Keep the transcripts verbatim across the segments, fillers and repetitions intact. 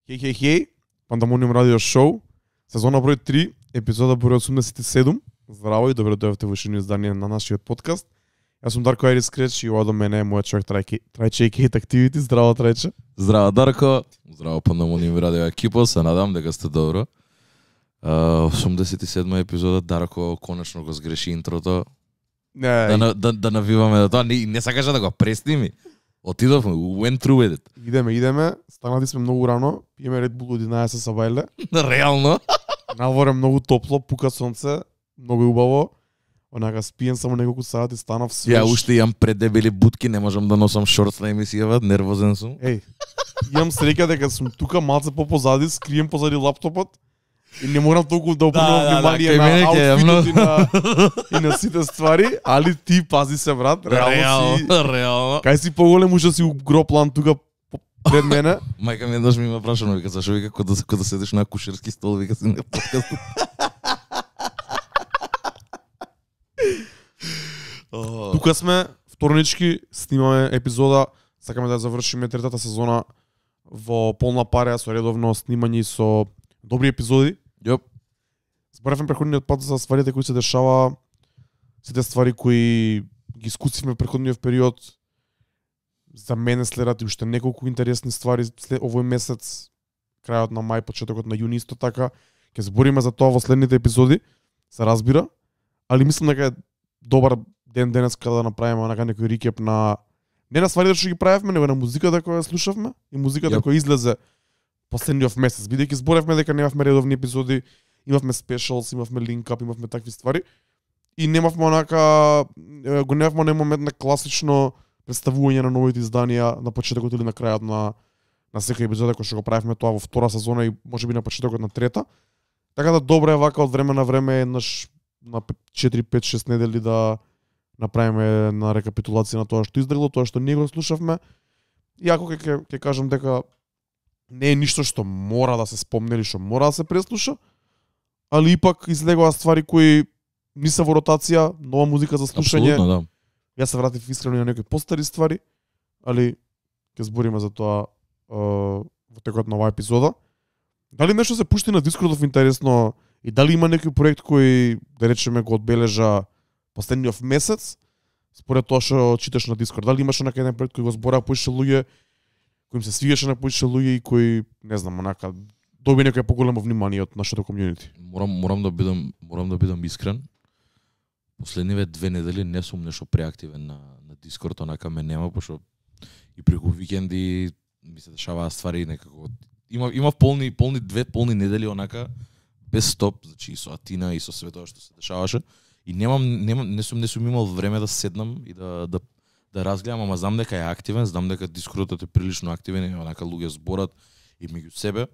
Хеј, хеј, хеј, Пандамониум радио шоу, сезона број три, епизода број осумдесет и седум. Здраво и добро дојавте во ушно издание на нашиот подкаст. Јас сум Дарко Айрис Креч и ова до мене е мојот човек Трајче и Кейт Активити. Здраво, Трајче. Здраво, Дарко. Здраво, Пандамониум радио екипа. Се надам дека сте добро. Uh, осумдесет и седма епизода, Дарко конечно го сгреши интрото. Не, Да, на, да, да навиваме до тоа. Не, не сакаше да го пресними. Отидовме, went through with it. идеме, идеме. Станати сме многу рано. Пиеме Red Bull од единаесет са бајле. Реално. Наворе многу топло, пука сонце, многу убаво. Онака спиен само неколку сати, станав свеж. Ја уште имам предебели бутки, не можам да носам шорт на емисијава, нервозен сум. Еј, имам среќа дека сум тука малце по-позади, скрием позади лаптопот. И не морам толку да обрнувам Да, да, внимание да, кај мене на ќе е аутфитот и на, и на сите ствари, али ти пази се, брат, реално си... реално. Кај си поголем уште си гроплан тука по- пред мене. Мајка ми еднаш ми има прашано, вика, зашо вика кога да, кога да седиш на кушерски стол, вика си на подкаст. Тука сме, вторнички, снимаме епизода, сакаме да завршиме третата сезона во полна пареа со редовно снимање и со добри епизоди. Јоп. Зборевме преходниот пат за стварите кои се дешава, сите ствари кои ги искусивме преходниот период. За мене следат и уште неколку интересни ствари след овој месец, крајот на мај, почетокот на јуни исто така. Ќе збориме за тоа во следните епизоди, се разбира, али мислам дека е добар ден денес кога да направиме онака некој рекеп на не на стварите што ги правевме, него на музиката која слушавме и музиката Јап. која излезе последниот месец. Бидејќи зборевме дека немавме редовни епизоди, имавме спешалс, имавме линкап, имавме такви ствари и немавме онака е, го немавме оној момент на класично представување на новите изданија на почетокот или на крајот на на секоја епизода кој што го правевме тоа во втора сезона и можеби на почетокот на трета. Така да добро е вака од време на време еднаш на четири пет шест недели да направиме на рекапитулација на тоа што издрило, тоа што ние го слушавме. Иако ќе ќе ќе кажам дека не е ништо што мора да се спомне или што мора да се преслуша, али ипак излегоа ствари кои не се во ротација, нова музика за слушање. Апсолутно, да. Јас се вратив искрено и на некои постари ствари, али ќе збориме за тоа е, во текот на оваа епизода. Дали нешто се пушти на Дискордов интересно и дали има некој проект кој, да речеме, го одбележа последниот месец, според тоа што читаш на Дискорд? Дали имаш онака еден проект кој го збораа поише луѓе, кој им се свигаше на поише луѓе и кој, не знам, онака доби некој поголемо внимание од нашето комјунити? Морам морам да бидам морам да бидам искрен. Последниве две недели не сум нешто преактивен на на Дискорд, онака ме нема, пошто и преку викенди ми се дешаваат ствари некако. Има има полни полни две полни недели онака без стоп, значи и со Атина и со све тоа што се дешаваше и немам немам не сум не сум имал време да седнам и да да да разгледам, ама знам дека е активен, знам дека Дискордот е прилично активен и онака луѓе зборат и меѓу себе.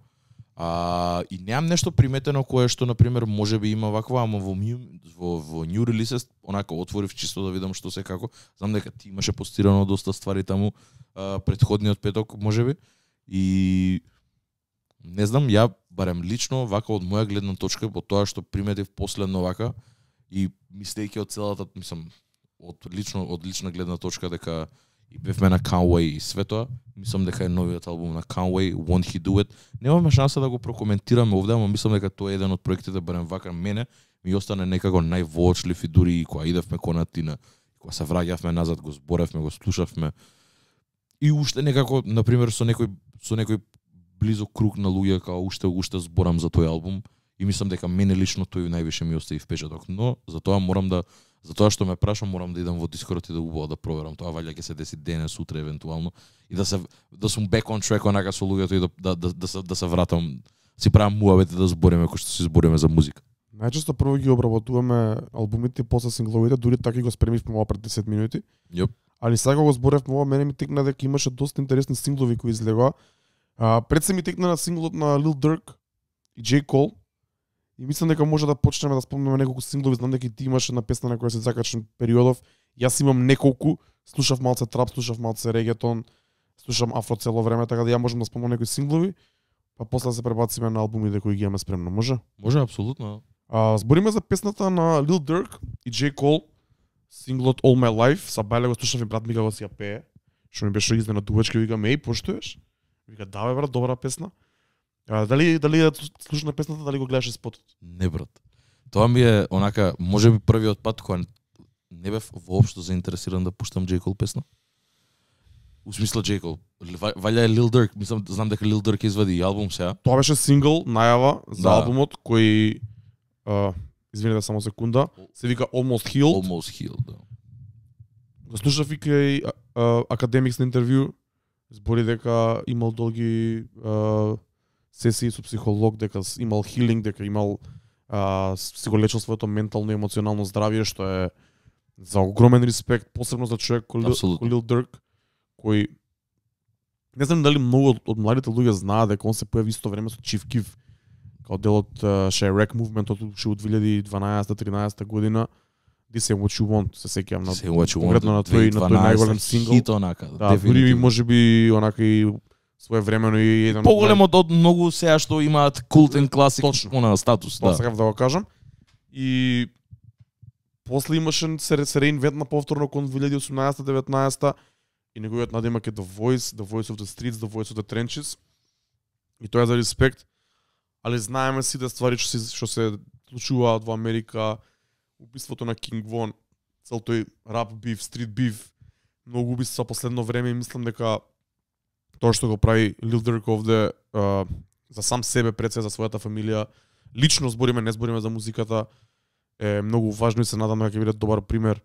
А, и немам нешто приметено кое што на пример можеби има ваква, ама во new, во, во new releases онака отворив чисто да видам што се како. Знам дека ти имаше постирано доста ствари таму а, претходниот петок можеби и не знам, ја барем лично вака од моја гледна точка по тоа што приметив последно вака и мислејќи од целата, мислам, од лично од лична гледна точка дека и бевме на Conway и све тоа, мислам дека е новиот албум на Conway, Won't He Do It. Немаме шанса да го прокоментираме овде, ама мислам дека тоа е еден од проектите, барем вака мене, ми остане некако највоочлив и дури и кога идевме кон Атина, кога се враќавме назад, го зборевме, го слушавме. И уште некако, на пример, со некој со некој близо круг на луѓе, као уште уште зборам за тој албум и мислам дека мене лично тој највише ми остави впечаток, но за тоа морам да за тоа што ме прашам, морам да идам во Дискорд и да убаво да проверам тоа, валја ќе се деси денес, утре евентуално и да се да сум back on track онака со луѓето и да да да, да, се, да се вратам, си правам муавет да збориме кој што си збориме за музика. Најчесто прво ги обработуваме албумите, после сингловите, дури така и го спремивме ова пред десет минути. Јоп. Али сега го зборевме ова, мене ми текна дека имаше доста интересни синглови кои излегоа. А, пред се ми текна на синглот на Lil Durk и J. Cole. И мислам дека може да почнеме да спомнеме неколку синглови, знам дека и ти имаше една песна на која се закачен периодов. Јас имам неколку, слушав малце трап, слушав малце регетон, слушам афро цело време, така да ја можам да спомнам некои синглови, па после да се пребациме на албумите кои ги имаме спремно, може? Може апсолутно. А, збориме за песната на Lil Durk и J. Cole, синглот All My Life, са бајле го слушав и брат ми го си ја пее, што ми беше изненадувачки, викам, еј, поштоеш? Вика, да бе брат, добра песна. А, дали дали ја слуша на песната, дали го гледаше спотот? Не брат. Тоа ми е онака, можеби првиот пат кога не бев воопшто заинтересиран да пуштам J. Cole песна. У смисла J. Cole. Валја е Lil Durk, мислам, знам дека Lil Durk извади и албум сега. Тоа беше сингл, најава за Да. албумот кој а, извинете само секунда, се вика Almost Healed. Almost Healed, да. Го слушав и кај академикс на интервју, збори дека имал долги а, сесии со психолог, дека с- имал хилинг, дека имал а, си го лечил своето ментално и емоционално здравје, што е за огромен респект, посебно за човек кој Lil- Апсолутно. кој Lil Durk, кој не знам дали многу од, од младите луѓе знаат дека он се појави исто време со Chief Keef, као дел од Chirac мувментот уште од две илјади и дванаесета тринаесета година. This ain't what you want, се сеќавам на Say what you want. конкретно на тој на тој најголем сингл. Хит онака. Да, дури можеби онака и своевремено и еден од Поголем од од многу сега што имаат култен класик Точно. она статус, Тоа да. сакав да го кажам. И после имаше се, се реинвентна повторно кон две илјади и осумнаесета деветнаесета и неговиот надимак е The Voice, The Voice of the Streets, The Voice of the Trenches. И тоа е за респект. Али знаеме сите ствари што се што се случуваат во Америка, убиството на King Von, цел тој рап биф, стрит биф, многу убиства последно време и мислам дека тоа што го прави Lil Durk овде а, за сам себе, пред се за својата фамилија, лично збориме, не збориме за музиката, е многу важно и се надам дека ќе биде добар пример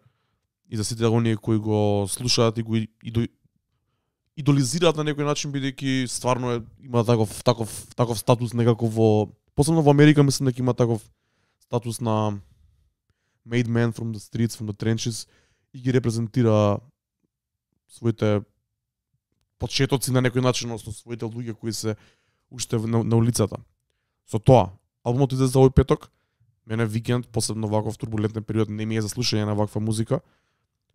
и за сите оние кои го слушаат и го идо, идолизираат на некој начин, бидејќи стварно е, има таков таков таков статус некако во, посебно во Америка мислам дека има таков статус на made man from the streets, from the trenches и ги репрезентира своите почетоци на некој начин, односно своите луѓе кои се уште на, на улицата. Со тоа, албумот излезе за овој петок. Мене викенд, посебно ваков турбулентен период, не ми е за слушање на ваква музика.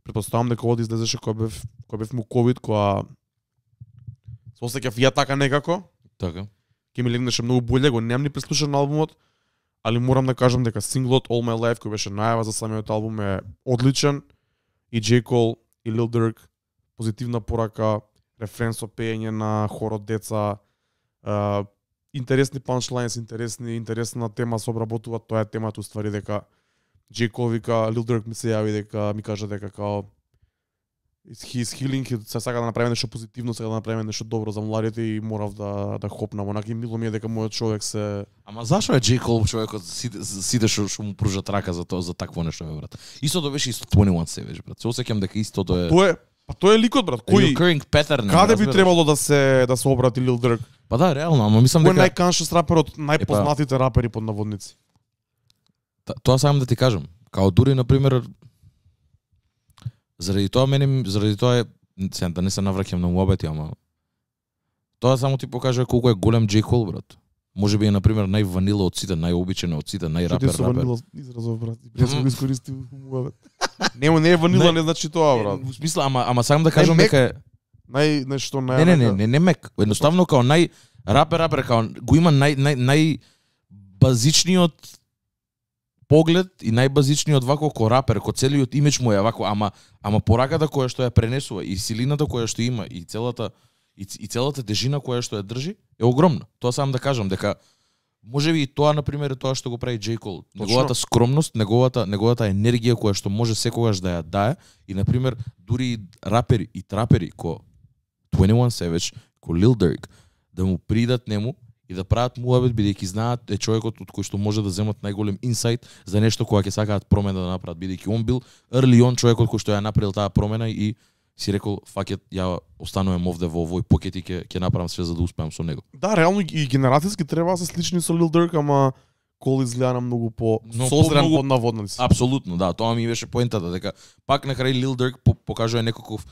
Претпоставам дека овој излезеше кога бев кога бев му ковид, кога се осеќав ја така некако. Така. Ке ми легнеше многу боле, го немам ни преслушан албумот, али морам да кажам дека синглот All My Life кој беше најава за самиот албум е одличен и J. Cole и Lil Durk позитивна порака, рефрен со пеење на хор од деца, а, интересни панчлайнс, интересни интересна тема се обработува, тоа е темата уствари дека J. Cole вика, Lil Durk ми се јави дека ми кажа дека као he is healing, се сака да направи нешто позитивно, сака да направи нешто добро за младите и морав да да хопнам, онака и мило ми е дека мојот човек се Ама зашо е J. Cole човекот сите сите што што му пружат рака за тоа за такво нешто бе брат. Истото беше и со дваесет еден Savage брат. Се осеќам дека истото е Тоа е, па тоа е ликот брат, кој recurring pattern. каде би разбираш? требало да се да се обрати Lil Durk? Па да, реално, ама мислам Кој е дека најканшес рапер од најпознатите рапери под наводници? Та- тоа сакам да ти кажам. Као дури на пример заради тоа мене заради тоа е сега да не се навраќам на муабети, ама тоа само ти покажува колку е голем J. Cole брат. Можеби е на пример најванила од сите, најобичен од сите, најрапер Што ти со рапер. ванила изразов брат? Јас го искористив муабет. Нема не е ванила, Не. не значи тоа брат. Во смисла, ама ама сакам да кажам мек. дека е Нај нешто нај Не, не, не, не, не мек. Едноставно као нај рапер рапер као го има нај нај нај базичниот поглед и најбазичниот вако ко рапер, ко целиот имидж му е вако, ама ама пораката која што ја пренесува и силината која што има и целата и, и целата тежина која што ја држи е огромна. Тоа сам да кажам дека можеби и тоа на пример е тоа што го прави J. Cole. Неговата скромност, неговата неговата енергија која што може секогаш да ја дае и на пример дури и рапери и трапери ко дваесет еден Savage, ко Lil Durk да му придат нему и да прават муабет бидејќи знаат е човекот од кој што може да земат најголем инсайт за нешто кога ќе сакаат промена да направат, бидејќи он бил early on човекот кој што ја направил таа промена и си рекол факет ја останувам овде во овој покет и ќе ќе направам све за да успеам со него. Да, реално и генерацијски треба да се слични со Lil Durk, ама Cole изгледа на многу по Но созрен по-многу- под наводници. Апсолутно, да, тоа ми беше поентата дека пак на крај Lil Durk по покажува некаков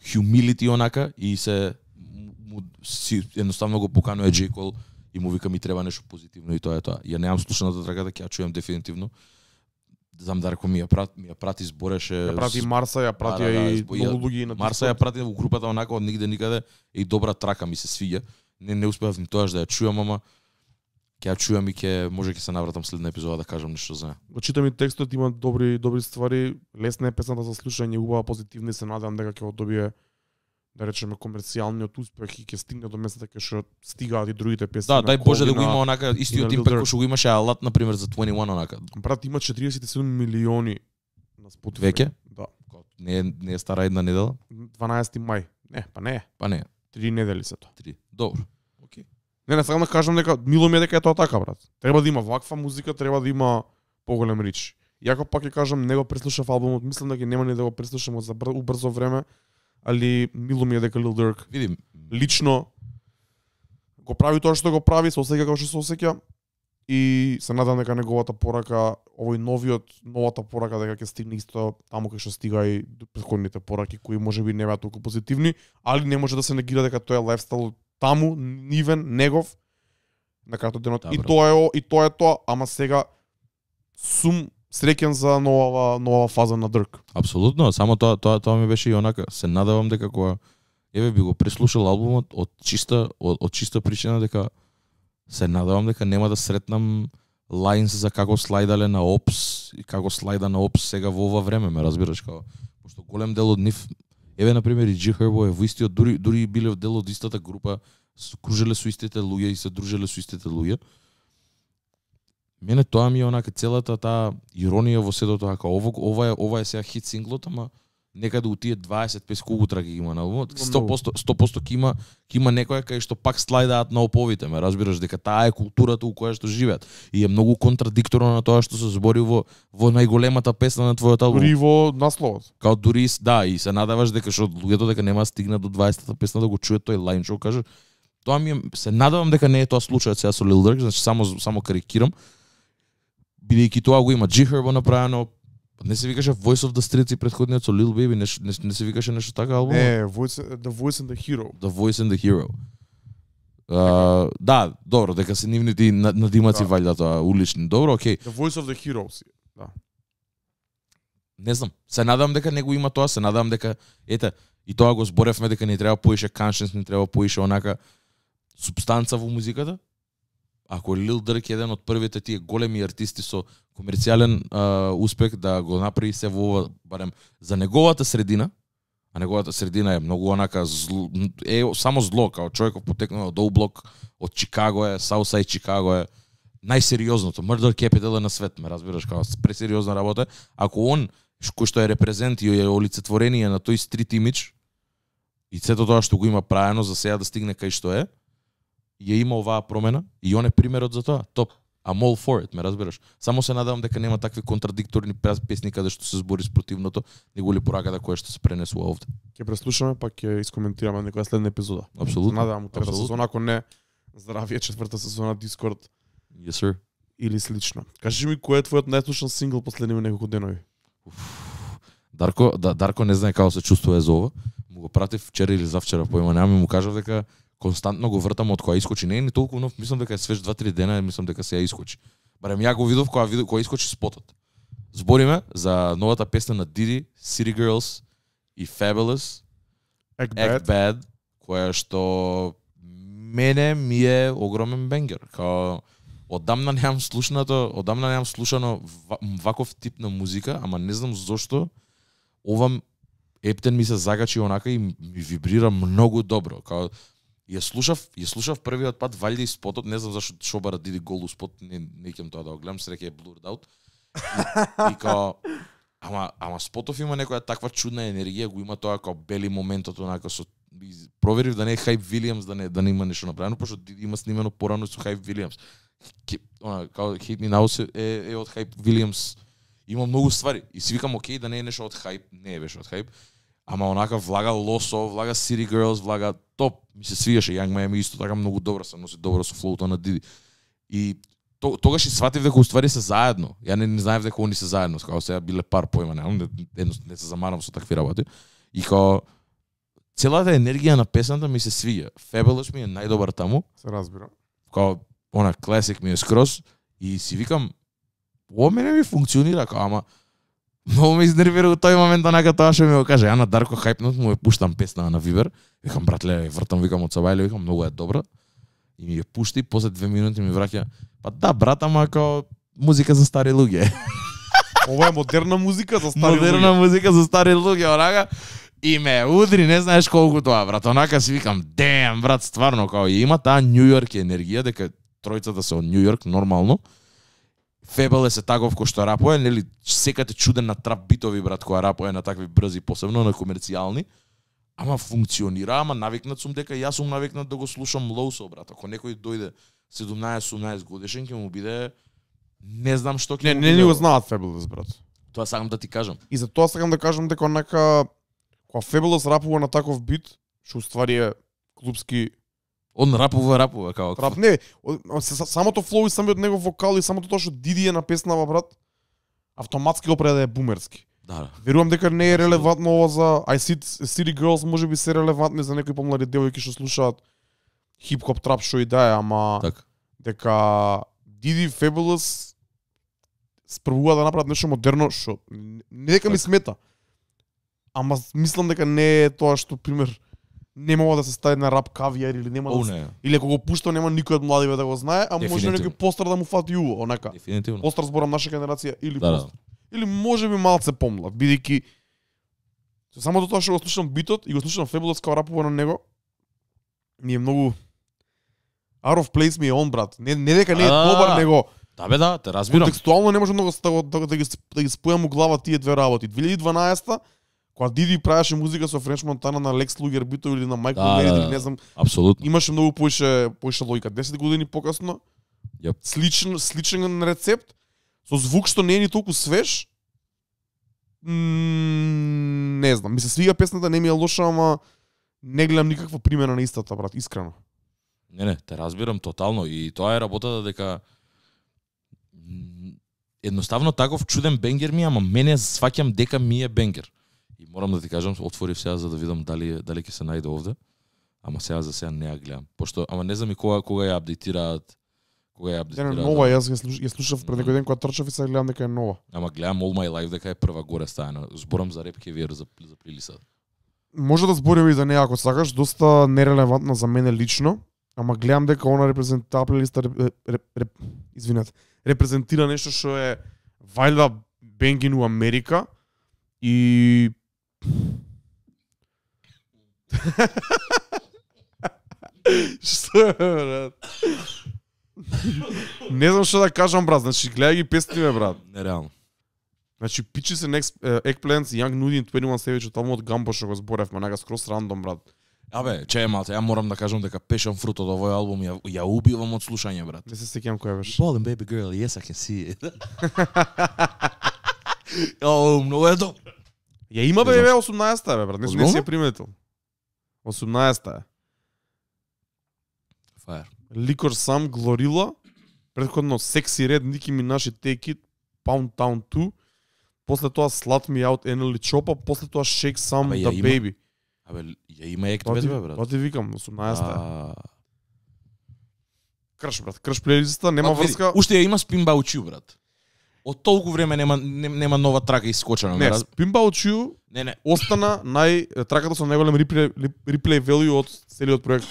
humility онака и се му, си едноставно го поканува J. Cole и му вика ми треба нешто позитивно и тоа е тоа. Ја немам слушаната траката, ќе ја чујам дефинитивно. Знам Дарко ми ја прати, ми ја прати збореше. Ја прати Марса, ја прати Да, да, да, и избо- многу ја- луѓе на Марса ја прати во групата онака од нигде никаде и добра трака ми се свиѓа. Не не успеав ни тоаш да ја чујам, ама ќе ја чујам и ќе може ќе се навратам следна епизода да кажам нешто за неа. Го читам и текстот, има добри добри ствари, лесна е песната за слушање, убава, позитивна и се надевам дека ќе го добие да речеме комерцијалниот успех и ќе стигне до местата кај што стигаат и другите песни. Да, на дај Боже да го Колвина, има онака истиот на Lil импект Durk. кој што го имаше Алат на пример за дваесет и еден онака. Брат има четириесет и седум милиони на Spotify. Веќе? Да. Не е не е стара една недела? дванаесети мај. Не, па не е. Па не, Три недели се тоа. три. Добро. Океј. Не, не сакам да кажам дека мило ми е дека е тоа така, брат. Треба да има ваква музика, треба да има поголем рич. Јако пак ќе кажам, не го преслушав албумот, мислам дека нема ни да го преслушам за бр... убрзо време, али мило ми е дека Lil Durk Видим, лично го прави тоа што го прави, се осеќа како што се осеќа и се надам дека неговата порака, овој новиот, новата порака дека ќе стигне исто таму кај што стига и претходните пораки кои можеби не беа толку позитивни, али не може да се негира дека тоа е лајфстайл таму, нивен, негов на крајот денот. Да, и брат. тоа е и тоа е тоа, ама сега сум среќен за нова нова фаза на Durk. апсолутно, само тоа тоа тоа ми беше и онака. Се надевам дека кога еве би го преслушал албумот од чиста од, од чиста причина дека се надевам дека нема да сретнам лајнс за како слајдале на Опс и како слајда на Опс сега во ова време, ме разбираш, како пошто голем дел од нив еве на пример и G Herbo е во истиот, дури дури биле дел од истата група, кружеле со истите луѓе и се дружеле со истите луѓе. Мене тоа ми е онака целата таа иронија во сето тоа, како ова ова е ова е сега хит синглот, ама некаде у тие дваесет пет колку траки има на албумот, сто проценти сто проценти ќе има ќе има некоја кај што пак слајдаат на оповите, ме разбираш дека таа е културата у која што живеат и е многу контрадикторно на тоа што се збори во во најголемата песна на твојот албум. Дури во насловот. Као дури да, и се надаваш дека што луѓето дека нема стигнат до дваесетата песна да го чујат тој лајн што кажа. Тоа ми е, се надевам дека не е тоа случајот сега со Lil Durk, значи само само карикирам. Бидејќи тоа го има G Herbo направено, не се викаше Voice of the Streets и претходниот со Lil Baby, не, не, не се викаше нешто така албум? Не, Voice, The Voice and the Hero. The Voice and the Hero. Uh, да, добро, дека се нивните надимаци Да. валјда тоа улични. Добро, окей. The Voice of the Heroes. Да. Не знам. Се надам дека не го има тоа, се надам дека ете, и тоа го зборевме дека не треба поише conscience, не треба поише онака субстанца во музиката. Ако Lil Durk е еден од првите тие големи артисти со комерцијален а, успех да го направи се во ова, барем за неговата средина, а неговата средина е многу онака зл, е само зло, као човеков потекнал од Оублок, од Чикаго е, Саусајд Чикаго е, најсериозното, Murder Capital е на свет, ме разбираш, као пресериозна работа. Ако он кој што е репрезент и е олицетворение на тој стрит имидж и сето тоа што го има правено за сега да стигне кај што е, ја има оваа промена и он е примерот за тоа. Топ. I'm all for it, ме разбираш. Само се надевам дека нема такви контрадикторни песни каде што се збори спротивното, него ли пораката која што се пренесува овде. Ќе преслушаме, па ќе искоментираме некоја следна епизода. Апсолутно. Надевам у трета Апсолутно. сезона, ако не, здравие четврта сезона Discord Yes, sir. или слично. Кажи ми кој е твојот најслушан сингл последниве неколку денови? Дарко, да, Дарко не знае како се чувствува за ова. Му го пратив вчера или завчера, појма немам, и му кажав дека константно го вртам од која искочи. Не е ни толку нов, мислам дека е свеж два-три дена, мислам дека се ја искочи. Барем ја го видов кога видов кога искочи спотот. Збориме за новата песна на Diddy, City Girls и Fabulous, Act Act Bad. Bad, која што мене ми е огромен бенгер. Као одамна немам слушнато, одамна немам слушано ва- ваков тип на музика, ама не знам зошто ова ептен ми се загачи онака и ми вибрира многу добро. Као ја слушав, ја слушав првиот пат валјда и спотот, не знам зашто Шобара Диди голу спот, не не ќе тоа да го гледам, среќа е blurred out. И, и као ама ама спотов има некоја таква чудна енергија, го има тоа као бели моментот онака со и проверив да не е Хайп Вилијамс, да не да не има нешто направено, пошто Диди има снимено порано со Хайп Вилијамс. Ке, она као Hit Me Now е е од Хайп Вилијамс. Има многу ствари и си викам окей да не е нешто од Хайп, не е беше од Хайп. Ама онака влага Лосо, влага City Girls, влага топ. Ми се свигаше Young Miami исто така многу добро се носи добро со флоута на Диди. И то, тогаш и сватив дека уствари се заедно. Ја не, не знаев дека они се заедно, као сега биле пар појма, немам, не, не, не се замарам со такви работи. И као целата енергија на песната ми се свиѓа. Fabulous ми е најдобар таму. Се разбира. Као она класик ми е скроз и си викам ова мене ми функционира, као ама многу ме изнервира у тој момент онака тоа што ми го каже. Ја на Дарко Хајпнот му ја пуштам песна на Вибер. Викам братле, вртам, викам од Сабајле, викам многу е добра. И ми ја пушти, после две минути ми враќа. Па да, брат, ама као музика за стари луѓе. Ова е модерна музика за стари Модерна луѓе. музика за стари луѓе, онака. И ме удри, не знаеш колку тоа, брат. Онака си викам, дем, брат, стварно, као и има таа Нью Йорк енергија, дека тројцата се од Нью Йорк, нормално. Фебелес е таков кој што рапува, нели, секате чуден на трап битови, брат, која рапува на такви брзи, посебно на комерцијални. Ама функционира, ама навикнат сум дека јас сум навикнат да го слушам Лоусо, брат. Ако некој дојде седумнаесет-осумнаесет годишен, ќе му биде не знам што ќе Не, не ни го знаат Fabulous, брат. Тоа сакам да ти кажам. И за тоа сакам да кажам дека онака кога Fabulous рапува на таков бит, што уствари е клубски Он рапува, рапува, као... рап, не, самото флоу и самиот негов вокал и самото тоа што Диди е напеснава, брат, автоматски го прави да е бумерски. Да, да. Верувам дека не е релевантно ова за I See City Girls, можеби се релевантни за некои помлади девојки што слушаат хип-хоп, трап, што и да е, ама Так. дека Диди Fabulous спробува да направат нешто модерно, што не дека ми смета. Ама мислам дека не е тоа што пример не мога да се стави на рап кавијар или нема О, да не. или ако го пушта нема никој од младиве да го знае, а може Дефинитивно. некој постар да му фати уво, онака. Дефинитивно. Постар зборам наша генерација или Да, да. постар. Или можеби малце помлад, бидејќи само до тоа што го слушам битот и го слушам Fabulous као рапува на него, ми е многу out of place ми е он, брат. Не, не дека не е А, добар, него Да бе, да, те разбирам. контекстуално не може многу да, го- да, да, ги, да ги спојам у глава тие две работи. две илјади и дванаесета кога Диди правеше музика со Френч Монтана на Лекс Лугер битови или на Майкл Да, Мерид да, или да. не знам, Апсолутно. имаше многу поише поише логика. десет години покасно, Јап. сличен сличен рецепт со звук што не е ни толку свеж. М, не знам, ми се свига песната, не ми е лоша, ама не гледам никаква примена на истата, брат, искрено. Не, не, те разбирам тотално и тоа е работата дека м, едноставно таков чуден бенгер ми, ама мене сваќам дека ми е бенгер. И морам да ти кажам, отворив сега за да видам дали дали ќе се најде овде. Ама сега за сега не ја гледам. Пошто ама не знам и кога кога ја апдейтираат. Кога ја Не, апдейтираат. не, нова, јас ја слуш, ја слушав пред некој ден кога трчав и сега гледам дека е нова. Ама гледам All My Life дека е прва горе стајана. Зборам за Rap Caviar за за плейлиста. Може да збориме и за неа ако сакаш, доста нерелевантна за мене лично, ама гледам дека она репрезентира плейлиста реп, реп, реп, извинете, репрезентира нешто што е вајда бенгин у Америка и Што е, брат? Не знам што да кажам, брат. Значи, гледај ги песните, брат. Нереално. Значи, Peaches and Ex- uh, Eggplants, Young Nudie и дваесет и еден Savage од албумот Гамбо што го зборевме, нага скрос рандом, брат. Абе, чеј малце, ја морам да кажам дека Passion Fruit од овој албум ја, ја убивам од слушање, брат. Не се сеќавам која беше. Ballin' baby girl, yes I can see it. О, многу е добро. Ја има Не бе, знам бе, што. осумнаесета, бе, брат. Не, не Озбилно? си ја приметил. осумнаесета е. Fire. Liquor Sam, Glorilla, предходно Sexy Red, Nicki Minaj и Take It, Pound Town two, после тоа Slut Me Out, Enely Chopa, после тоа Shake Some, Абе, ја The има. Baby. Абе, ја има ект Тоа без ти, бе, брат. тоа ти викам, осумнаесета е. А, Крш, брат, крш плейлиста, нема Пак, види, врска. Уште ја има Spin About You, брат. Од толку време нема нем- нема нова трака искочена, Не, брат. Spin About You Не, не. остана нај траката со најголем реплей, реплей value од целиот проект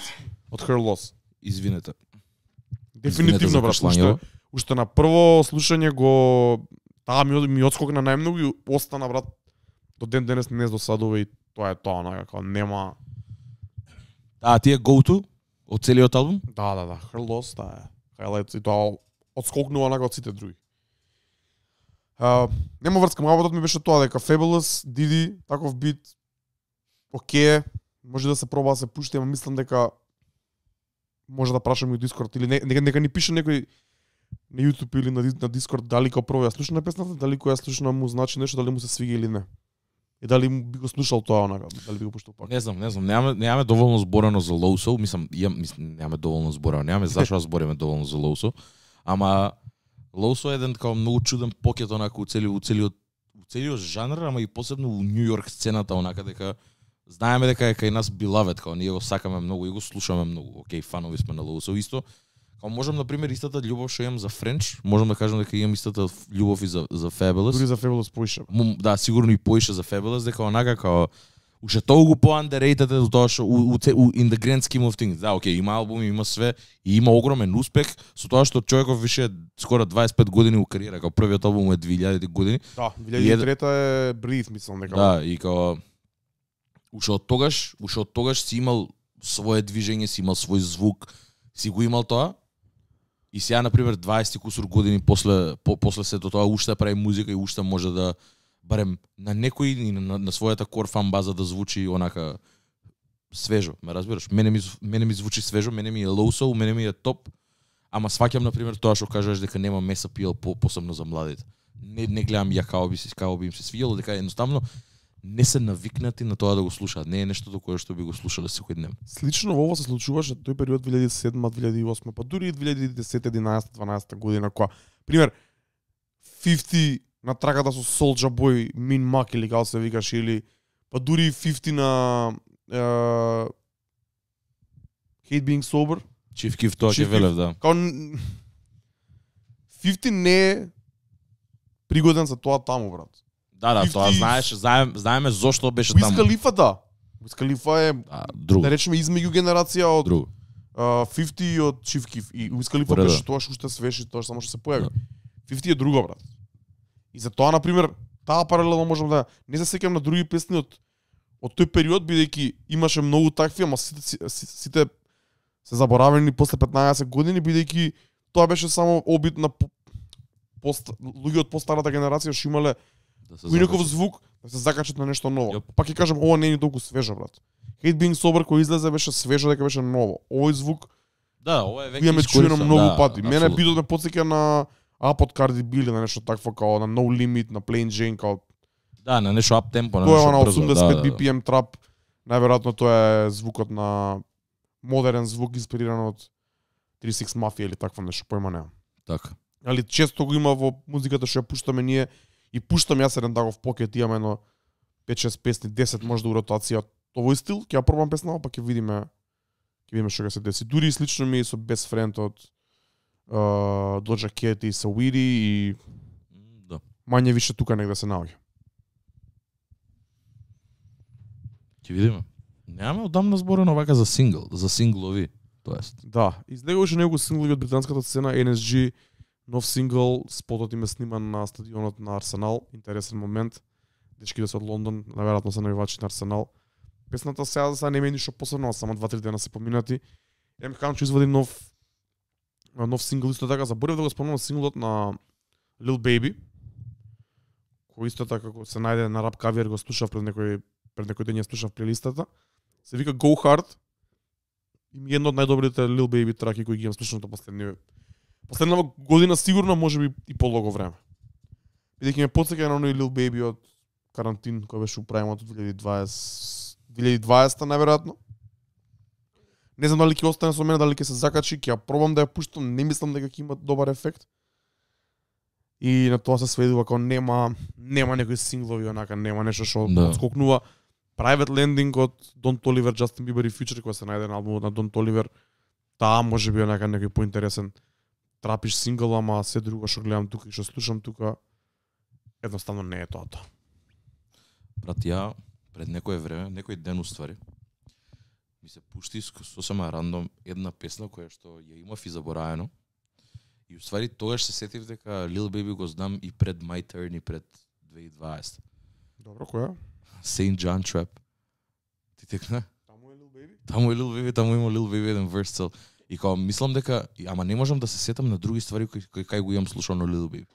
од Her Loss. Извинете. Дефинитивно, брат, уште, уште на прво слушање го таа ми, ми одскокна најмногу и остана, брат, до ден денес не досадува и тоа е тоа, онака, како нема... А ти е go to од целиот албум? Да, да, да, Her Loss, таа е highlight и тоа одскокнува онака од сите други. Uh, нема врска, мабутот ми беше тоа дека Fabulous, Didi, таков бит, окей, може да се проба да се пушти, ама мислам дека може да прашам и у Discord или не, нека, нека ни пише некој на YouTube или на, на Discord дали као прво ја слушна песната, дали која ја слушна му значи нешто, дали му се свига или не. И дали му би го слушал тоа онака, дали би го пуштал пак. Не знам, не знам, немаме немаме доволно зборено за Лоусо, мислам, ја мислам немаме доволно зборено, немаме зашо да збориме доволно за Лоусо, ама Лоусо е еден како многу чуден покет онака у целиот у целиот у целиот жанр, ама и посебно у Нью Йорк сцената онака дека знаеме дека е кај нас beloved, како ние го сакаме многу и го слушаме многу. Океј, фанови сме на Лоусо исто. Како можам на пример истата љубов што имам за Френч, можам да кажам дека имам истата љубов и за за Fabulous. Дури за Fabulous поише. Му, да, сигурно и поише за Fabulous, дека онака као уште толку по-underrated е до тоа што у, у, у, in the grand scheme of things. Да, окей, има албуми, има све и има огромен успех со тоа што човеков више е скоро дваесет и пет години у кариера, као првиот албум е две илјади години. Да, две илјади и трета е Breathe, мислам дека. Да, и као уште од тогаш, уште од тогаш си имал свое движење, си имал свој звук, си го имал тоа. И сега на пример дваесет кусур години после по, после сето тоа уште прави музика и уште може да барем на некој и на, на својата кор фан база да звучи онака свежо, ме разбираш? Мене ми мене ми звучи свежо, мене ми е low soul, мене ми е топ. Ама сваќам на пример тоа што кажуваш дека нема мес апил по посебно за младите. Не не гледам ја како би се како би им се свиело, дека едноставно не се навикнати на тоа да го слушаат. Не е нешто до кое што би го слушале секој ден. Слично ово се случуваше тој период две илјади и седма, две илјади и осма, па дури и две илјади и десета, единаесета, дванаесета година кога пример петдесет на трагата со Soulja Boy, Min Mac или како се викаш, или па дури петдесет на uh, Hate Being Sober. Chief Keef тоа ќе велев, да. Као петдесет не е пригоден за тоа таму, брат. Да, да, петдесет тоа знаеш, знаем, знаеме зошто беше Wiz таму. Khalifa, да. Wiz Khalifa е, А, друго. да речеме, измеѓу генерација од Друго. uh, петдесет и од Chief Keef. И Wiz Khalifa Пореда. беше тоа што уште свеж и тоа само што се појави. Да. петдесет е друго, брат. И за тоа, например, таа паралелно можам да не се сеќам на други песни од од тој период, бидејќи имаше многу такви, ама сите, сите, сите се заборавени после петнаесет години, бидејќи тоа беше само обид на по- пост, луѓе од постарата генерација што имале Да се некој закачи. звук да се закачат на нешто ново. Јоп. Пак ќе кажам, ова не е ни толку свежо, брат. Hate Being Sober кој излезе беше свежо, дека беше ново. Овој звук Да, ова е веќе ја ме чуено искористен, многу да, пати. Мене апсолутно. битот ме потсеќа на Up од Cardi B или на нешто такво као на No Limit, на Plain Jane, као Да, на нешто ап темпо, на тоа е нешто на брзо. осумдесет да, пет да, би да. пи ем трап. Најверојатно тоа е звукот на модерен звук инспириран од три шест Mafia или такво нешто, појма немам. Така. Али често го има во музиката што ја пуштаме ние и пуштам јас еден дагов покет, имаме едно пет шест песни, десет може да у ротација од овој стил, ќе ја пробам песна, па ќе видиме ќе видиме што ќе се деси. Дури и слично ми е со Best Friend од uh, Doja Cat и Saweetie и М, Да. мање више тука негде се наоѓа. Ќе видиме. Немаме одамна зборено вака за сингл, за синглови, тоест. Да, излегуваше некој синглови од британската сцена, Ен Ес Джи, нов сингл, спотот им е сниман на стадионот на Арсенал, интересен момент. Дечките се од Лондон, наверојатно се навивачи на Арсенал. Песната сега за сега нема ништо посебно, само два-три дена се поминати. Ем Хан ќе извади нов нов сингл исто така, заборев да го спомнам синглот на Lil Baby, кој исто така како се најде на Rap Caviar, го слушав пред некој пред некој ден ја слушав плейлистата. Се вика Go Hard. И ми е едно од најдобрите Lil Baby траки кои ги имам слушнато последни последнава година сигурно, можеби и полого време. Бидејќи ме потсеќа на оној Lil Baby од карантин кој беше управен од две илјади и дваесета две илјади и дваесета најверојатно. Не знам дали ќе остане со мене, дали ќе се закачи, ќе ја пробам да ја пуштам, не мислам дека ќе има добар ефект. И на тоа се сведува како нема нема некои синглови онака, нема нешто што Да. отскокнува. Private Landing од Don Toliver, Justin Bieber и Future кој се најде на албумот на Don Toliver. Таа може би онака некој поинтересен трапиш сингл, ама се друго што гледам тука и што слушам тука едноставно не е тоа тоа. Брат, ја пред некое време, некој ден уствари, ми се пушти сосема рандом една песна која што ја имав и заборавено. И уствари тогаш се сетив дека Lil Baby го знам и пред My Turn и пред две илјади и дваесета. Добро, која? Saint John Trap. Ти текна? Таму е Lil Baby? Таму е Lil Baby, таму има Lil Baby еден верс цел. И као мислам дека, ама не можам да се сетам на други ствари кои кои кај го имам слушано Lil Baby.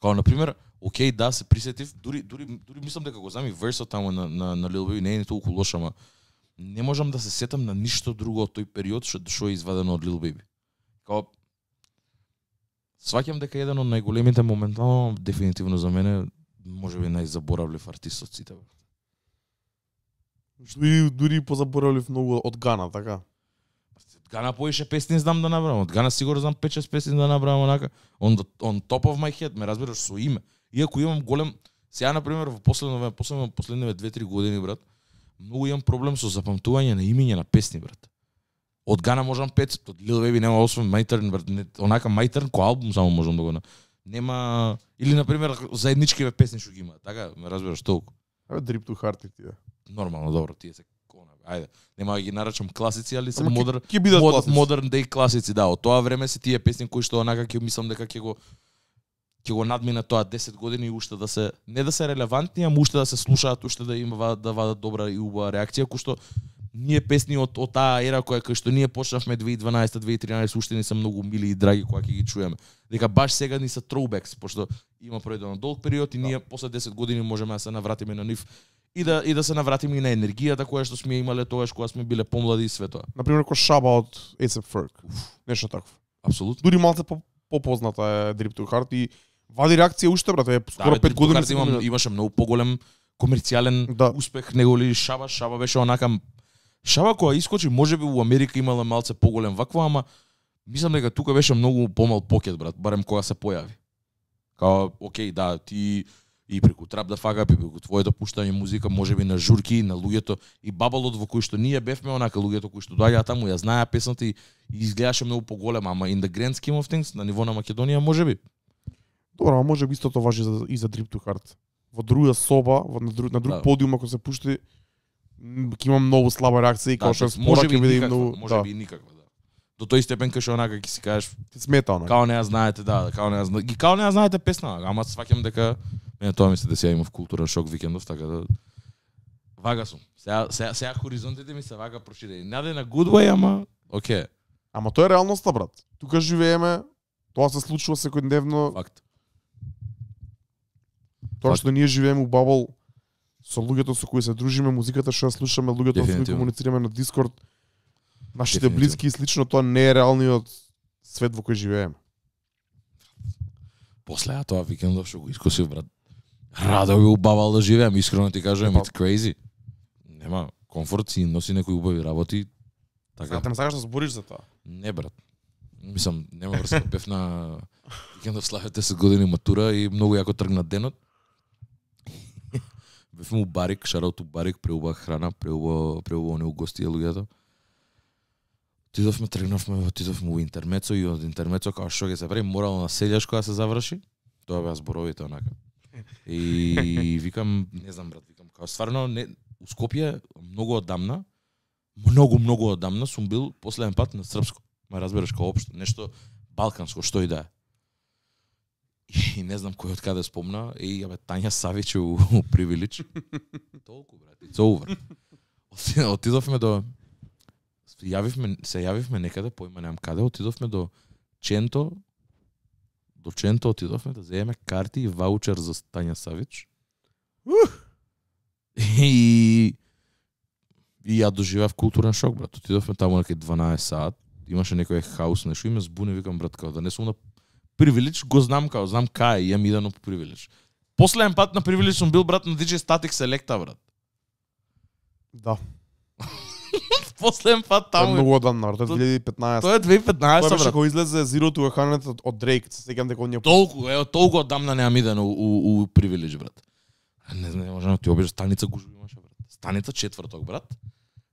Као на пример, окей, да, се присетив, дури дури дури мислам дека го знам и версот таму на на, на Lil Baby, не е ни толку лош, ама не можам да се сетам на ништо друго од тој период што што е извадено од Lil Baby. Као сваќам дека еден од најголемите моментално, дефинитивно за мене, можеби најзаборавлив артист од сите. Дури дури позаборавлив многу од Гана, така. Од Гана поише песни знам да набрам. Од Гана сигурно знам пет шест песни да набрам онака. On, the, on top of my head, ме разбираш, со име. Иако имам голем... Сега, например, во последно време, последно последниве две-три години, брат, многу имам проблем со запамтување на имиња на песни, брат. Од Гана можам пет, од Lil Baby нема освен My Turn, брат. Не, онака My Turn кој албум само можам да го... Нема... Или, например, заедничкиве песни што ги има. Така, ме разбираш, толку. Абе, Drip to Heart и тие. Нормално, добро, тие се кона. Ајде, нема да ги нарачам класици, али се Ама ќе- модер, ќе бидат мод, класици. модерн дей класици, да. Од тоа време се тие песни кои што онака ќе мислам дека ќе го ќе го надмина тоа десет години и уште да се не да се релевантни, ама уште да се слушаат, уште да има да вадат добра и убава реакција, кој што ние песни од од таа ера која кај што ние почнавме две илјади и дванаесета две илјади и тринаесета уште ни се многу мили и драги кога ќе ги чуеме. Дека баш сега ни се throwbacks, пошто има пројден долг период и ние после десет години можеме да се навратиме на нив и да и да се навратиме и на енергијата која што сме имале тогаш кога сме биле помлади и све тоа. На пример кој Шаба од A$ей ес Ferg. Нешто такво. Апсолутно. Дури малце по попозната е Drip Too Hard и вади реакција уште брате, скоро да, пет години имам, имаше многу поголем комерцијален да. успех него ли Шаба, Шаба беше онака Шаба која искочи, можеби у Америка имала малце поголем вакво, ама мислам дека тука беше многу помал покет брат, барем кога се појави. Као, окей, да, ти и преку Trap the Fuck Up, и преку твоето пуштање музика, можеби на журки, на луѓето и бабалот во кој што ние бевме онака луѓето кои што доаѓаа таму ја знаеа песната и, и изгледаше многу поголема, ама in the grand scheme of things на ниво на Македонија можеби. Добро, а може би истото важи за, и за Drip Too Hard. Во друга соба, во, на друг, на друг да. подиум ако се пушти, ќе има многу слаба реакција и да, како што може би биде никаква, многу, може да. би и никаква, да. До тој степен кај што онака ќе си кажеш, ти смета онака. као не ја знаете, да, као не ја знаете, ги као не ја знаете песна, ама сваќам дека мене тоа ми се деси, ја имав културен шок викендов, така да вага сум. Сега сега сега хоризонтите ми се вага проширени. Наде на good way, ама окей. Ама тоа е реалноста брат. Тука живееме, тоа се случува секојдневно. Факт. Тоа Факт. што ние живееме у бабл со луѓето со кои се дружиме, музиката што ја слушаме, луѓето со кои комуницираме на Дискорд, нашите блиски и слично, тоа не е реалниот свет во кој живееме. После а тоа викендов што го искосив брат. Радо би убавал да живеам, искрено ти кажувам, it's crazy. Нема комфорт, си носи некои убави работи. Така. Сега те не сакаш да збориш за тоа. Не брат. Мислам, нема врска, бев на викендов славе десет години матура и многу јако тргна денот. Бев му барик, шараут барик, преубава храна, преубава преубава не угостија луѓето. Отидовме, тргнавме, отидовме во интермецо и од интермецо као што ќе се прави морално на селјаш кога се заврши. Тоа беа зборовите онака. И викам, не знам брат, викам као стварно не у Скопје многу одамна, многу многу одамна сум бил последен пат на српско. Ма разбереш као општо нешто балканско, што и да е. И не знам кој од каде спомна, и абе Тања Савич у, у Привилич. Толку брат, it's over. Отидовме до јавивме, се јавивме некаде, поима немам каде, отидовме до Ченто, до Ченто отидовме да земеме карти и ваучер за Тања Савич. И и ја доживеав културен шок, брат. Отидовме таму некај дванаесет саат, имаше некој хаус, нешто и ме збуни, викам брат, као да не сум на Привилич, го знам као, знам кај, јам идено по Привилич. Последен пат на Привилич сум бил брат на ди џеј Static Selecta, брат. Да. Последен пат Тоа е таму. многу одамна, брат, две илјади и петнаесета. Тоа е две илјади и петнаесета, Тоа беше брат. кога излезе Zero to one hundred од Drake, се сеќам дека оние Толку, ево, толку одамна неам идено у, у, у Привилич, брат. Не знам, можам ти обиш станица гужви имаше, брат. Станица четврток, брат.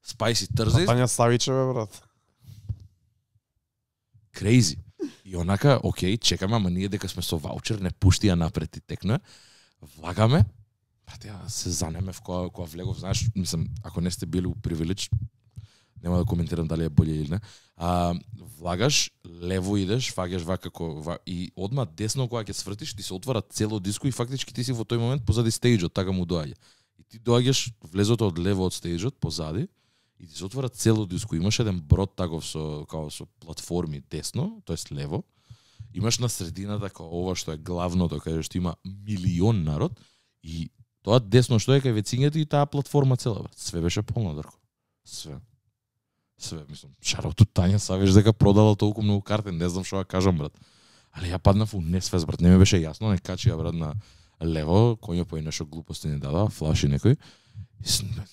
Spicy Thursdays. Тања Савичева, брат. Crazy. И онака, окей, чекаме, ама ние дека сме со ваучер, не пушти ја напред и текна. Влагаме. Брат, ја се занеме в кога, кога влегов, знаеш, мислам, ако не сте били у Привилич, нема да коментирам дали е боле или не. А, влагаш, лево идеш, фаќаш вака како ва, и одма десно кога ќе свртиш, ти се отвара цело диско и фактички ти си во тој момент позади стејџот, така му доаѓа. И ти доаѓаш влезото од лево од стејџот позади и ти се отвара цело диско. Имаш еден брод таков со као со платформи десно, тоест лево. Имаш на средината као ова што е главното, каде што има милион народ и тоа десно што е кај вецињето и таа платформа цела, брат. Све беше полно дрко. Све. Све, мислам, шарауту Тања Савич дека продала толку многу карти, не знам што ја кажам, брат. Али ја паднав у несвес, брат, не ми беше јасно, не качи ја, брат, на лево, кој по нешто глупости не дадаа, флаши некој. И см,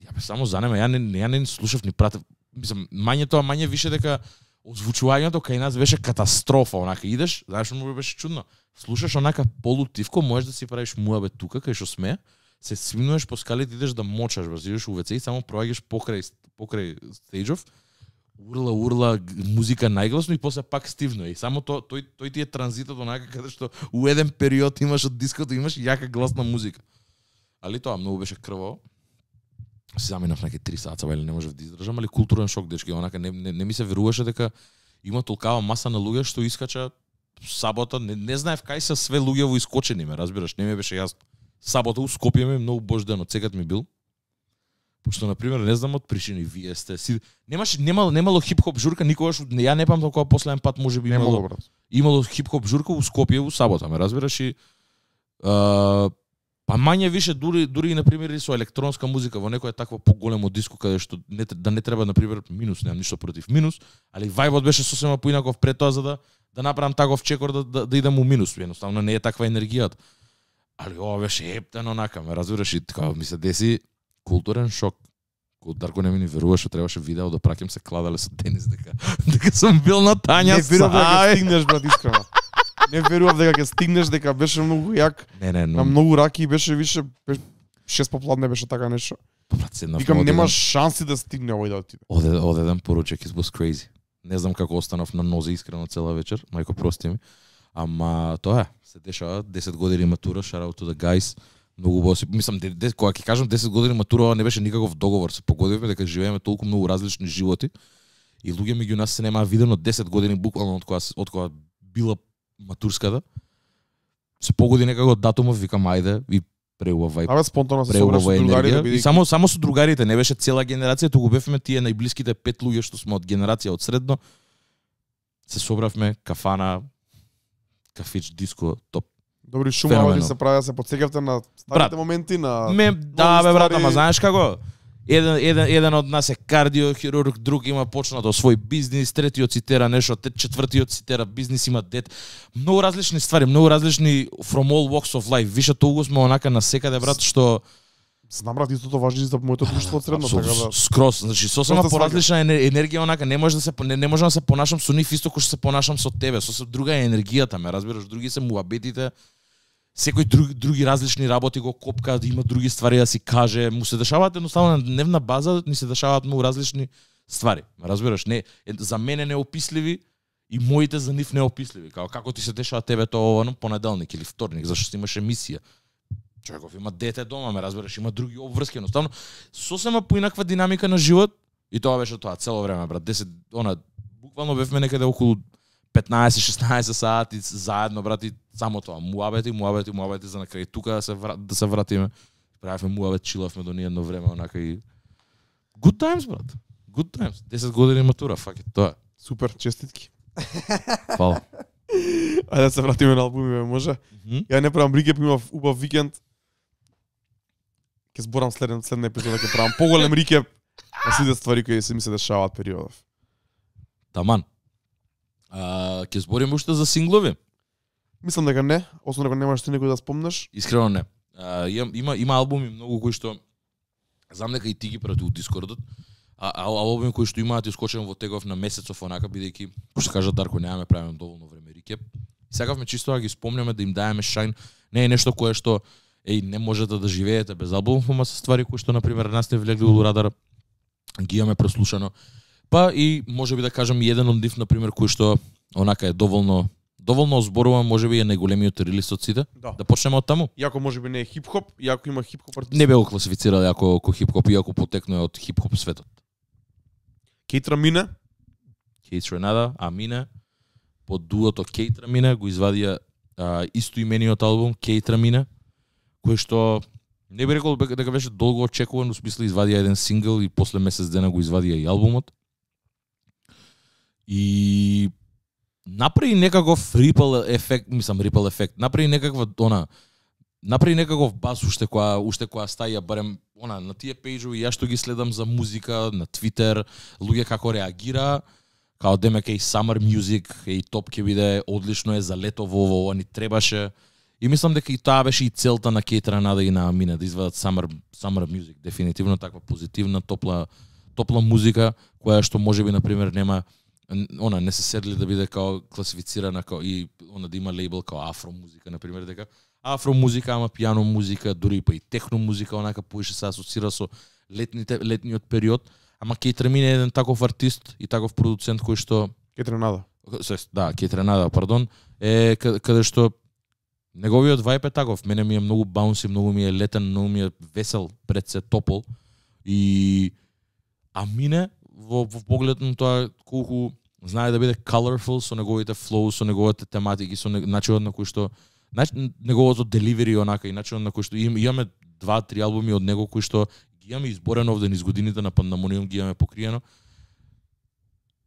ја бе само занема, ја не, ја не слушав ни пратев, мислам, мање тоа, мање више дека озвучувањето кај нас беше катастрофа, онака идеш, знаеш му беше чудно. Слушаш онака полутивко, можеш да си правиш муабет тука кај што сме, се свинуваш по скалите, идеш да мочаш, брат, идеш у вец и само проаѓаш покрај покрај стејџов, урла урла музика најгласно и после пак стивно и само то, тој тој ти е транзитот онака каде што у еден период имаш од диското имаш јака гласна музика. Али тоа многу беше крваво. Се заминав некај три саца, или не можев да издржам, али културен шок, дечки, онака не, не, не ми се веруваше дека има толкава маса на луѓе што искача сабота, не, не знаев кај се све луѓе во искочени, ме разбираш, не ми беше јасно. Сабота у Скопје ми многу божден од секад ми бил. Пошто на пример не знам од причини вие сте си немаше немало немало хип-хоп журка никогаш, ја не памтам кога последен пат можеби имало. Немало, брат. Имало хип-хоп журка у Скопје у сабота, ме разбираш и а, па мање више дури дури и на пример и со електронска музика во некоја таква поголемо диско каде што не да не треба на пример минус, немам ништо против минус, али вајбот беше сосема поинаков пред тоа за да да направам таков чекор да да, да идам у минус, едноставно не е таква енергијата. Али ова беше ептен онака, ме разбираш и така ми се деси културен шок. Кој Дарко не ми ни верува што требаше видео да праќам се кладале со Денис дека дека сум бил на Тања. Не верував дека ќе стигнеш, брат, искрено. Не верував дека ќе стигнеш, дека беше многу јак. Не, не, но... На многу раки беше више шест попладне беше така нешто. Брат, седнав. Викам нема шанси да стигне овој да отиде. Оде одеден поручек, it was crazy. Не знам како останав на нозе искрено цела вечер, мајко прости ми. Ама тоа е, се дешава десет години матура, shout out to the guys. Многу боси, мислам, де, де, кога ќе кажам десет години матура, не беше никаков договор, се погодивме дека живееме толку многу различни животи и луѓе меѓу нас се немаа видено десет години буквално од кога од кога била матурската. Се погоди некако датумов, викам ајде и преубав вајб. Абе спонтано се собрав со другарите, бидејќи само само со другарите, не беше цела генерација, туку бевме тие најблиските пет луѓе што сме од генерација од средно. Се собравме, кафана, кафич, диско, топ. Добри шумави се прави, се потсекавте на старите моменти на ме, да бе брат, ама знаеш како? Еден еден еден од нас е кардиохирург, друг има почнато свој бизнис, третиот цитера нешто, четвртиот цитера бизнис, има дет. Многу различни ствари, многу различни from all walks of life. Више толку сме онака на секаде брат што знам брат, истото важи за моето друштво од средно, така да. Скрос, значи сосема поразлична енергија онака, не може да се не, не можам да се понашам со нив исто кој што се понашам со тебе, сосем друга е енергијата, ме разбираш, други се муабетите. Секој други, други различни работи го копка, да има други ствари да си каже, му се дешаваат едноставно на дневна база, ни се дешаваат многу различни ствари. Разбираш, не за мене неописливи и моите за нив неописливи. Како како ти се дешава тебе тоа во понеделник или вторник, зашто имаш емисија. Човеков има дете дома, ме разбираш, има други обврски, едноставно сосема поинаква динамика на живот и тоа беше тоа цело време, брат. десет она буквално бевме некаде околу петнаесет шеснаесет сати заедно, брат, и само тоа, муабети, муабети, муабети за на крај тука да се врат, да се вратиме. Правевме муабет, чилавме до ние едно време онака и good times, брат. Good times. десет години матура, фак е тоа. Супер, честитки. Фала. Ајде да се вратиме на албумиве, може? Mm -hmm. Ја не правам рикеп, имав убав викенд. Ќе зборам следен следна епизода, ќе правам поголем рикеп на сите ствари кои се ми се дешаваат периодов. Таман. А, ќе збориме уште за синглови? Мислам дека не, освен ако немаш ти некој да спомнеш. Искрено не. А, има, има има албуми многу кои што знам дека и ти ги прати у Дискордот. А, а албуми кои што имаат искочен во тегов на месецов онака, бидејќи кој што кажа Дарко немаме правиме доволно време рикеп. И сакавме чисто да ги спомнеме, да им даеме шајн. Не е нешто кое што еј не можете да живеете без албум, ама се ствари кои што на пример нас не влегли у радар, ги имаме прослушано. Па и можеби да кажам и еден од нив на пример кој што онака е доволно доволно озборува, можеби е најголемиот релиз од сите. Да. Да почнеме од таму. Иако можеби не е хип-хоп, иако има хип-хоп артист. Не бе го класифицирал како како хип-хоп, иако потекнува од хип-хоп светот. Кейтра Мине, Кейтра Нада, Амина, под дуото Кейтра Мине го извадија а, исто имениот албум Кейтра Мине, кој што не би рекол дека беше долго очекуван, у смисло извадија еден сингл и после месец дена го извадија и албумот. И направи некаков рипл ефект, мислам рипл ефект, направи некаква она направи некаков бас уште која уште која стаја барем она на тие пејџови, јас што ги следам за музика на Твитер, луѓе како реагира, као демека и Summer Music, и топ ќе биде одлично е за лето во ова ни требаше. И мислам дека и таа беше и целта на Кейтра Нада и на Амина да извадат Summer Summer Music, дефинитивно таква позитивна, топла топла музика која што можеби на пример нема она не се седли да биде као класифицирана као и она да има лейбл као афро музика на пример, дека афро музика, ама пијано музика, дури па и техно музика, онака поише се асоцира со летните летниот период, ама Кейтра Мине е еден таков артист и таков продуцент кој што Кейтра Нада. Да, Кейтра Нада, пардон, е каде што неговиот вајб е таков, мене ми е многу баунси, многу ми е летен, многу ми е весел, пред се топол и Амине во, во поглед на тоа колку знае да биде colorful со неговите flow, со неговите тематики, со начинот на кој што неговото delivery онака и начинот на кој што им, имаме два три албуми од него кои што ги имаме изборено овде низ годините на Pandemonium, ги имаме покриено.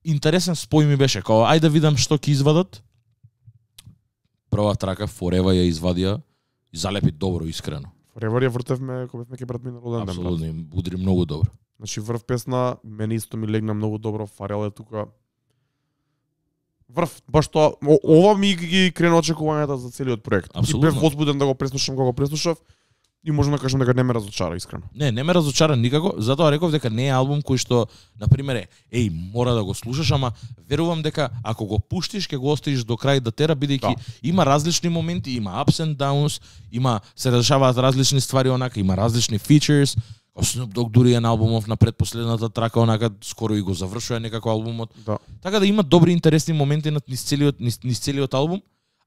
Интересен спој ми беше, као ајде да видам што ќе извадат. Прва трака Forever ја извадија и залепи добро, искрено. Forever ја вртевме кога бевме ке брат минало ден. Апсолутно, удри многу добро. Значи врв песна, мене исто ми легна многу добро, Фарел е тука. Врв, баш тоа, ова ми ги крена очекувањата за целиот проект. Апсолутно. И бев возбуден да го преслушам кога го преслушав и можам да кажам дека не ме разочара искрено. Не, не ме разочара никако, затоа реков дека не е албум кој што на пример е, еј, мора да го слушаш, ама верувам дека ако го пуштиш ќе го оставиш до крај да тера, бидејќи да. Има различни моменти, има ups and downs, има се дешаваат различни ствари онака, има различни features. Snoop Dogg дури е на албумов на предпоследната трака, онака скоро и го завршува некако албумот. Да. Така да има добри интересни моменти на низ целиот низ, низ целиот албум,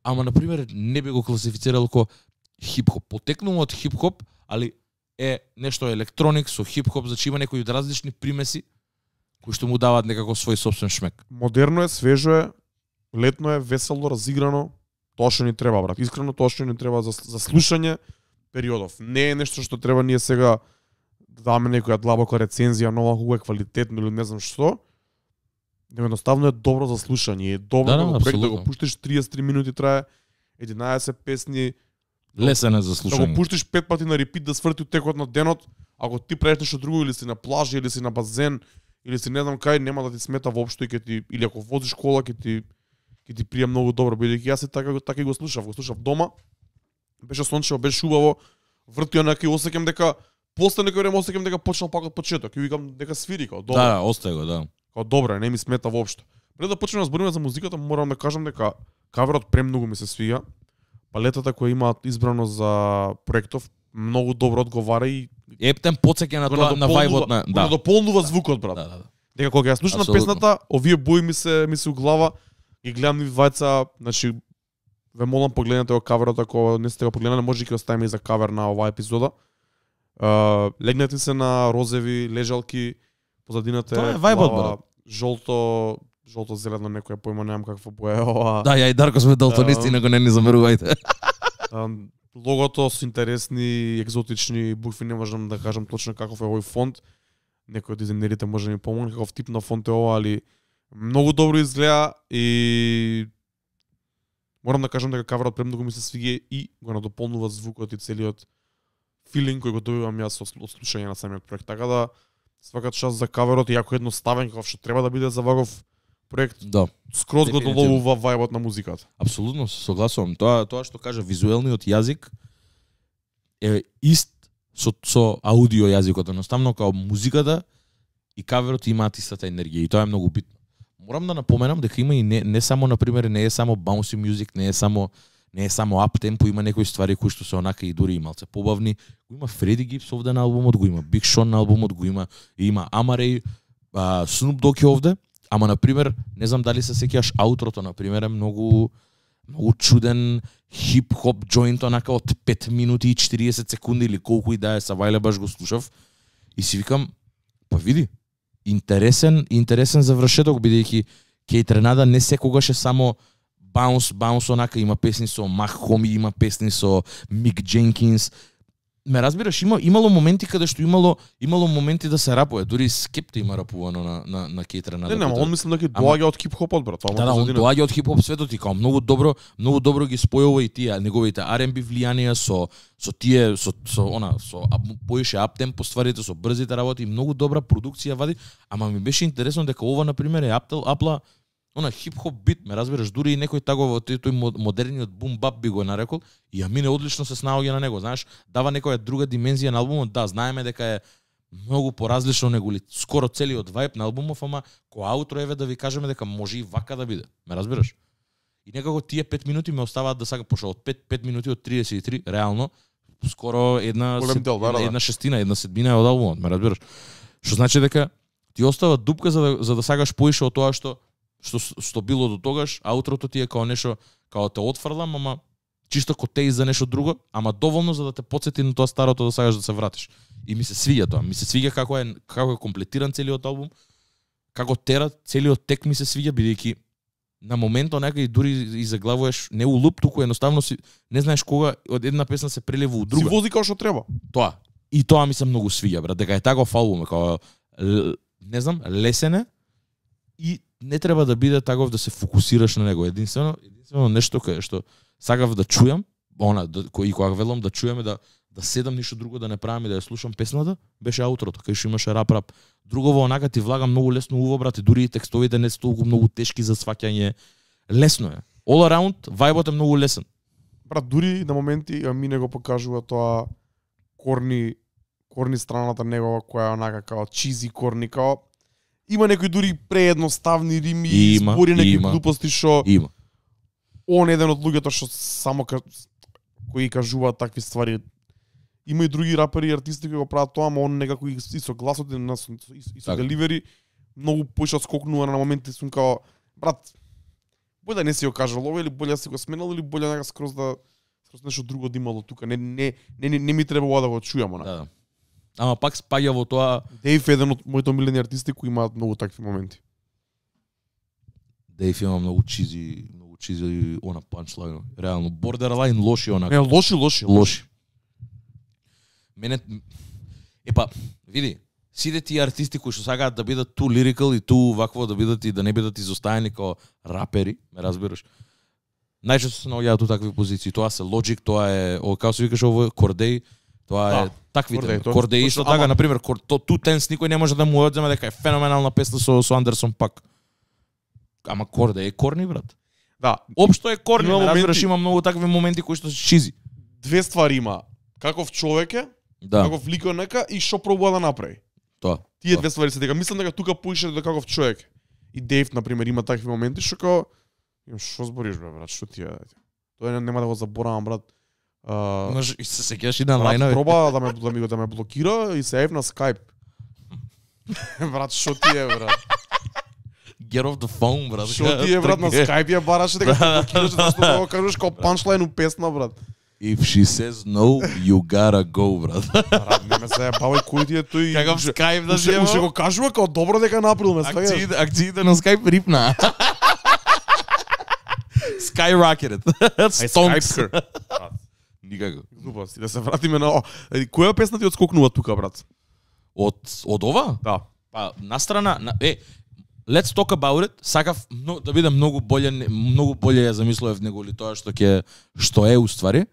ама на пример не би го класифицирал како хип-хоп. Потекнува од хип-хоп, али е нешто електроник со хип-хоп, значи има некои различни примеси кои што му даваат некако свој собствен шмек. Модерно е, свежо е, летно е, весело, разиграно. Тоа што ни треба, брат. Искрено тоа што ни треба за, за слушање периодов. Не е нешто што треба ние сега да даваме некоја длабока рецензија, нова хубава квалитетно или не знам што. Него едноставно е добро за слушање. Е добро да, да, го проект да го пуштиш триесет и три минути трае, единаесет песни. Лесен е за слушање. Да го пуштиш пет пати на репит да сврти од текот на денот, ако ти правиш нешто друго или си на плажа или си на базен или си не знам кај, нема да ти смета воопшто и ќе ти или ако возиш кола ќе ти ќе ти прија многу добро, бидејќи јас и така така и го слушав, го слушав дома. Беше сончево, беше убаво. Врти онака и осеќам дека после некој време осеќам дека почнал пак од почеток и викам дека свири као добро. Да, остај го, да. Као добро, не ми смета воопшто. Пред да почнеме да збориме за музиката, морам да кажам дека каверот премногу ми се свија. Палетата која имаат избрано за проектов многу добро одговара и ептен потсеќа на тоа на вајбот на да. Дополнува звукот, брат. Да, да, да. Дека кога ја слушам песната, овие бои ми се ми се у глава и гледам нив двајца, значи ве молам погледнете го каверот, ако не сте го погледнале, може ќе оставиме и за кавер на оваа епизода. Uh, легнете се на розеви лежалки, позадината е вајбот, жолто, жолто зелено, некоја појма, немам каква боја е ова. Да, ја и Дарко сме далтонисти, uh, него не ни замерувајте. uh, логото со интересни, екзотични букви, не можам да кажам точно каков е овој фонт. Некој од дизајнерите може да ми помогне каков тип на фонт е ова, али многу добро изгледа и морам да кажам дека каверот премногу ми се свиѓа и го надополнува звукот и целиот филинг кој го добивам јас од слушање на самиот проект. Така да свака част за каверот, иако едноставен како што треба да биде за ваков проект. Да. Скроз го доловува вајбот на музиката. Апсолутно се согласувам. Тоа тоа што кажа визуелниот јазик е ист со со аудио јазикот, едноставно како музиката и каверот имаат истата енергија и тоа е многу битно. Морам да напоменам дека има и не, не само на пример не е само bouncy music, не е само не е само ап темпо, има некои ствари кои што се онака и дури и малце побавни. Го има Фреди Гипс овде на албумот, го има Биг Шон на албумот, го има и има Амарей, Snoop Dogg е овде, ама на пример, не знам дали се сеќаш аутрото на пример е многу многу чуден хип-хоп джоинт онака од пет минути и четириесет секунди или колку и да е, савајле баш го слушав и си викам, па види, интересен, интересен завршеток, бидејќи Кейт Ренада не секогаш е само Bounce, Bounce онака, има песни со Мах Хоми, има песни со Мик Дженкинс. Ме разбираш, има имало моменти каде што имало имало моменти да се рапува, дури Скепта има рапувано на на на Кейт Ренада. Не, не, он мислам дека доаѓа од хип-хопот, брат. Да, да, он доаѓа од хип-хоп светот и као многу добро, многу добро ги спојува и тие неговите ар енд би влијанија со со тие со со она со поише ап темпо стварите, со брзите работи, многу добра продукција вади, ама ми беше интересно дека ова на пример е аптел апла она хип-хоп бит, ме разбираш, дури и некој тагово тој модерниот бум бап би го нарекол и ја мине одлично се снаоѓа на него, знаеш, дава некоја друга димензија на албумот, да, знаеме дека е многу поразлично него ли скоро целиот вајб на албумов, ама кој аутро еве да ви кажеме дека може и вака да биде, ме разбираш? И некако тие пет минути ме оставаат да сака пошо од пет пет минути од тридесет и три, реално скоро една сед, дел, да, една, да. една шестина, една седмина од албумот, ме разбираш? Што значи дека ти остава дупка за да, за да сакаш поише од тоа што што што било до тогаш, аутрото ти е као нешто, као те отфрлам, ама чисто котеј за нешто друго, ама доволно за да те потсети на тоа старото да сакаш да се вратиш. И ми се свиѓа тоа, ми се свиѓа како е како е комплетиран целиот албум, како тера целиот тек ми се свиѓа бидејќи на моментот некај дури и заглавуваш не у луп, туку едноставно си не знаеш кога од една песна се прелива у друга. Си вози како што треба. Тоа. И тоа ми се многу свиѓа, брат, дека е таков албум, како не знам, лесен е и не треба да биде таков да се фокусираш на него. Единствено, единствено нешто кое што сакав да чујам, она да, кој и кога велам да чуеме да да седам ништо друго да не правам и да ја слушам песната, беше аутрото, кај што имаше рап рап. Другово онака ти влага многу лесно уво, брат, и дури и текстовите не се толку многу тешки за сваќање. Лесно е. All around, вајбот е многу лесен. Брат, дури на моменти а ми не го покажува тоа корни корни страната негова која е онака као чизи корни, као има некои дури преедноставни рими, Има, збори некои има. глупости што Има. он еден од луѓето што само ка... кои кажуваат такви ствари. Има и други рапери и артисти кои го прават тоа, ама он некако и со гласот и, на, и, и со така. деливери многу поише скокнува на моменти сум као брат, боле не си го кажал ова или боле си го сменал или боле нека скроз да скроз нешто друго да имало тука. Не не не не, не ми треба ова да го чујам она. Да, да. Ама пак спаѓа во тоа. Дейв е еден од моите омилени артисти кои имаат многу такви моменти. Дейв има многу чизи, многу чизи она панчлайн. Реално бордерлайн лоши онака. Не, лоши, лоши, лоши. Мене епа, види, сите тие артисти кои што сакаат да бидат ту лирикал и ту вакво да бидат и да не бидат изоставени како рапери, ме разбираш. Најчесто се наоѓаат у такви позиции. Тоа се Logic, тоа е, о, како се викаш ово, Кордеј, тоа Да, е таквите. Кордеј, тоа- Кордеј тоа исто што- така, ама- на пример, Two Tense никој не може да му одземе дека е феноменална песна со со Андерсон пак. Ама Кордеј е корни, брат. Да, Општо е корни, Има ме разбираш, моменти- има многу такви моменти кои што се чизи. две ствари има. Каков човек е, Да, каков лик е нека и што пробува да направи. тоа. Тие Тоа. две ствари се дека мислам дека тука поише до каков човек. И Дейв на пример има такви моменти што као имам што збориш бе брат, што ти е? Тоа не- нема да го заборавам брат. А, Имаш и се сеќаш и на брат лајнови. проба да ме да ми го да ме блокира и се јави на Skype. Брат, што ти е брат? Get off the phone, брат. Што ти е брат на Skype ја бараше дека те блокираш зашто да го кажеш како панчлайн у песна брат. If she says no, you gotta go, брат. Брат, не ме се бавај кој ти е тој. Каков Уше- Skype да уше- си Уше го кажува како добро дека направил ме сваѓаш. Акциите, акциите на Skype рипна. Skyrocketed. Ај Stonks. Skype. Никако. Глупости, да се вратиме на... Еди, која песна ти отскокнува тука, брат? Од од ова? Да. Па настрана на е Let's talk about it. Сакав но, да биде многу боле, многу боле ја замислував него ли тоа што ќе што е уствари.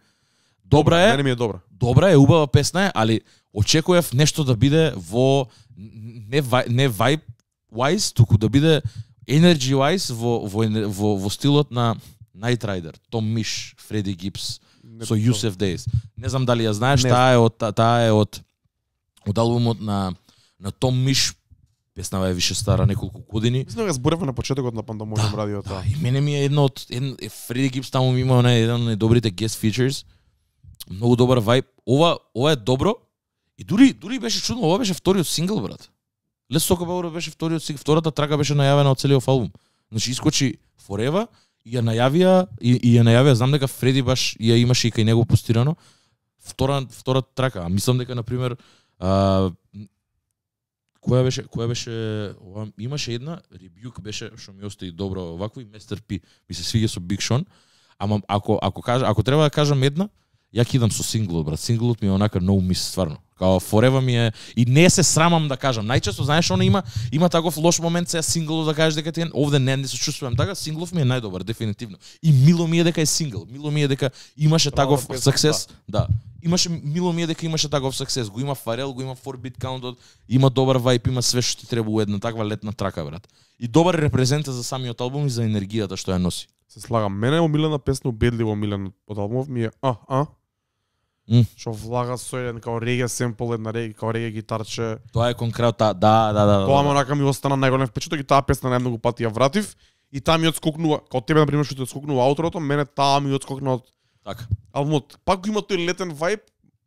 Добра е. Не ми е добра. Добра е, убава песна е, али очекував нешто да биде во не вај, не vibe wise, туку да биде energy wise во во ене- во, во стилот на Night Rider, Том Миш, Фреди Гипс Не, со Юсеф Дейс. Не знам дали ја знаеш, Не таа е од та- таа е од од албумот на на Том Миш. Песнава е више стара неколку години. Мислам дека зборевме на почетокот на Пандамониум Да, радиото. Да, и мене ми е едно од еден е, Фреди Гипс таму ми има онaj еден од најдобрите guest features. Многу добар вајб. Ова ова е добро. И дури дури беше чудно, ова беше вториот сингл, брат. Let's Talk About It беше вториот сингл, втората трака беше најавена од целиот албум. Значи искочи Forever и ја најавија и, и ја најавија, знам дека Фреди баш ја имаше и кај него постирано. Втора втора трака, а мислам дека на пример а, која беше која беше ова, имаше една Rebuke беше што ми остави добро вакво и Мистер P ми се свиѓа со Big Sean, ама ако ако кажа ако треба да кажам една, ја кидам со синглот, брат. Синглот ми е онака no miss стварно. Као Forever ми е и не се срамам да кажам. Најчесто знаеш она има има таков лош момент се синглот да кажеш дека ти е овде не не се чувствувам така, синглов ми е најдобар дефинитивно. И мило ми е дека е сингл. Мило ми е дека имаше Права таков песна, success, да. Имаше мило ми е дека имаше таков success. Го има Фарел, го има four beat count, има добар вајб, има све што ти треба у една таква летна трака, брат. И добар репрезента за самиот албум и за енергијата што ја носи. Се слагам. Мене омилена песна, убедливо омилена од албумов ми е А, А. М. Што влага со еден као реге семпл, една реге, као реге гитарче. Тоа е конкретно, да, да, да. Тоа да, ме онака ми остана најголем впечаток и таа песна најмногу пати ја вратив. И таа ми отскокнува, као тебе на пример што ти отскокнува ауторото, мене таа ми отскокна од Така. албумот. Пак го има тој летен вајб,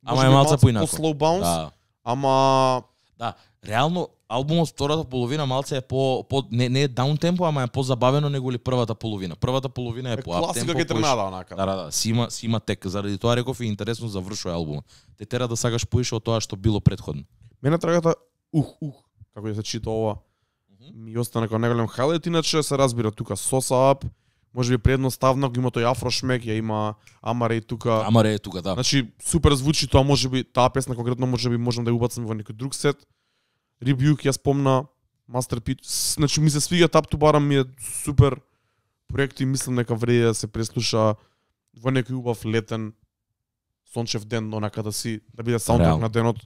Ама може е би малце малце поинако. по slow bounce, Да. ама Да, реално албумот втората половина малце е по, по не не е даун темпо, ама е позабавено него ли првата половина. Првата половина е е по ап класика темпо. ке тренада онака. Да, да, да, си има си има тек. Заради тоа реков и интересно завршува албумот. Те тера да сакаш поише од тоа што било претходно. Мене трагата ух ух, како ја се чита ова. ми остана како најголем хайлайт, иначе се разбира тука Соса Ап, можеби предноставно го има тој афрошмек, ја има Амаре тука. Амаре е тука, да. Значи супер звучи тоа, можеби таа песна конкретно можеби можам да ја убацам во некој друг сет. Rebuke ја спомна, Masterpiece, значи ми се свиѓа Tap to Bottom, ми е супер проект и мислам дека вреди да се преслуша во некој убав летен сончев ден, онака да си да биде саундтрак на денот.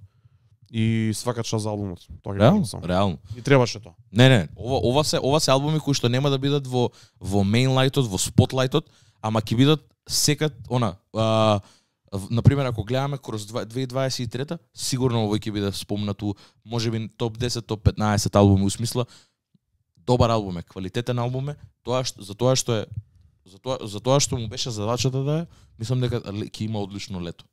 И свака час за албумот. Тоа ќе Реално, кажам. реално. И требаше тоа. Не, не, ова ова се ова се албуми кои што нема да бидат во во мејнлајтот, во спотлајтот, ама ќе бидат секад она, а, на пример ако гледаме кроз две тисаци дваесет и трета, сигурно овој ќе биде спомнато, можеби топ десет, топ петнаесет албуми, у смисла добар албум е, квалитетен албум е, тоа што за тоа што е за тоа за тоа што му беше задачата да е, мислам дека ќе има одлично лето.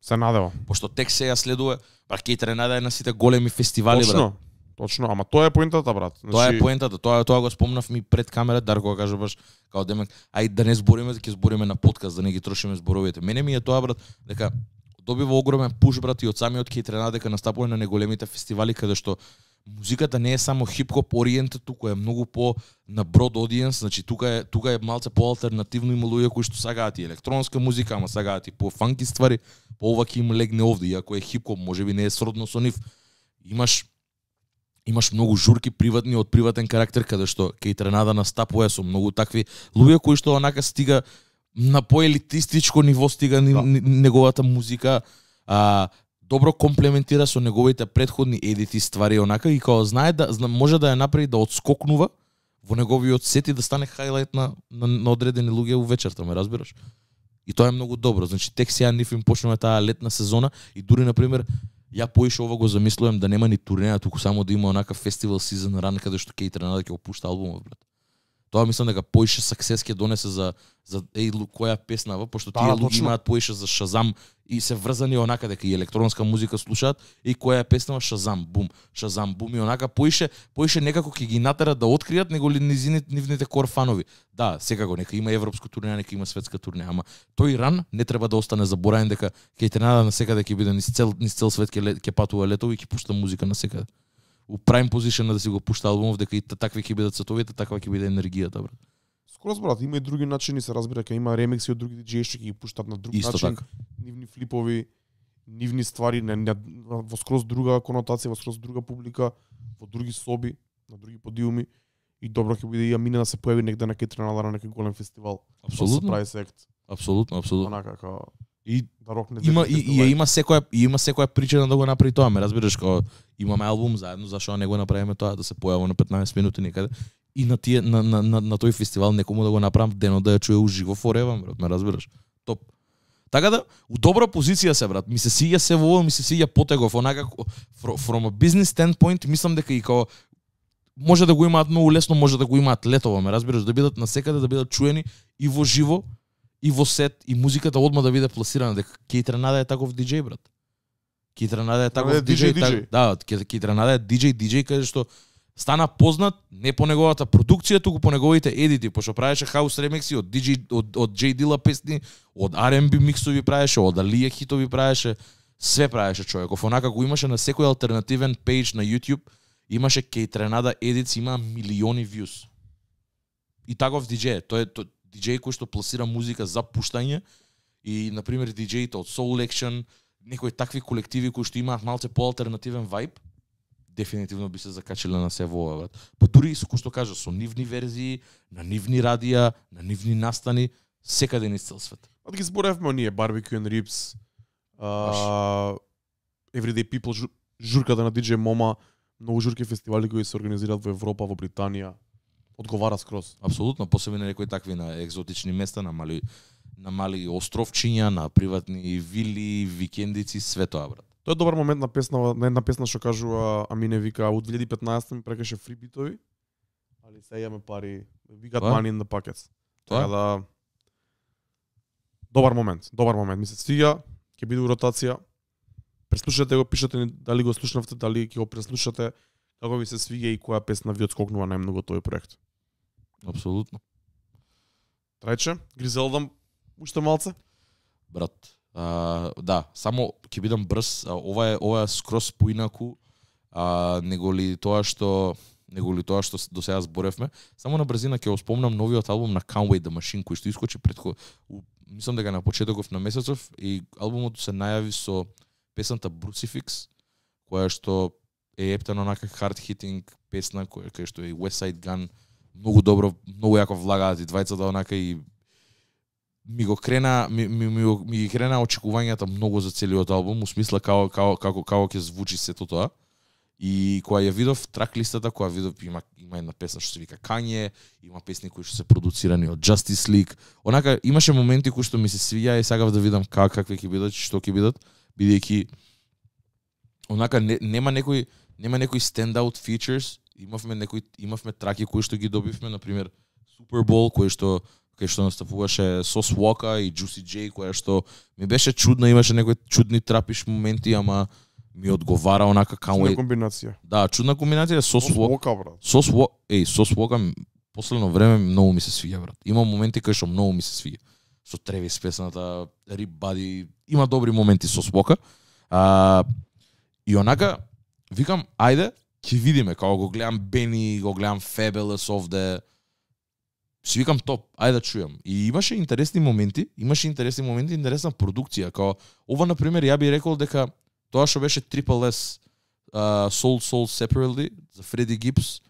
Се надева. Пошто тек сега следува, па ќе тренада на сите големи фестивали, Точно, брат. точно, ама тоа е поентата, брат. Значи, Тоа е поентата, тоа тоа го спомнав ми пред камера, Дарко го кажа баш као демек, ај да не збориме, да ќе збориме на подкаст, да не ги трошиме зборовите. Мене ми е тоа, брат, дека добива огромен пуш, брат, и од самиот ќе тренада дека настапува на неголемите фестивали каде што музиката не е само хип-хоп ориентед, тука е многу по на брод audience, значи тука е тука е малце поалтернативно, има луѓе кои што сагаат и електронска музика, ама сагаат и по фанки ствари, по ова ќе им легне овде, иако е хип-хоп, можеби не е сродно со нив. Имаш имаш многу журки приватни од приватен карактер каде што ќе тренада настапува со многу такви луѓе кои што онака стига на поелитистичко ниво стига да. Неговата музика, а добро комплементира со неговите претходни едити ствари онака и кога знае да може да ја направи да отскокнува во неговиот сет и да стане хайлайт на, на, на одредени луѓе у вечерта, ме разбираш? И тоа е многу добро. Значи тек сега нив им почнува таа летна сезона и дури на пример ја поише ова го замислувам да нема ни турнеја, туку само да има онака фестивал сезон ран каде што ќе тренада ќе опушта албумот, брат. Тоа мислам дека поише саксес ќе донесе за за еј која песнава, пошто тие да, луѓе имаат поише за Шазам и се врзани онака дека и електронска музика слушаат и која песнава Шазам, бум, Шазам, бум и онака поише поише некако ќе ги натера да откријат него ли низините нивните кор фанови. Да, секако нека има европско турнеја, нека има светска турнеја, ама тој ран не треба да остане заборавен дека ќе тренада на секаде ќе биде низ цел низ цел свет ќе ќе патува летови и ќе пушта музика на секаде. У prime position да си го пушта албумов, дека и такви ќе бидат сетовите, таква ќе биде енергијата, брат. Скроз, брат, има и други начини, се разбира, дека има ремикси од други диџеи што ќе ги пуштат на друг Исто начин, така. нивни флипови, нивни ствари, не, не, во скроз друга конотација, во скроз друга публика, во други соби, на други подиуми и добро ќе биде и ја мине да се појави негде на Кетренала на некој голем фестивал. Апсолутно. Прави сект. Апсолутно, апсолутно. Онака како И да рокне има и, и ја има секоја и има секоја причина да го направи тоа, ме разбираш, кога имаме албум заедно, зашо не го направиме тоа да се појави на петнаесет минути некаде и на тие на на на, на тој фестивал некому да го направам денот да ја чуе уживо форева, брат, ме разбираш. Топ. Така да, у добра позиција се, брат. Ми се сиѓа се во, ми се сиѓа потегов, онака from a business standpoint, мислам дека и као може да го имаат многу лесно, може да го имаат летово, ме разбираш, да бидат насекаде, да бидат чуени и во живо, и во сет, и музиката одма да биде пласирана, дека Кейтренада е таков диџеј, брат. Кейтренада е таков диџеј, так, да, Кейтренада е диџеј, диџеј каде што стана познат не по неговата продукција, туку по неговите едити, пошто правеше хаус ремикси од диџеј од од J Dilla песни, од R and B миксови правеше, од Алија хитови правеше, све правеше човеков. Онака го имаше на секој алтернативен пејдж на YouTube, имаше Кейтренада едитс, има милиони views. И таков диџеј, тој е диџеј кој што пласира музика за пуштање и на пример диџеите од Soul Action, некои такви колективи кои што имаат малце поалтернативен вајб, дефинитивно би се закачиле на се во ова, брат. Па дури и со кој што кажа, со нивни верзии, на нивни радија, на нивни настани, секаде низ цел свет. Од ги зборевме оние Barbecue and Ribs, uh, Everyday People, жур, журката на диџеј Мома, многу журки фестивали кои се организираат во Европа, во Британија, одговара скроз. Апсолутно, посебно на некои такви на екзотични места, на мали на мали островчиња, на приватни вили, викендици, све тоа, брат. Тоа е добар момент на песна, на една песна што кажува Амине, вика од две илјади и петнаесета ми прекаше фри битови, али сега имаме пари, we got money in the pockets. Така да добар момент, добар момент, ми се свиѓа, ќе биде у ротација. Преслушате го, пишете ни дали го слушнавте, дали ќе го преслушате, како ви се свиѓа и која песна ви отскокнува најмногу тој проект. Апсолутно. Трајче, Гризелдам уште малце? Брат, а, да, само ќе бидам брз, а, ова е ова е скроз поинаку, а него ли тоа што него ли тоа што до сега зборевме. Само на брзина ќе го спомнам новиот албум на Conway the Machine кој што искочи предход, мислам дека на почетоков на месецов, и албумот се најави со песната Brucifix, која што е ептено онака hard hitting песна која кај што е West Side Gun многу добро, многу јако влагаат и двајцата онака, и ми го крена ми ми ми, ми ги крена очекувањата многу за целиот албум, у смисла како како како како ќе звучи сето тоа. И кога ја видов трак листата, кога видов има има една песна што се вика Kanye, има песни кои што се продуцирани од Justice League. Онака имаше моменти кои што ми се свија и сакав да видам как какви ќе бидат, што ќе бидат, бидејќи онака не, нема некој нема некои standout features. Имавме некои имавме траки кои што ги добивме, на пример Super Bowl, кој што кај што настапуваше Sauce Walker и Juicy J, која што ми беше чудна, имаше некои чудни трапиш моменти, ама ми одговара онака Conway. Чудна комбинација. Да, чудна комбинација со Sauce Walker, брат. Sauce Walker, еј, Sauce Walker последно време многу ми се свиѓа, брат. Има моменти кај што многу ми се свиѓа. Со Тревис песната, Rip Buddy, има добри моменти со Sauce Walker. А, и онака викам, ајде, ќе видиме, како го гледам Бени, го гледам Fabulous овде. Си викам топ, ајде да чујам. И имаше интересни моменти, имаше интересни моменти, интересна продукција, како ова на пример ја би рекол дека тоа што беше Triple S uh, Soul Soul Separately за Freddie Gibbs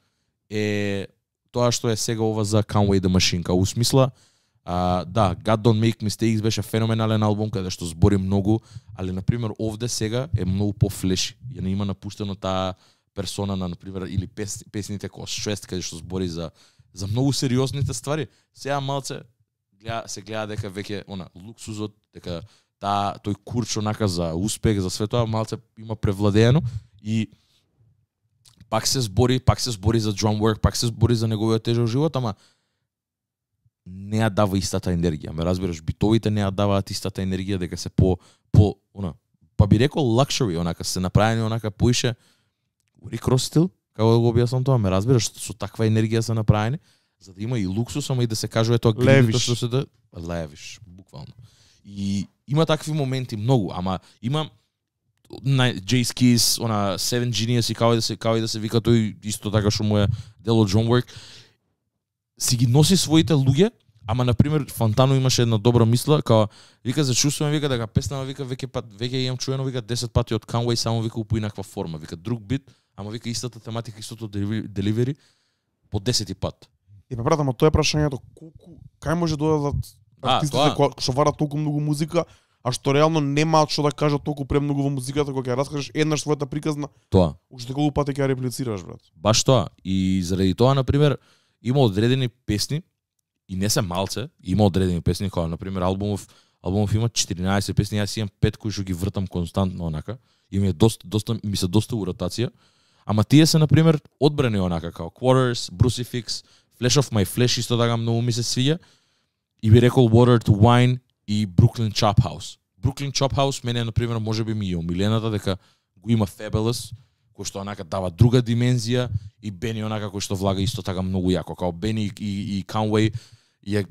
е тоа што е сега ова за Conway the Machine. Као у смисла, uh, да, God Don't Make Mistakes беше феноменален албум каде што збори многу, али на пример овде сега е многу по-флеши. Ја не има напуштено таа персона на, на пример, или пес, песните кој шест каде што збори за за многу сериозните ствари. Сега малце гледа, се гледа дека веќе она луксузот, дека таа тој курч онака за успех, за све тоа малце има превладеено, и пак се збори, пак се збори за drum work, пак се збори за неговиот тежок живот, ама не ја дава истата енергија. Ме разбираш, битовите не ја даваат истата енергија, дека се по по она, па би рекол luxury, онака се направени онака поише Rick Ross стил, како да го објаснам тоа, ме разбираш, со таква енергија се направени, за да има и луксус, ама и да се кажува тоа гледито што се да левиш, буквално. И има такви моменти многу, ама има на Jay's Keys, она Seven Genius и како да се како и да се вика тој исто така што му е дел од drum work, си ги носи своите луѓе, ама на пример Фантано имаше една добра мисла, као вика за чувствувам, вика дека песнава вика веќе пат веќе имам чуено вика десет пати од Conway, само вика по инаква форма, вика друг бит, ама вика истата тематика, истото деливери по десет пат. И па брат, ама тоа е прашањето, колку кај може да додадат артистите кои што варат толку многу музика, а што реално немаат што да кажат толку премногу во музиката, кога ќе раскажеш еднаш својата приказна. Тоа. Уште колку пати ќе ја реплицираш, брат. Баш тоа. И заради тоа на пример има одредени песни и не се малце, има одредени песни кои на пример албумов албумов има четиринаесет песни, јас имам пет кои што ги вртам константно онака. И ми е доста доста ми се доста у ротација. Ама тие се на пример одбрани онака како Quarters, Brucifix, Flash of My Flesh исто така многу ми се свиѓа. И би рекол Water to Wine и Brooklyn Chop House. Brooklyn Chop House мене на пример можеби ми е омилената, дека го има Fabulous, кој што онака дава друга димензија, и Бени онака кој што влага исто така многу јако, као Бени и, и Conway ја,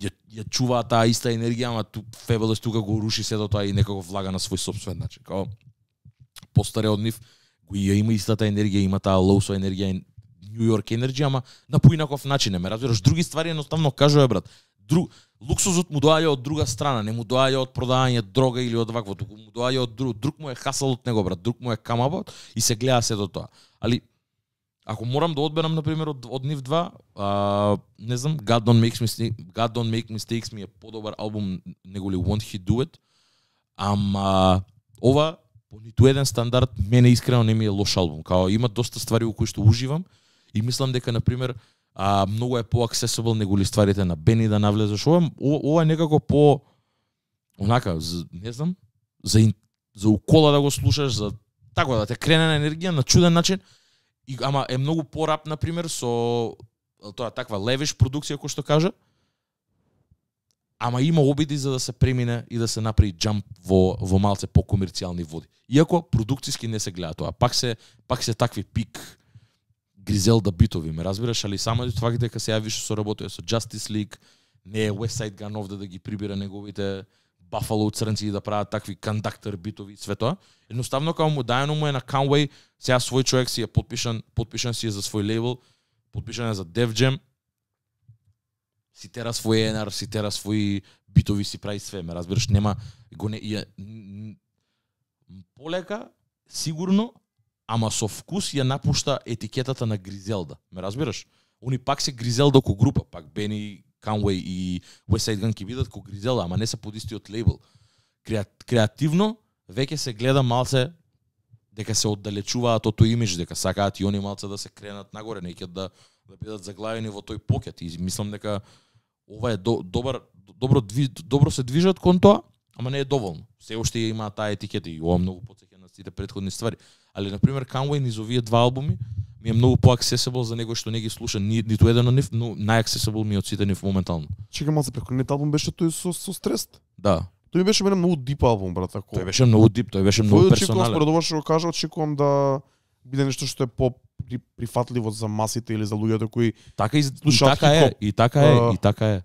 ја, ја чуваат таа иста енергија, ама ту Fabulous тука го руши сето тоа и некако влага на свој сопствен начин. Као постаре од нив го ја има истата енергија, има таа лоусо енергија, New York енергија, ама на поинаков начин, ме разбираш, други ствари едноставно кажува брат. Друг луксузот му доаѓа од друга страна, не му доаѓа од продавање дрога или од вакво, туку му доаѓа од друг, друг му е хасал од него брат, друг му е камабот и се гледа сето тоа. Али ако морам да одберам на пример од, од нив два, а, не знам, God Don't Make Mistakes, God Don't Make Mistakes ми е подобар албум него ли Won't He Do It. Ама ова по ниту еден стандард мене искрено не ми е лош албум. Као има доста ствари во кои што уживам и мислам дека на пример а многу е по-аксесибл него ли стварите на Бени да навлезеш. Ова, ова е некако по онака, за, не знам, за за укола да го слушаш, за така да те крене на енергија на чуден начин. И ама е многу порап на пример со тоа таква левиш продукција кој што кажа. Ама има обиди за да се премине и да се направи джамп во во малце по-комерцијални води. Иако продукциски не се гледа тоа. Пак се пак се такви пик Гризелда битови, ме разбираш, али само тоа дека се ја више со работува со Justice League, не е West Side Gun овде да ги прибира неговите Buffalo црнци и да прават такви кондактор битови и све тоа. Едноставно како му дајано му е на Conway, сега свој човек си е подпишан, подпишан си е за свој лейбл, подпишан е за Def Jam. Си тера свој енар, си тера своји битови, си прави све, ме разбираш, нема го не ја, полека сигурно, ама со вкус ја напушта етикетата на Гризелда, ме разбираш? Они пак се Гризелда ко група, пак Бени, Conway и Westside Gun ќе бидат ко Гризелда, ама не се под истиот лейбл. Креативно веќе се гледа малце дека се оддалечуваат од тој имидж, дека сакаат и они малце да се кренат нагоре, неќе да да бидат заглавени во тој покет. И мислам дека ова е до, добар добро дви, добро се движат кон тоа, ама не е доволно. Се уште има таа етикета и ова многу потсеќа на сите претходни ствари. Али на пример Conway низ овие два албуми ми е многу поаксесибл за некој што не ги слуша ни, ниту еден од нив, но најаксесибл ми е од сите нив моментално. Чека малце претходниот албум беше тој со со стрес. Да. Тој беше мене многу дип албум, брат, ако. Тој беше многу дип, тој беше многу персонален. Според ова што го кажа, очекувам да биде нешто што е по прифатливо за масите или за луѓето кои така и, и така е, и така е, и така е.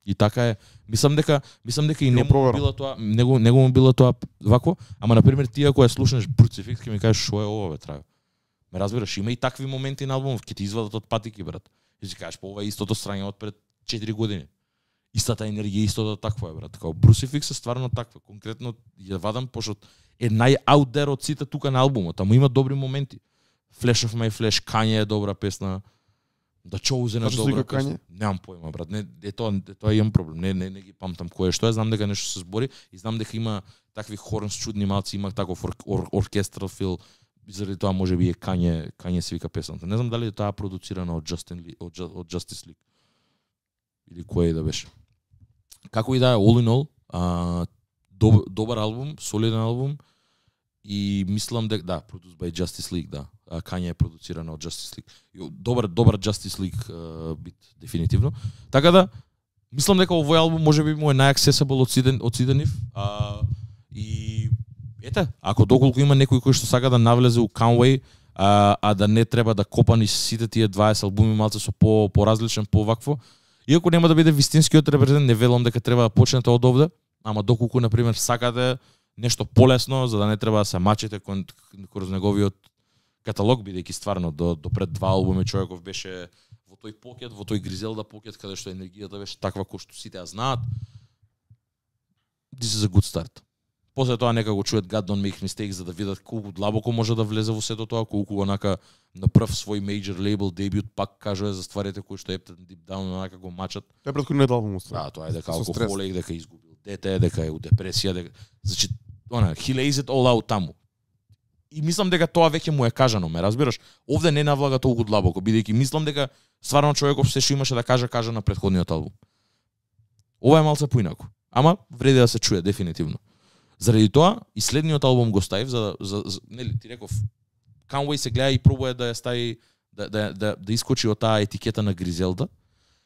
И така е. Мислам дека мислам дека и него било тоа, него него му било тоа вако, ама на пример ти ако ја слушнеш Crucifix ќе ми кажеш што е ова бе трага. Ме разбираш, има и такви моменти на албумов, ќе ти извадат од патики брат. И си кажеш по ова е истото страње од пред четири години. Истата енергија, истото такво е брат. Како Crucifix е стварно такво. Конкретно ја вадам пошто е нај-аут дер од сите тука на албумот, ама има добри моменти. Flash of My Flash, Kanye е добра песна. Да Chosen е добра песна. Немам појма брат. Не, е тоа, е тоа имам проблем. Не, не, не ги памтам кој е што е. Знам дека нешто се збори и знам дека има такви хорнс чудни малци, има таков ор, ор, оркестрал фил. Заради тоа можеби е Kanye, Kanye се вика песната. Не знам дали е тоа продуцирана од Justin Lee, од, од Justice League. Или кој е да беше. Како и да е, all in all, а, доб, добар албум, солиден албум и мислам дека да, produced by Justice League, да. А, Kanye е продуцирана од Justice League. Добар добар Justice League uh, бит дефинитивно. Така да мислам дека овој албум можеби му е најаксесибл од сите од сите нив. А, и ете, ако доколку има некој кој што сака да навлезе у Conway, а, а да не треба да копа ни сите тие дваесет албуми малце со по поразличен, по вакво. Иако нема да биде вистинскиот репрезент, не велам дека треба да почнете од овде, ама доколку на пример сакате нешто полесно за да не треба да се мачите кон кроз неговиот каталог, бидејќи стварно до до пред два албуми човеков беше во тој покет, во тој Гризелда покет каде што енергијата беше таква кој што сите ја знаат. This is a good start. После тоа нека го чует God Don't Make Mistakes за да видат колку длабоко може да влезе во сето тоа, колку онака на прв свој major label дебют пак кажува за стварите кои што ептен deep down онака го мачат. Тоа е претходниот албум. Да, тоа е дека алкохолик, дека изгубил дете, дека е у депресија, дека значи она he lays it all out таму. И мислам дека тоа веќе му е кажано, ме разбираш? Овде не навлага толку длабоко, бидејќи мислам дека стварно човеков се што имаше да каже, кажа на претходниот албум. Ова е малце поинаку, ама вреди да се чуе дефинитивно. Заради тоа и следниот албум го ставив за за, за нели ти реков Conway се гледа и пробува да ја стави да да да, да искочи од таа етикета на Гризелда.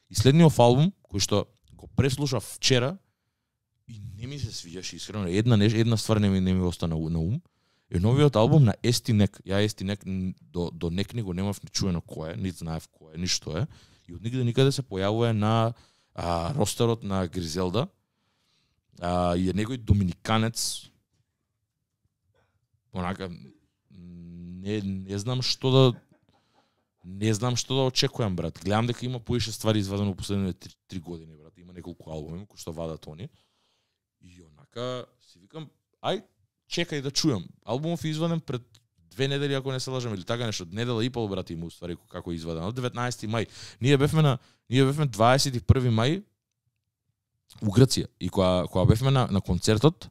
И следниот албум кој што го преслушав вчера и не ми се свиѓаше искрено, една неш, една ствар не ми не ми остана на ум. Е новиот албум на Естинек. Ја Естинек до до некни го немав ни чуено кој е, нит знаев кој е, ни што е. И од нигде никаде се појавува на а, ростерот на Гризелда. А, и е некој доминиканец. Онака не не знам што да не знам што да очекувам брат. Гледам дека има поише ствари извадено во последните три години брат. Има неколку албуми кои што вадат они. И онака си викам, ај чекај да чујам. Албумов е изваден пред две недели ако не се лажам или така нешто. Недела и пол брат има уствари како е извадено. деветнаесети мај. Ние бевме на ние бевме дваесет и први мај у Грција и кога кога бевме на на концертот,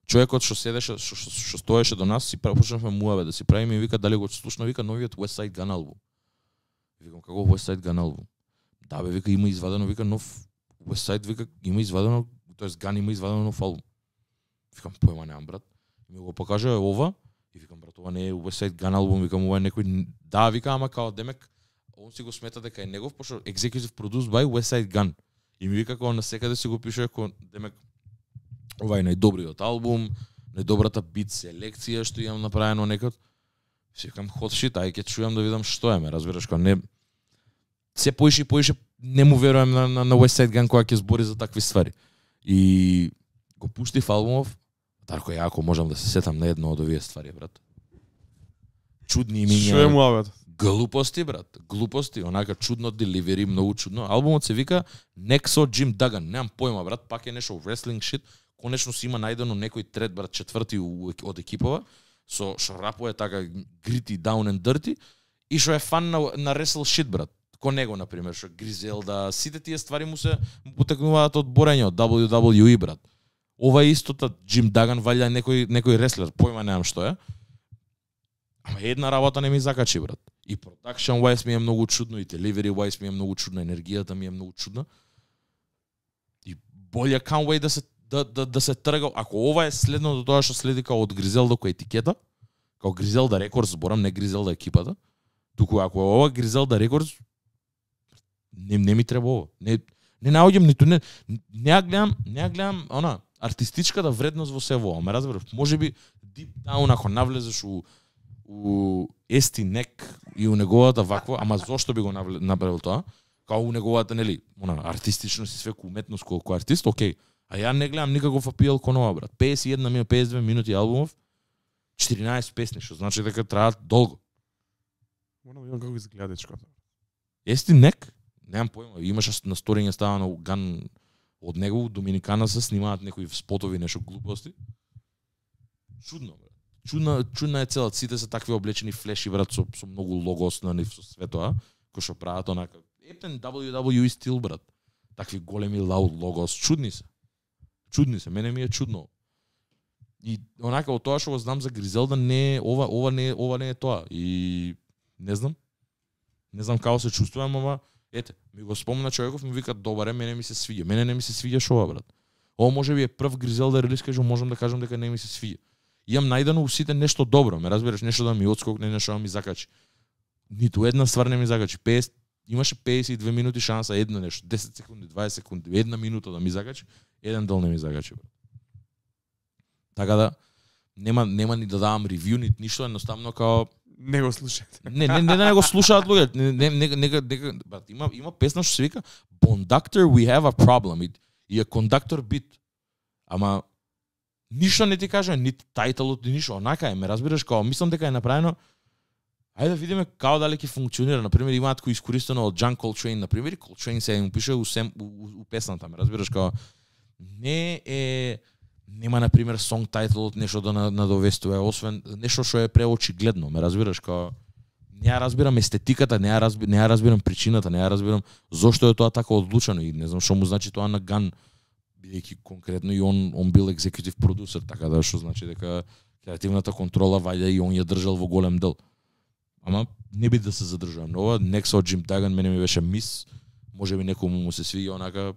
човекот што седеше што што стоеше до нас си почнавме муаве да си правиме и вика дали го слушна, вика новиот Westside Gun албум. Викам како Westside Gun албум? Да бе, вика има извадено, вика нов Westside, вика има извадено, тоест Gun има извадено нов албум. Викам појма немам брат. И ми го покажа ова и викам брат ова не е Westside Gun албум, викам ова е некој да вика ама као демек он си го смета дека е негов пошто executive produced by Westside Gun. И ми вика како на секаде си го пише како демек ова е најдобриот албум, најдобрата бит селекција што имам направено некад. Си викам hot shit, ај ќе чујам да видам што е, ме разбираш кога не се поише и поише не му верувам на на, на Westside Gun кога ќе збори за такви ствари. И го пуштив албумов, Дарко, ја ако можам да се сетам на едно од овие ствари, брат. Чудни имиња. Што е муавет? Глупости, брат. Глупости, онака чудно деливери, многу чудно. Албумот се вика Nexo Jim Duggan. Немам појма, брат, пак е нешто wrestling shit. Конечно си има најдено некој трет, брат, четврти од екипова, со што рапува така gritty, down and dirty, и што е фан на, на wrestle shit, брат. Ко него, например, што Гризелда, сите тие ствари му се потекнуваат од борење, од дабљу дабљу и, брат. Ова е истото, Джим Даган валја некој некој реслер, појма немам што е. Ама една работа не ми закачи, брат. И production wise ми е многу чудно, и delivery wise ми е многу чудно, енергијата ми е многу чудна. И боле can't wait да се да да да се трга. Ако ова е следното тоа што следи као од Гризелда кој етикета, као Гризелда Рекордс, зборам, не Гризелда екипата, туку ако е ова Гризелда Рекордс, не не ми треба ова. Не не наоѓам ниту не не ја гледам, не ја гледам она артистичката вредност во сево, ама разбираш, можеби deep down ако навлезеш у у Ести Нек и у неговата ваква, ама зошто би го направил тоа? Као у неговата, нели, она артистичност и свеку уметност колку артист, окей. А ја не гледам никаков апил кон ова, брат. песет и една минута, песет и две минути албумов, четиринаесет песни, што значи дека траат долго. Морам да видам како изгледа дечката. Ести Нек? Немам појма, имаше на сториње става на Ган од него, Доминикана се снимаат некои спотови, нешто глупости. Чудно, брат. Чудна, чудна е целата, сите се такви облечени флеши, брат, со, со многу логос на со све тоа, кој што прават онака. Ептен дабљу дабљу и стил, брат. Такви големи лауд логос, чудни се. Чудни се, мене ми е чудно. И онака од тоа што го знам за Гризелда, не е ова, ова не е, ова не е тоа. И не знам. Не знам како се чувствувам, ама ете, ми го спомна човеков, ми вика добаре, мене ми се свиѓа. Мене не ми се свиѓа шова, брат. Ова можеби е прв Гризелда релиз кај што можам да кажам дека не ми се свиѓа. Имам најдено у сите нешто добро, ме разбираш, нешто да ми отскокне, нешто да ми закачи. Ниту една ствар не ми закачи. песет имаше песет и две минути шанса, едно нешто, десет секунди, дваесет секунди, една минута да ми закачи, еден дел не ми закачи, брат. Така да нема нема ни да давам ревју, ни ништо, едноставно као не го слушате. Не, не, не да не го слушаат луѓе. Не, не, не, не, не, брат, има има песна што се вика Conductor We Have a Problem. И, и е кондуктор бит. Ама ништо не ти кажа, нити тајтелот, ни ништо. Онака е, ме разбираш, као мислам дека е направено. Ајде да видиме како дали ќе функционира. На пример, имаат кој искористено од John Coltrane, на пример, Coltrane се им пише у, сем, у, у, у песната, ме разбираш, као не е нема на пример сонг тајтлот нешто да надовестува, освен нешто што е преочигледно, ме разбираш, као не ја разбирам естетиката, не ја разбирам, не ја разбирам причината, не ја разбирам зошто е тоа така одлучено и не знам што му значи тоа на Ган, бидејќи конкретно и он он бил екзекутив продусер, така да што значи дека креативната контрола вајде и он ја држал во голем дел. Ама не би да се задржувам на ова, Nexo Jim Duggan мене ми беше мис, можеби некому му се свиѓа онака.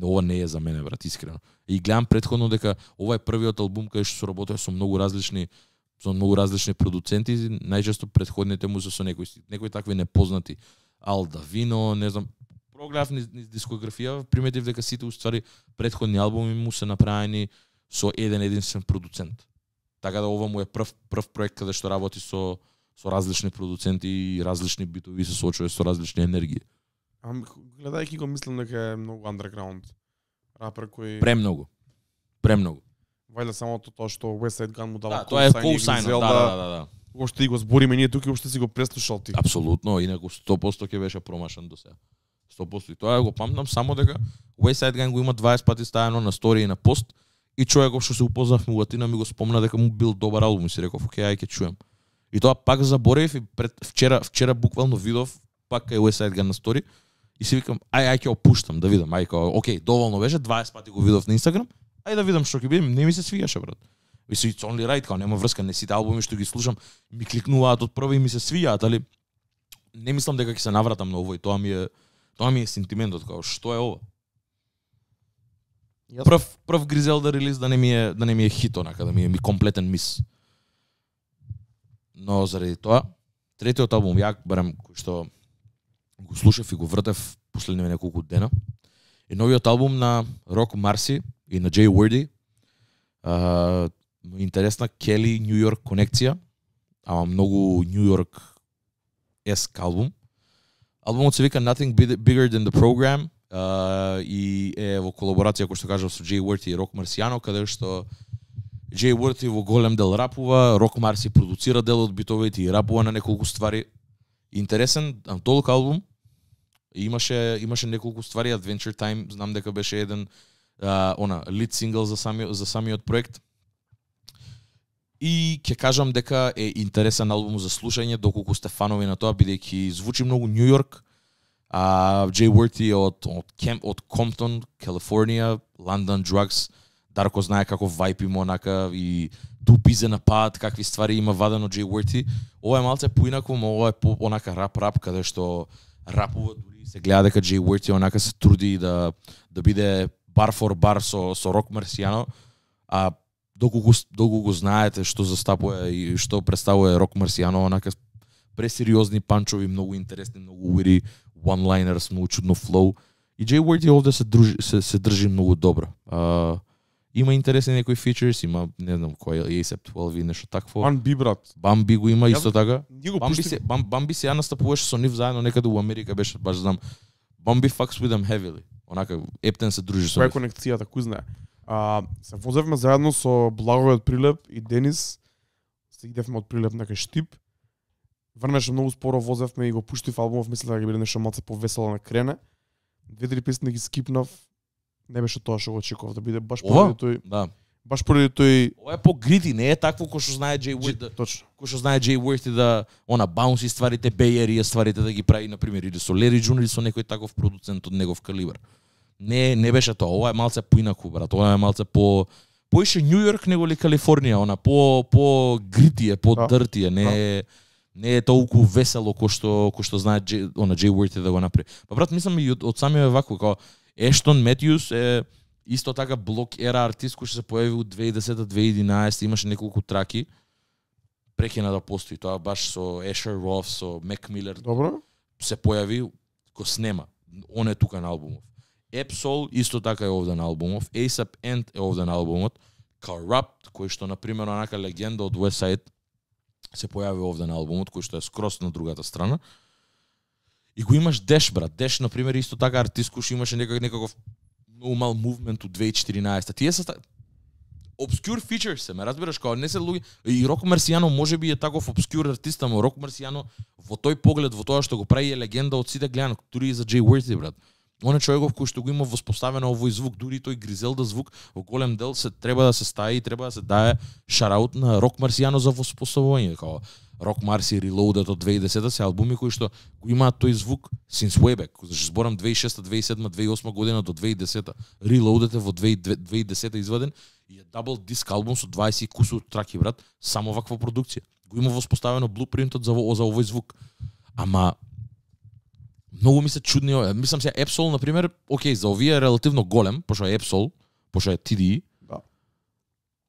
Ова не е за мене, брат, искрено. И гледам претходно дека ова е првиот албум кај што соработува со многу различни со многу различни продуценти, најчесто претходните му се со некои некои такви непознати. Ал Давино, не знам, прогледав низ, низ дискографија, приметив дека сите уствари претходни албуми му се направени со еден единствен продуцент. Така да ова му е прв прв проект каде што работи со со различни продуценти и различни битови, се соочува со различни енергии. Ам гледајќи го мислам дека е многу underground рапер кој Премногу. Премногу. Вајде само тоа што Westside Gun му дава да, тоа е co-sign, да, да, да, да. Кога што и го збориме ние тука, уште си го преслушал ти. Апсолутно, инаку сто проценти ќе беше промашен до сега. сто проценти. И тоа го памтам само дека Westside Gun го има дваесет пати ставено на стори и на пост и човеков што се упознавме у Атина ми го спомна дека му бил добар албум и си реков, окей, ај ќе чуем. И тоа пак заборев и пред вчера вчера буквално видов пак кај Westside Gun на стори. И си викам, ај, ај ќе опуштам, да видам, ај, као, окей, доволно беше, дваесет пати го видов на Инстаграм, ај да видам што ќе биде, не ми се свиѓаше, брат. И си it's only right, као, нема врска, не сите албуми што ги слушам, ми кликнуваат од прва и ми се свиѓаат, али не мислам дека ќе се навратам на ово и тоа ми е, тоа ми е сентиментот, као, што е ова? Прв, прв Гризелда релиз да не ми е, да не ми е хит, онака, да ми е ми комплетен мис. Но заради тоа, третиот албум, ја барем, кој што го слушав и го вртев последниве неколку дена. И новиот албум на Рок Марси и на Джей Уорди. Uh, интересна Кели Нью Йорк конекција, ама многу Нью Йорк еск албум. Албумот се вика Nothing Bigger Than The Program uh, и е во колаборација, кој што кажав, со Jay Worthy и Rock Marciano, каде што Jay Worthy во голем дел рапува, Rock Marci продуцира дел од битовите и рапува на неколку ствари. Интересен антолог албум. Имаше имаше неколку ствари, Adventure Time, знам дека беше еден uh, она лид сингл за самиот за самиот проект. И ќе кажам дека е интересен албум за слушање, доколку сте фанови на тоа, бидејќи звучи многу Нью Йорк. А Jay Worthy од од Кемп од Комптон, Калифорнија, London Drugs. Дарко знае како вајп има онака и тупизе на пат, какви ствари има вадено Jay Worthy. Ова е малце поинако, ова е по онака рап-рап, каде што рапува, дури се гледа дека Jay Worthy онака се труди да да биде бар фор бар со со Rock Marciano, а доколку доколку знаете што застапува и што представува Rock Marciano, онака пресериозни панчови, многу интересни, многу уири, one-liners, многу чудно флоу. И Jay Worthy овде се дружи се, се држи многу добро. А, има интересни некои фичерс, има не знам кој е A$ep twelve и нешто такво. Бамби брат. Бамби го има исто така. Бамби се Бам, Бамби се настапуваше со нив заедно некаде во Америка, беше баш знам. Бамби fucks with them heavily. Онака Ептен се дружи со нив. нив. Која конекцијата, кој знае. А, се возевме заедно со Благове од Прилеп и Денис. Се идевме од Прилеп на кај Штип. Врнеше многу споро, возевме и го пуштив албумов, мислев дека ќе биде нешто малце повесело на крене. Две-три песни ги скипнав. Не беше тоа што го очекував да биде баш поради тој. Да. Баш поради тој. Ова е по-грити, не е такво кој што знае Jay Worthy. Да, точно. Кој што знае Jay Worthy да она баунси стварите, Bay Area стварите да ги прави на пример или со Larry June или со некој таков продуцент од негов калибар. Не, не беше тоа. Ова е малце поинаку, брат. Ова е малце по поише Нью Йорк него ли Калифорнија, она по по грити е, по да. дърти е, не е не е толку весело кој што кој што знае Jay, она Jay Worthy да го направи. Па брат, мислам и од, од самиот вако како Ештон Метјус е исто така блок ера артист кој што се појави во две илади и десета две илади и единаесета, имаше неколку траки. Прекина да постои тоа баш со Ешер Роф, со Мек Милер. Добро. Се појави, го снема. Он е тука на албумов. Epsol исто така е овде на албумов. A$ep End е овде на албумот. Corrupt, кој што на пример онака легенда од Westside се појави овде на албумот, кој што е скрос на другата страна. И го имаш Деш, брат. Деш, на пример, исто така артист кој имаше некак некаков многу мал мувмент од две илади и четиринаесета. Тие се obscure features се, ме разбираш, као не се луѓе. И Rock Marciano можеби е таков obscure артист, ама Rock Marciano во тој поглед, во тоа што го прави е легенда од сите гледан, дури и за Jay Worthy, брат. Он е човеков кој што го има воспоставено овој звук, дури тој Гризелда звук во голем дел се треба да се стаи и треба да се дае шараут на Rock Marciano за воспоставување, као Rock Marci Reloaded од две илади и десета се албуми кои што го имаат тој звук since way back. Зашто зборам две илади и шеста, две илади и седма, две илади и осма година до две илади и десета. Reloaded е во две илади и десета изваден и е дабл диск албум со дваесет и кусур траки, брат, само ваква продукција. Го има воспоставено блупринтот за за овој звук. Ама многу ми се чудни, мислам се Epsol на пример, окей, за овие е релативно голем, пошто е Epsol, пошто е Ти Ди. Да.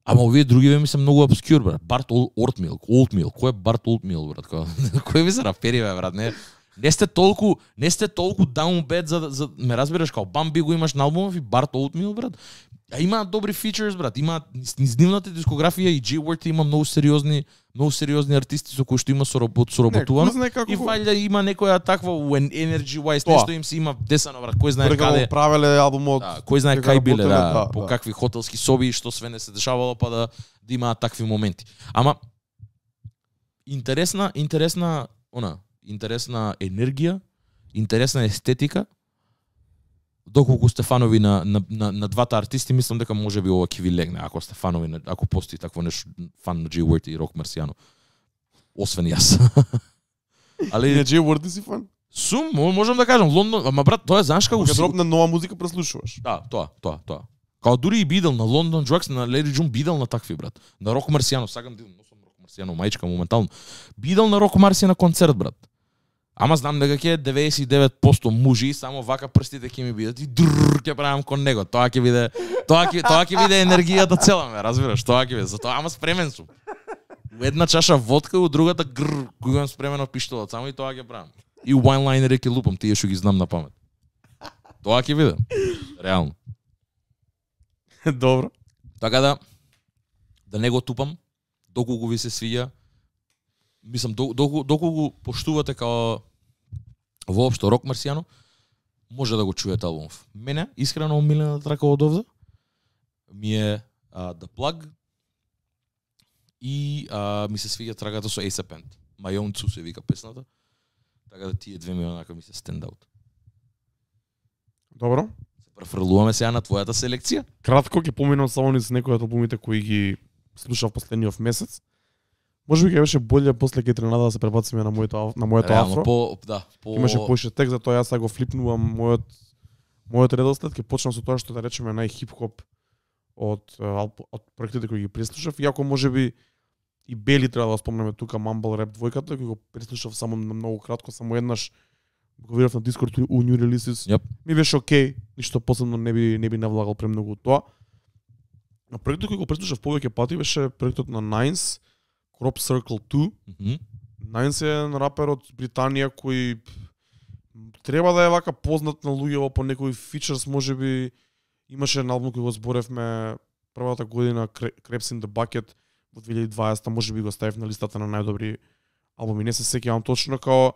Ама овие другиве ми се многу обскюр, брат. Барт Олтмил, Олтмил, кој е Барт Олтмил, брат? Кој ви се рапери, бе, брат? Не, не сте толку, не сте толку down bad за, за ме разбираш, као Бамби го имаш на албумов и Барт Олтмил, брат. А имаат добри фичерс, брат. Имаат низ нивната дискографија и Jay Worthy има многу сериозни, многу сериозни артисти со кои што има соработ, соработувано. И вајда има некоја таква when energy wise нешто им се има десано, брат. Кој знае каде правеле албумот. Да, кој знае кај биле, да, да, по да. какви хотелски соби и што све не се дешавало па да, да имаат такви моменти. Ама интересна, интересна, она, интересна енергија, интересна естетика. Доколку сте фанови на, на, на, на двата артисти, мислам дека можеби ова ќе ви легне, ако сте фанови, на, ако постои такво нешто, фан на Jay Worthy и Rock Marciano. Освен јас. Али не Jay Worthy си фан? Сум, можам да кажам, Лондон, ама брат, тоа е знаеш како Кога дропне нова музика преслушуваш. Да, тоа, тоа, тоа. Као дури и бидел на London Drugs, на Larry June бидел на такви, брат. На Rock Marciano, сакам да носам Rock Marciano маичка моментално. Бидел на Rock Marciano на концерт, брат. Ама знам дека ќе деветдесет и девет проценти мужи, само вака прстите ќе ми бидат и дрррр ќе правам кон него. Тоа ќе биде, тоа ќе тоа ќе биде енергијата цела, ме разбираш, тоа ќе биде. Затоа ама спремен сум. У една чаша водка, у другата грр, кој имам спремено пиштолот, само и тоа ќе правам. И вајнлайнери ќе лупам, тие што ги знам на памет. Тоа ќе биде. Реално. Добро. Така да да не го тупам, доколку ви се свиѓа, мислам доколку доколку поштувате као воопшто Rock Marciano, може да го чуете албумов. Мене, искрено омилена трака од овде, ми е uh, The Plug и uh, ми се свиѓа траката со A$ап Ant. My Own Two се вика песната. Така да тие две ми онака ми се stand out. Добро. Се префрлуваме сега на твојата селекција. Кратко ќе поминам само низ некои од албумите кои ги слушав последниот месец. Може би ќе беше боле после ќе тренада да се пребациме на моето на моето Реално, афро. по да, по Имаше поише текст, затоа јас сега го флипнувам мојот мојот редослед, ќе почнам со тоа што да речеме најхип-хоп од од проектите кои ги преслушав, иако можеби и Бели треба да спомнеме тука Mumble Rap двојката, кој го преслушав само на многу кратко, само еднаш го видов на Discord у New Releases. Yep. Ми беше окей, ништо посебно не би не би навлагал премногу тоа. На проектот кој го преслушав повеќе пати беше проектот на Nines, Crop Circle two. Mm -hmm. Nines е рапер од Британија кој треба да е вака познат на луѓето по некои фичерс, можеби имаше на албум кој го зборевме првата година Crabs in the Bucket во две илјади и дваесета, можеби го ставив на листата на најдобри албуми. Не се сеќавам точно, као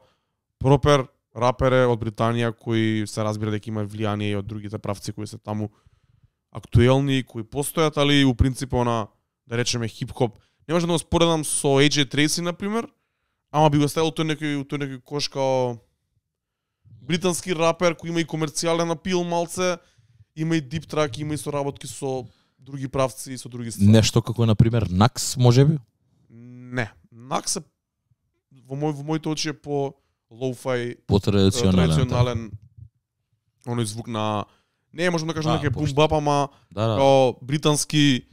пропер рапер е од Британија кој се разбира дека има влијание и од другите правци кои се таму актуелни, кои постојат, али у принцип на да речеме хип-хоп. Не може да го споредам со Ей Џей Трейси на пример, ама би го ставил тој некој тој некој кош као британски рапер кој има и комерцијален апил малце, има и дип трак, има и соработки со други правци и со други ствари. Нешто како на пример Накс, можеби? Не, Накс е во мој во моите очи е по лоу-фај, по-традиционален. традиционален оној звук на не можам да кажам дека е бум-бап, ама да, да. као британски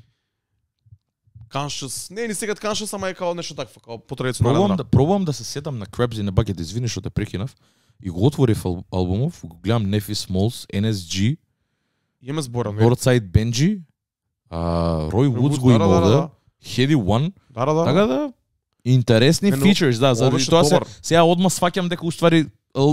conscious, не ни секад conscious, ама е као нешто такво, као по-традиционален. Пробувам да пробувам да се сетам на Crabs in the Bucket, извини што те прекинав. И го отворив ал албумов, го гледам Нефи Смолс, Ен Ес Джи, Имаме збора, Northside Benji, uh, Roy Woods го има овде, Heady One. Да, да, да. Така да интересни фичерс, да, заради тоа се сега одма сваќам дека уствари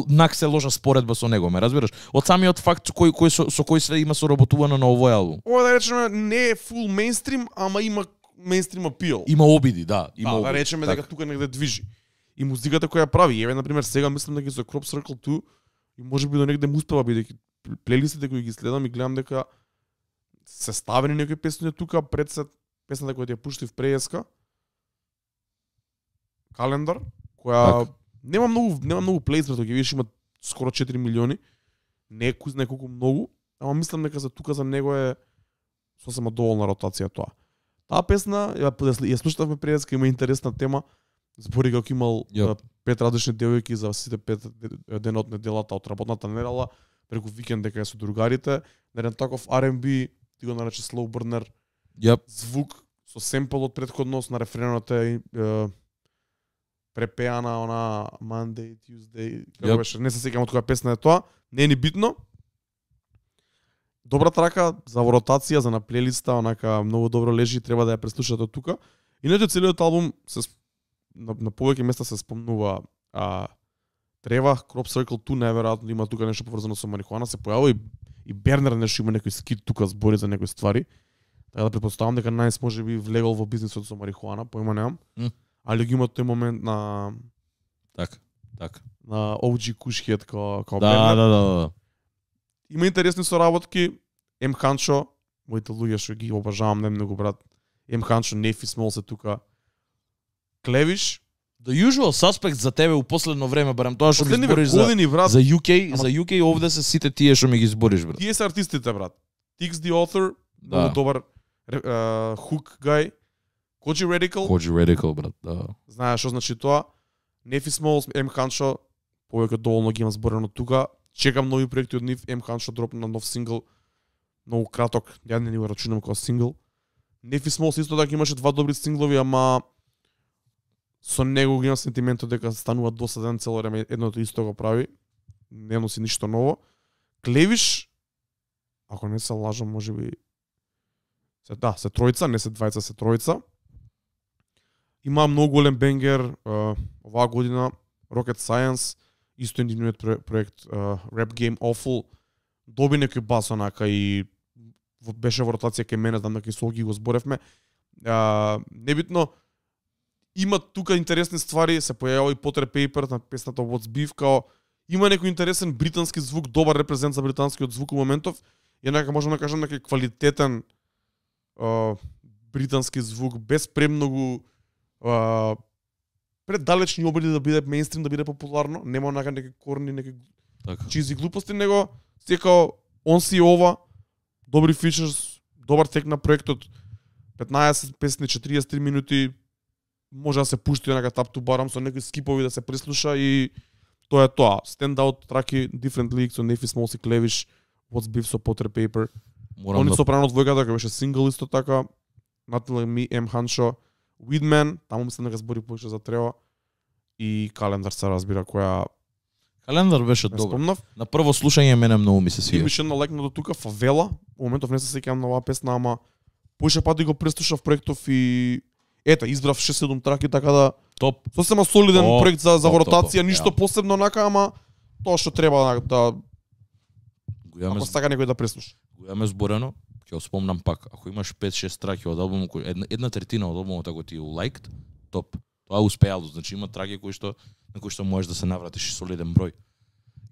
Накс е ложа споредба со него, ме разбираш? Од самиот факт кој кој со, со кој све има соработувано на овој албум. Ова да речеме не е фул мејнстрим, ама има мејнстрим апил. Има обиди, да, има да, обиди. Да речеме дека тука негде движи. И музиката која прави, еве на пример сега мислам дека со Crop Circle two и можеби до негде му успева бидејќи плейлистите кои ги следам и гледам дека се ставени некои песни тука пред се песната која ја пуштив преска Календар, која так. нема многу нема многу плейс, брато, ги видиш има скоро четири милиони. Не е кој знае колку многу, ама мислам дека за тука за него е сосема доволна ротација тоа. Таа песна ја, ја слушавме преска, има интересна тема. Збори како имал yep. пет различни девојки за сите пет дена од неделата, од работната недела, преку викенд дека е со другарите, на еден таков Ар енд Би, ти го нарече slow burner, yep. звук со семпл од претходност на рефренот е, е препеана она Monday, Tuesday, како yep. беше, не се сеќавам од која песна е тоа, не е ни битно. Добра трака за ротација, за на плейлиста, онака многу добро лежи, треба да ја преслушате од тука. Иначе целиот албум се на, на повеќе места се спомнува а, Трева, Crop Circle two, најверојатно има тука нешто поврзано со марихуана, се појавува и, и Бернер нешто има некој скит тука збори за некои ствари. Така да претпоставам дека Најс може би влегол во бизнисот со марихуана, поима немам. Mm. Али ги има тој момент на така, така. На О Џи Кушхет као као да, Бернер. Да, да, да. Има интересни соработки. Ем Ханчо, моите луѓе што ги обожавам најмногу, брат. Ем Ханчо, Нефи Смол се тука. Клевиш. The Usual Suspect за тебе у последно време, барем тоа што ми Последни збориш години, за, брат. за ю кей, Ама... за ю кей овде се сите тие што ми ги збориш, брат. Тие се артистите, брат. Tix the Author, да. Много добар uh, hook guy. Коджи Radical. Коджи Radical, брат, да. Знаеш што значи тоа. Нефи Смол, Ем Ханчо, повеќе доволно ги имам зборено тука. Чекам нови проекти од нив. Ем Ханчо дропна нов сингл. Многу краток, ја не ни го рачунам како сингл. Нефи Смол исто така имаше два добри синглови, ама со него ги имам сентиментот дека станува досаден цело време, едното исто го прави. Не носи ништо ново. Клевиш, ако не се лажам, можеби се да, се тројца, не се двајца, се тројца. Има многу голем бенгер uh, оваа година, Rocket Science, исто индивидуалниот проект uh, Rap Game Awful, доби некој бас онака и беше во ротација кај мене, знам дека и Солги го зборевме. Uh, небитно, има тука интересни ствари, се појавува и Potter Paper на песната What's Beef, као има некој интересен британски звук, добар репрезент за британскиот звук у моментов. И нека можам да кажам некој квалитетен а, британски звук без премногу а, преддалечни обиди да биде мејнстрим, да биде популарно, нема онака некои корни, некои Така. чизи глупости, него секао он си ова, добри фичерс, добар тек на проектот, петнаесет песни, четириесет и три минути, може да се пушти онака тап ту барам со некои скипови да се прислуша и тоа е тоа. Stand out траки, Different League со Нефи Смолси Клевиш, What's Beef со Potter Paper. Морам Они да сопрано двојката кој беше сингл исто така. Nothing Like Me, M Hancho, Weedman, таму мислам дека збори повеќе за Трева и Календар се разбира која Календар беше не добар. спомнав. На прво слушање мене многу ми се И свија. беше една лекна до тука Фавела. Во моментов не се сеќавам на оваа песна, ама поише пати го преслушав проектов и ета избрав шест седум траки така да Топ. сосема солиден Топ, проект за за топ, ротација, топ, ништо ја. посебно онака, ама тоа што треба да Го имаме ако сака некој да преслуша. го имаме зборено, ќе го спомнам пак. Ако имаш пет шест траки од албумот, кој една, една третина од албумот ако ти е лайкт, топ. Тоа е успеало, значи има траки кои што на кои што можеш да се навратиш и солиден број.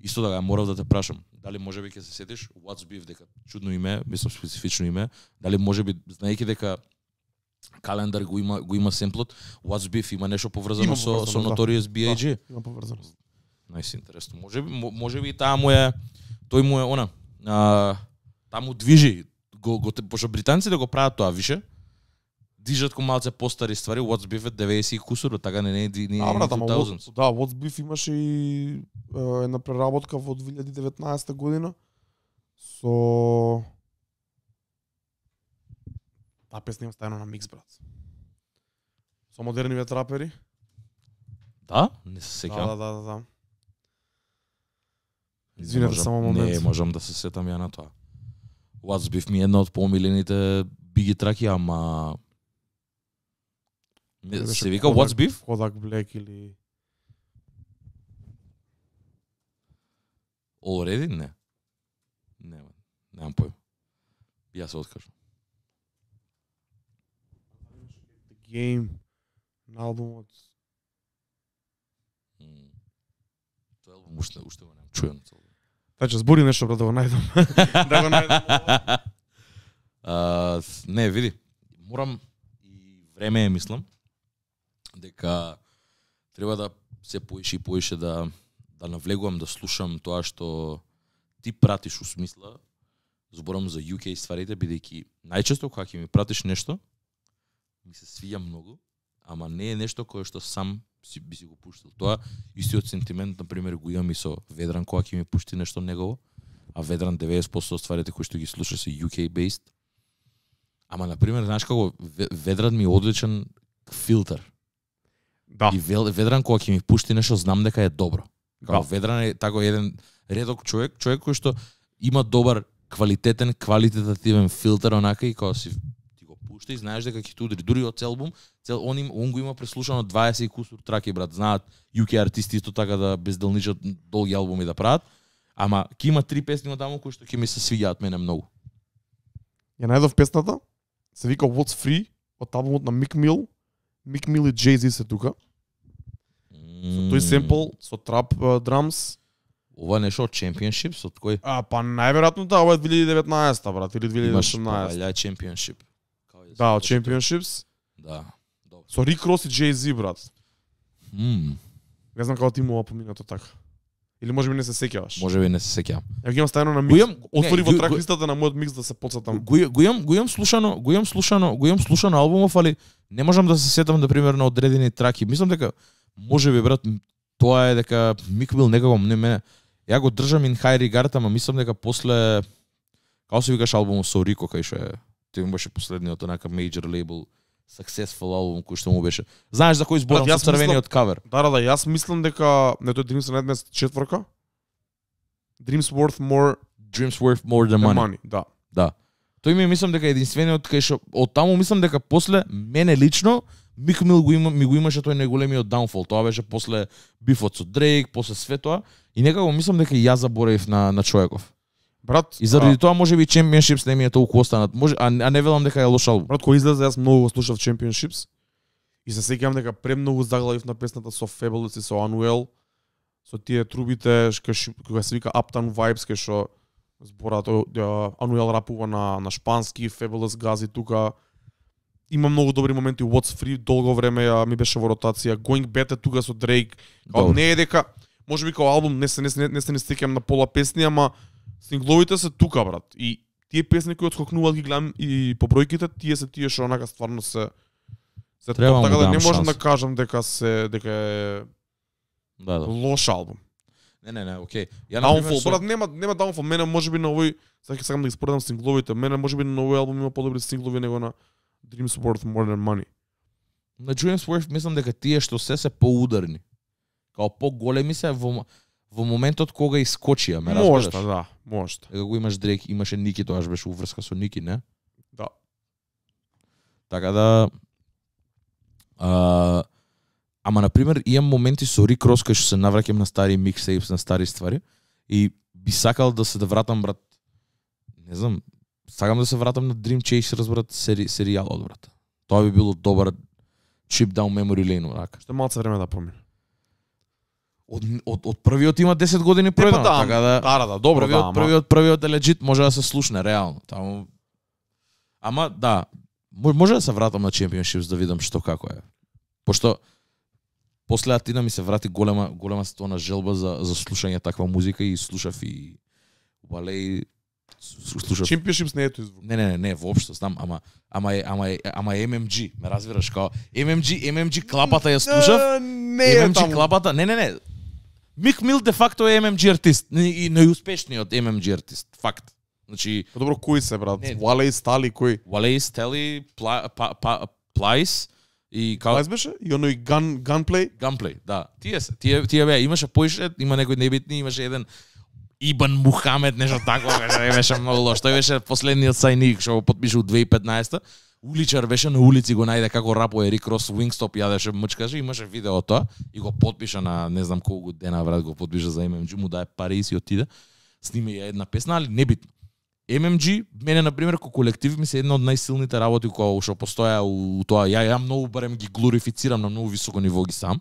Исто така морав да те прашам, дали можеби ќе се сетиш What's Beef, дека чудно име, мислам специфично име, дали можеби знаејќи дека Календар го има го има семплот, What's Beef има нешто поврзано Има со поврзано, со да. Notorious би ей джи. Има поврзаност. Најс интересно. Можеби мо- можеби и таа му е тој му е она. А, таму движи го го пошто британците го прават тоа више. Дижат ко малце постари ствари, What's Beef е деветдесет и кусур, така не не не А, брат, ама две What- тисячи. да, What's Beef имаше и е, една преработка во две илјади и деветнаесета година со таа песна има стајано на микс, брат. Со модерниве трапери. Да, не се Да, сеќавам. да, да, да, да. Не Извинете, можам- само момент. Не можам да се сетам ја на тоа. What's Beef ми е една од помилените биги траки, ама Дали Ме- беше се вика Kodak- What's Beef? Kodak Black или Already? Не. Не, немам појм. Ја се откажам. The Game на албумот. М. Тој албум уште уште го немам чуен. Значи збори нешто, брат, да го најдам. Да го најдам. А, не, види, морам и време е, мислам, дека треба да се поише и поише да да навлегувам да слушам тоа што ти пратиш у смисла, зборам за ю кей стварите, бидејќи најчесто кога ќе ми пратиш нешто, ми се свиѓа многу, ама не е нешто кое што сам си, би си го пуштил. Тоа истиот сентимент, на пример, го имам и со Ведран кога ќе ми пушти нешто негово, а Ведран деветдесет проценти од стварите кои што ги слуша се ю кей based. Ама на пример, знаеш како Ве- Ведран ми е одличен филтер. Да. И Вел- Ведран кога ќе ми пушти нешто, знам дека е добро. Као Да. Ведран е тако еден редок човек, човек кој што има добар квалитетен, квалитетативен филтер онака и кога си ти го пушти и знаеш дека ќе те удри дури од цел албум, цел он им он го има преслушано дваесет и кусур траки, брат, знаат ю кей артисти исто така да безделничат долги албуми да прават. Ама ќе има три песни од таму кои што ќе ми се свиѓаат мене многу. Ја најдов песната, се вика What's Free, од албумот на Мик Мил. Мик Мил и Jay-Z се тука. Со тој семпл, со трап драмс. Ова нешто од Championships, од кој? А, па најверојатно да, ова е две илјади и деветнаесета, брат, или две илјади и Имаш осумнаесета. Павалја Championship. Као е Да, од тоа. Championships. Да. Добро. Со Рик Рос и Jay-Z, брат. Мм, Не знам како ти му ова поминато така. Или може би не се сеќаваш. може би не се сеќавам. Ја ги имам стајано на Го микс. имам- Отвори не, во го- трак го- листата на мојот микс да се подсетам. Го, го имам, го имам слушано, го имам слушано, го имам слушано албумов, али не можам да се сетам да пример на одредени траки. Мислам дека може би брат тоа е дека Мик Мил некако не мене. Ја го држам in high regard, ама мислам дека после како се викаш албумот со Рико кај што е тој беше последниот онака major label successful албум кој што му беше. Знаеш за кој зборам Брат, со јас црвениот кавер? Да, да, да, јас мислам дека не тој Dreams Nightmares четворка. Dreams Worth More Dreams worth more than Than money. Money, да. Да. Тој ми е, мислам дека единствениот кај што од таму мислам дека после мене лично Мик Мил го има ми го имаше тој најголемиот downfall. Тоа беше после бифот со Дрейк, после све тоа и некако мислам дека и јас заборавив на на човеков. Брат, И заради а, тоа можеби Championships не ми е толку останат. Може а, а не велам дека е лош албум. брат, кој излезе, јас многу го слушав Championships и се сеќавам дека премногу заглавив на песната со Fabulous и со Unwell. со тие трубите кај кога се вика Uptown Vibes кај што зборат Ануел рапува на на шпански, Fabulous Gazi тука. Има многу добри моменти. What's Free долго време ја ми беше во ротација. Going Better тука со Drake. Као не е дека можеби као албум не се не се не се не стекам на пола песни, ама сингловите се тука, брат. И тие песни кои отскокнуваат ги гледам и по бројките, тие се тие што онака стварно се се Треба топ, така да не можам шанс. да кажам дека се дека е Да, да. лош албум. Не, не, не, окей. Ја Downfall, со... брат, нема нема Downfall. Мене можеби на овој, сега сакам да ги споредам сингловите. Мене можеби на овој албум има подобри синглови него на Dreams Worth More Than Money. На Dreams Worth мислам дека тие што се се поударни. Као поголеми се во во моментот кога искочија, ме разбираш? Можда, да, можда. Дека го имаш Дрейк, имаше Ники, тоаш беше уврска со Ники, не? Да. Така да а, ама на пример имам моменти со Рик Рос кај што се навраќам на стари миксейпс, на стари ствари и би сакал да се да вратам, брат. Не знам, сакам да се вратам на Dream Chasers, брат, сери, серијалот, брат. Тоа би било добар trip down memory lane, рака. Што малце време да промени. Од, од, од првиот има десет години пројдено, да, така да... Да, да, да, добро, првиот, да, ама... првиот, првиот е легит, може да се слушне, реално. Таму... Ама, да, може да се вратам на Championships да видам што како е. Пошто, после Атина ми се врати голема, голема стона желба за, за слушање таква музика и слушав и Валеј, слушав... Championships не е тој звук. Не, не, не, не, воопшто, знам, ама ама е, ама е, ама е Ем Ем Джи, ме разбираш, као Ем Ем Джи, Ем Ем Джи клапата ја слушав. Не е Ем Ем Джи таму. клапата, не, не, не. Мик Мил де факто е Ем Ем Джи артист и најуспешниот Ем Ем Джи артист, факт. Значи, Па добро, кои се, брат? Не. Валеј, Стали, кои? Валеј, Стели, Пла, па, па, Плайс и као Кај беше? И оној ган ганплей? Gunplay, да. Тие се, тие тие беа, имаше поише, има некои небитни, имаше еден Ибан Мухамед, нешто такво, беше, беше многу лош. Тој беше последниот сајник што го потпиша у две илјади и петнаесета. Уличар беше на улици, го најде како рапо Ерик Рос, Wingstop јадеше, мчкаше, имаше видео тоа и го потпиша на не знам колку дена, брат, го потпиша за Ем Ем Джи, му даде пари и си отиде. Снима ја една песна, али небитно. Ем Ем Джи, мене на пример како колектив ми се една од најсилните работи кои што постоја у, у тоа. Ја ја многу барем ги глорифицирам на многу високо ниво ги сам.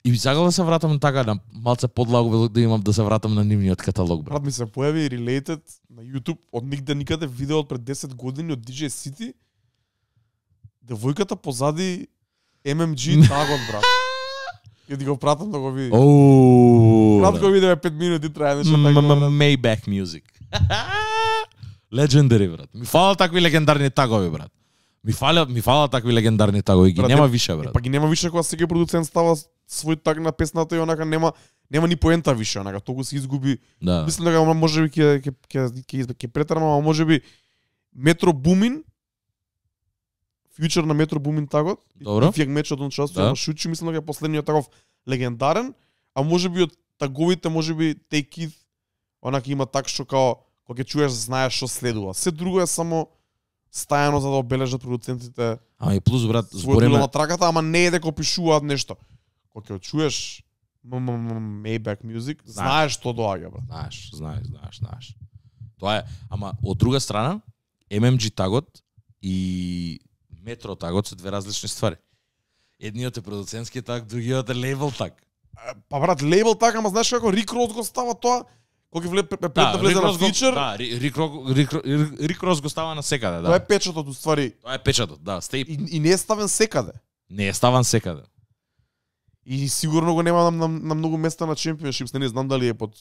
И би сакал да се вратам така на малце подлаго да имам да се вратам на нивниот каталог, брат. Брат, ми се појави related на YouTube од нигде никаде видео од пред десет години од Ди Џеј City. Девојката позади Ем Ем Джи тагот, брат. Ќе ти го пратам да го видиш. Оу. Кратко видео е пет минути трае нешто така. Maybach Music. Legendary, брат. Ми фала такви легендарни тагови, брат. Ми фала, ми фала такви легендарни тагови, ги Брат, нема е- више, Е, брат. па ги нема више кога секој продуцент става свој таг на песната и онака нема нема ни поента више, онака толку се изгуби. Да. Мислам дека можеби ќе ќе ќе ќе ќе претрам, ама можеби Метро Бумин фьючер на Метро Бумин тагот. Добро. Фијак мечот он част, Да. ама Шучи мислам дека е последниот тагов легендарен, а можеби од таговите можеби Take It онака има так што као кога ќе чуеш знаеш што следува. Се друго е само стајано за да обележат продуцентите Ама и плюс, брат, својот збориме на траката, ама не е дека опишуваат нешто. Кога ќе чуеш Maybach Music, знаеш што доаѓа, брат. Знаеш, знаеш, знаеш, знаеш. Тоа е, ама од друга страна, Ем Ем Джи тагот и Метро тагот се две различни ствари. Едниот е продуцентски таг, другиот е лейбл таг. Па брат, лейбл така, ама знаеш како Рик Рос го става тоа? Кога вле пред да влезе Рик на Рос го- фичер, Да, Ри- Рик Рок- Рик Рик- Рик Рос го става на секаде, тоа е да. печатот уствари Тоа е печатот, да, стейп. и, и не е ставен секаде. Не е ставан секаде. И сигурно го нема на, на, на многу места на Championships, не знам дали е под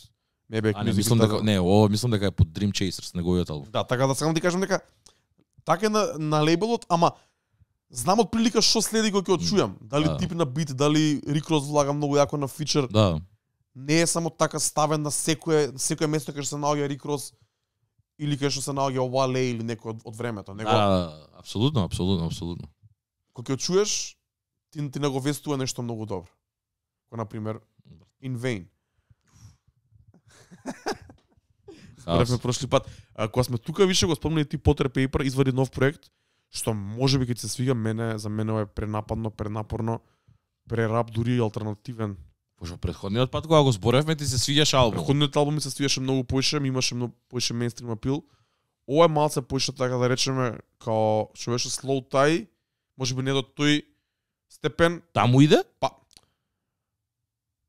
Maybach А не Music. мислам така. дека не, ова мислам дека е под Dream Chasers, неговиот албум. Да, така да сакам да ти кажам дека така е на, на лейбелот, ама знам од прилика што следи кога ќе од чујам. Дали Да. тип на бит, дали Рик Рос влага многу јако на фичер. Да. Не е само така ставен на секое секое место кај што се наоѓа Рик Рос или кај што се наоѓа Wale или некој од, од времето, него Да, да, апсолутно, апсолутно, апсолутно. кога ќе чуеш ти ти наговестува нешто многу добро. Кој на пример In Vain. Споревме прошли пат. А, кога сме тука више го спомнали ти Potter Paper извади нов проект што можеби ќе ти се свига, мене за мене ова е пренападно, пренапорно, прерап дури алтернативен. Пошто претходниот пат кога го зборевме ти се свиѓаше албум. Претходниот албум ми се свиеше многу поише, ми имаше многу поише мејнстрим апил. Ова е малце поише така да речеме као што беше slow tie, можеби не до тој степен. Таму иде?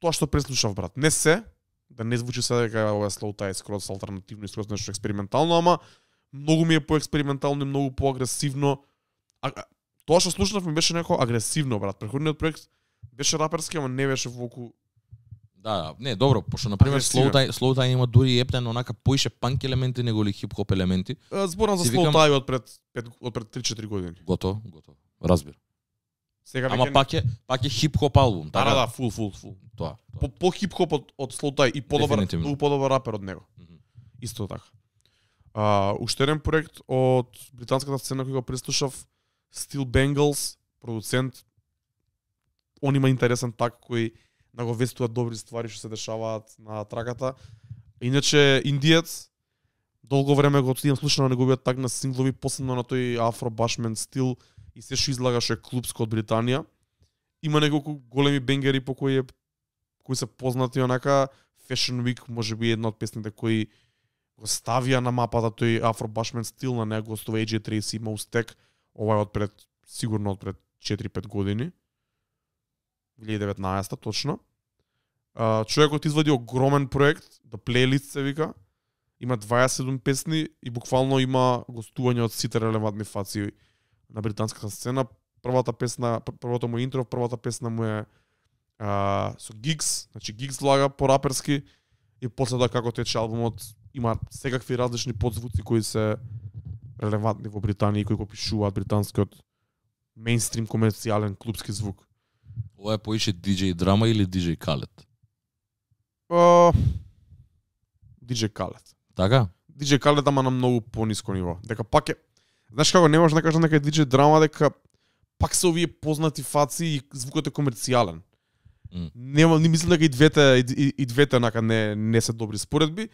тоа што преслушав, брат. Не се, да не звучи се дека ова е slow tie скроз алтернативно и скроз нешто експериментално, ама многу ми е поекспериментално и многу поагресивно. А, тоа што слушнав ми беше некако агресивно, брат. Претходниот проект беше раперски, ама не беше волку. Да, не, добро, пошто на пример slow tie, slow tie има дури ептен онака поише панк елементи него ли хип-хоп елементи. Зборам за Си slow викам- tie од пред пет од пред три-четири години. Готово, готово. Разбир. Сега Ама веќе пак е пак е хип-хоп албум, да, така? да, да, фул, фул, фул. Тоа. тоа. По, по хип-хоп од, од slow tie и подобар, Дефинитивно. многу подобар рапер од него. Мгм. Исто така. А, уште еден проект од британската сцена кој го преслушав, Steel Bengals, продуцент. Он има интересен так кој наговестува добри ствари што се дешаваат на траката. Иначе индиец, долго време го отидам слушам на неговиот так на синглови, посебно на тој афро башмен стил и се што излагаше клубско од Британија. Има неколку големи бенгери по кои е кои се познати онака. Fashion Week можеби една од песните кои го ставија на мапата тој афро башмен стил, на него гостува Ей Джей Трейси, Mos Tech, ова е од пред сигурно од пред четири-пет години. две илјади и деветнаесета точно. А, човекот извади огромен проект, да плейлист се вика. Има дваесет и седум песни и буквално има гостување од сите релевантни фаци на британската сцена. Првата песна, пр- првото му интро, првата песна му е а, со Гигс, значи Гигс влага по раперски и после тоа како тече албумот има секакви различни подзвуци кои се релевантни во Британија и кои го пишуваат британскиот мејнстрим комерцијален клубски звук. Ова е поише ди џеј Драма или ди џеј Khaled? Uh, ди џеј Khaled. Така? ди џеј Khaled ама на многу пониско ниво. Дека пак е, знаеш како не можеш да кажеш дека е ди џеј Драма, дека пак се овие познати фаци и звукот е комерцијален. Mm. Нема, не мислам дека и двете и, и, и двете нака не не се добри споредби.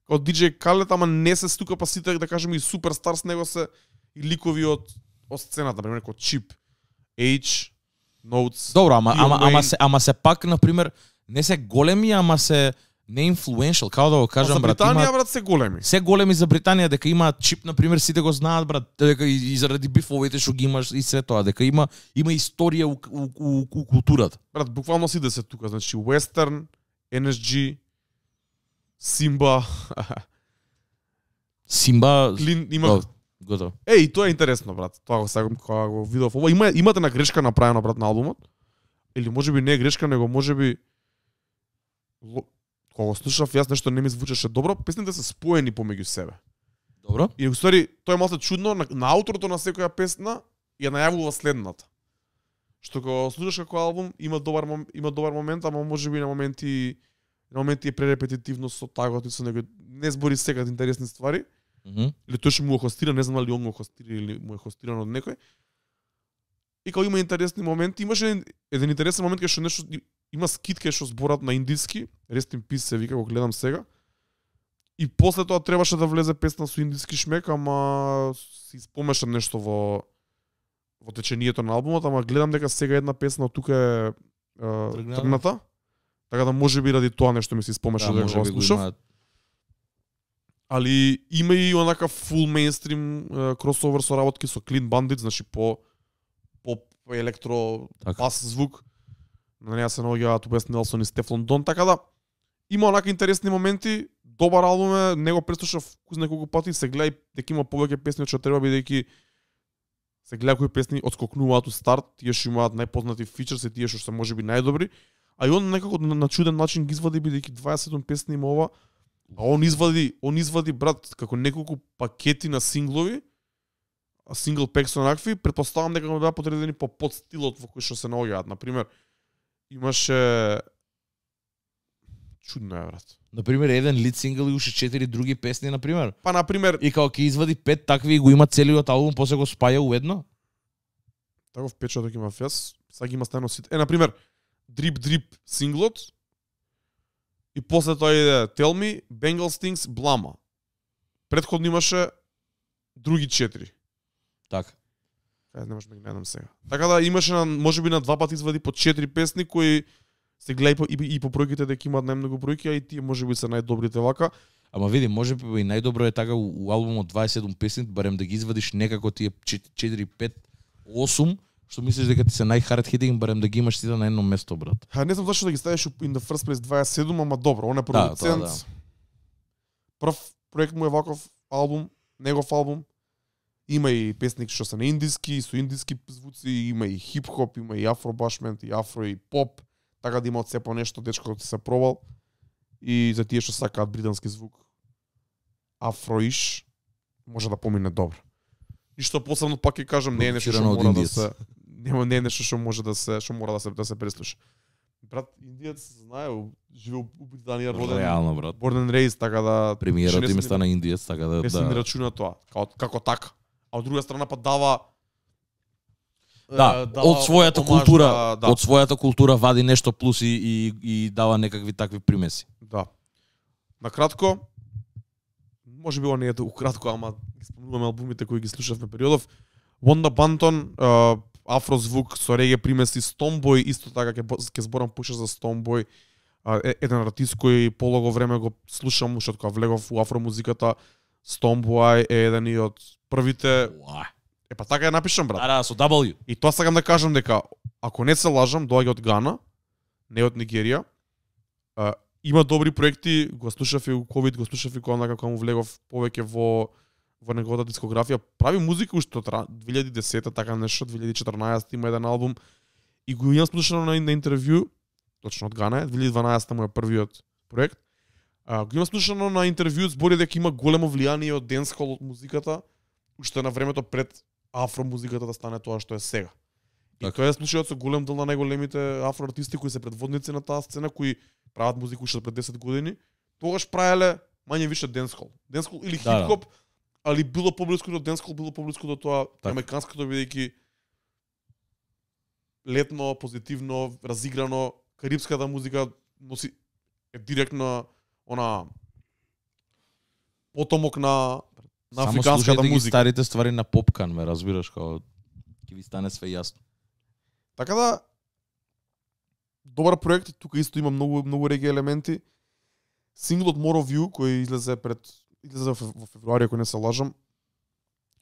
Као ди џеј Khaled ама не се стука па сите да кажеме и суперстар с него се и ликови од од сцената, например како Chip, H, Notes. Добро, ама Lil ама ама Wayne. се ама се пак на пример не се големи, ама се не influential, како да го А кажам, за брат, Британија, има брат, се големи. се големи за Британија, дека има Чип на пример, сите го знаат, брат, дека и, и заради бифовите што ги имаш и се тоа, дека има има историја у, у, у, у културата. Брат, буквално сите се тука, значи Western, Ен Ес Джи, Симба, Симба, Клин, има. О, готово. Еј, тоа е интересно, брат. Тоа го сакам кога го видов. Ова има имате на грешка направена, брат, на албумот. Или можеби не е грешка, него можеби ло- кога го слушав, јас нешто не ми звучеше добро, песните се споени помеѓу себе. Добро? И во ствари тоа е малку чудно, на, на ауторото на секоја песна ја најавува следната. Што кога го слушаш како албум има добар мом- има добар момент, ама можеби на моменти на моменти е пререпетитивно со тагот и со него не збори секад интересни ствари. Мгм. Или тој што му го хостира, не знам дали он го хостира или му е хостиран од некој. И кога има интересни моменти, имаше еден, еден интересен момент кај што нешто има скит кај што зборат на индиски, Rest in Peace се вика, го гледам сега. И после тоа требаше да влезе песна со индиски шмек, ама си спомеша нешто во во течението на албумот, ама гледам дека сега една песна од тука е, е Тргнала? тргната. Така да можеби ради тоа нешто ми се спомеша Да, дека може го би го слушав. имаат. Али има и онака фул мејнстрим кросовер со работки со Clean Bandit, значи по поп електро Така. бас звук. На неа се наоѓаат Уест Нелсон и Стефлон Дон, така да има онака интересни моменти, добар албум е, него преслушав куз неколку пати, се гледа и дека има повеќе песни од што треба, бидејќи се гледа кои песни отскокнуваат у старт, тие што имаат најпознати фичерс и тие што се можеби најдобри, а и он некако на, на чуден начин ги извади бидејќи дваесет и седум песни има ова. А он извади, он извади, брат, како неколку пакети на синглови, а сингл пек со онакви, претпоставам дека го беа подредени по подстилот во кој што се наоѓаат. Например, имаше чудно е, брат. Например, еден лид сингл и уште четири други песни, например. Па например, И као ќе извади пет такви и го има целиот албум, после го спаја у едно. таков печаток има фес, сега ги има стајно сите. Е, например, Drip Drip синглот, и после тоа иде Tell Me, Bengal Stings, Blama. Предходно имаше други четири. Така. Ајде, не можам да ги најдам сега. Така да имаше на, можеби на два пати извади по четири песни кои се гледа и по, и, и по бројките дека имаат најмногу бројки, а и тие можеби се најдобрите вака. Ама види, може би и најдобро е така у, у албумот дваесет и седум песни, барем да ги извадиш некако тие четири, пет, осум, Што мислиш дека ти се најхард хитинг, барем да ги имаш сите на едно место, брат? Ха, не знам зашто да ги ставиш in the first place дваесет и седум, ама добро, он е продуцент. Да, да. Прв проект му е ваков албум, негов албум. Има и песник што се на индиски, со индиски звуци, има и хип-хоп, има и афробашмент, и афро, и поп. Така да има од се по нешто, дечкото ти се пробал. И за тие што сакаат британски звук, афроиш, може да помине добро. Ништо посебно пак ќе кажам, не е нешто што мора да се нема не е нешто што може да се што мора да се да се преслуша. Брат, индиец знае, живее у Британија, роден. Реално, брат. Born and raised, така да премиерот им стана индиец, така да не се ни рачуна тоа, како како така. А од друга страна па дава Да, дава од својата омаж, култура, да, да. од својата култура вади нешто плюс и, и, и дава некакви такви примеси. Да. На кратко, може би не е ukratko, ама ги спомнуваме албумите кои ги слушавме периодов. Wanda Banton, uh, афрозвук со реге примеси, Stonebwoy, исто така ќе ќе зборам пуша за Stonebwoy, uh, еден артист кој полого време го слушам, уште кога влегов у афромузиката. Stonebwoy е еден и од првите. Е па така ја напишам, брат. Да, да, со W. И тоа сакам да кажам дека ако не се лажам, доаѓа од Гана, не од Нигерија. Uh, има добри проекти, го слушав и у ковид, го слушав и кога кога му влегов повеќе во во неговата дискографија. Прави музика уште од две илјади и десета, така нешто, две илјади и четрнаесета има еден албум и го имам слушано на, на интервју, точно од Гана, две илјади и дванаесета му е првиот проект. Uh, го имам слушано на интервју, збори дека има големо влијание од денсхол од музиката, уште на времето пред афромузиката да стане тоа што е сега. И так. Тоа е случајот со голем дел на најголемите афроартисти кои се предводници на таа сцена, кои прават музика уште пред десет години, тогаш правеле мање више денсхол. Денсхол или хип-хоп, да, да. Али било поблиску до денсхол, било поблиску до тоа американското, бидејќи летно, позитивно, разиграно, карипската музика носи е директно она потомок на на африканската музика. Само слушајте старите ствари на Попкан, ме разбираш, како ќе ви стане све јасно. Така да добар проект, тука исто има многу многу реги елементи. Синглот More of You кој излезе пред излезе во февруари, ако не се лажам.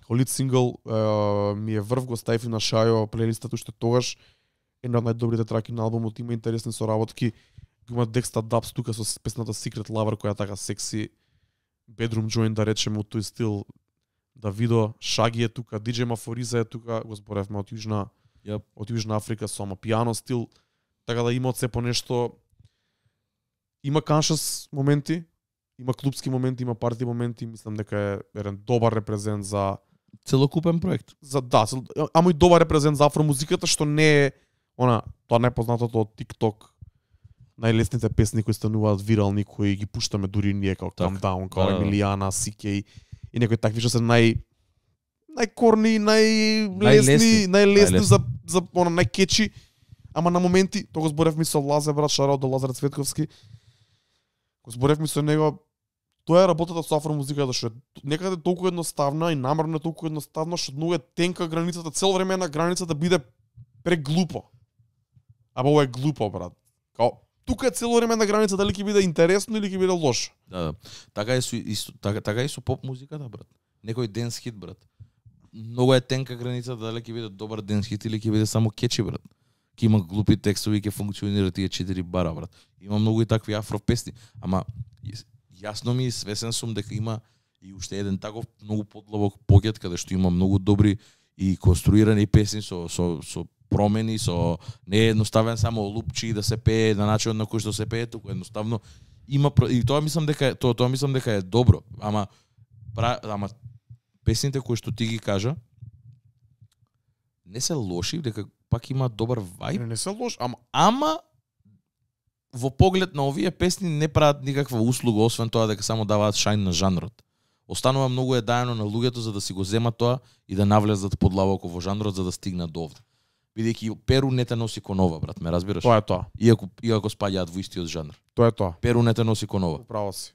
Лид сингл uh, ми е врв, го ставив на Шајо плейлистата уште тогаш. Една од најдобрите траки на албумот, има интересни соработки. Има Dexta Dubs тука со песната Secret Lover која така секси bedroom joint да речеме од тој стил. Давидо Шаги е тука, диџеј Мафориза е тука, го зборевме од Јужна yep. од Јужна Африка со ама пијано стил. Така да има од се по нешто. Има conscious моменти, има клубски моменти, има парти моменти, мислам дека е еден добар репрезент за целокупен проект. За да, цел... ама и добар репрезент за афромузиката, што не е она тоа најпознатото од TikTok. Најлесните песни кои стануваат вирални, кои ги пуштаме дури ние како Calm Down, како да, Емилијана, Си Кей и некои такви што се нај најкорни, најлесни, најлесни за за она најкечи, ама на моменти, тоа го зборевме со Лазе брат, шараут до Лазар Цветковски. Го зборевме со него. Тоа е работата со афромузиката, што е некаде толку едноставна и намерно е толку едноставно, што многу е тенка границата, цело време на граница да биде преглупо. Ама ова е глупо, брат. Као тука е цело време на граница дали ќе биде интересно или ќе биде лошо. Да, да. Така е со исто, така, така е со поп музиката, брат. Некој денс хит, брат. Многу е тенка граница дали ќе биде добар денс хит или ќе биде само кечи, брат. Ќе има глупи текстови, ќе функционира тие четири бара, брат. Има многу и такви афро песни, ама јасно ми, свесен сум дека има и уште еден таков многу подлабок пакет каде што има многу добри и конструирани песни со со со промени, со не е едноставен само лупчи да се пее на начинот на кој што се пее, туку едноставно има и тоа мислам дека тоа тоа мислам дека е добро, ама пра, ама песните кои што ти ги кажа не се лоши, дека пак има добар вајб. Не, не се лош, ама ама во поглед на овие песни не прават никаква услуга, освен тоа дека само даваат шајн на жанрот. Останува многу е даено на луѓето за да си го земат тоа и да навлезат подлабоко во жанрот за да стигнат до овде. Бидејќи Перу не те носи конова, брат, ме разбираш? Тоа е тоа. Иако иако спаѓаат во истиот жанр. Тоа е тоа. Перу не те носи конова. Право си.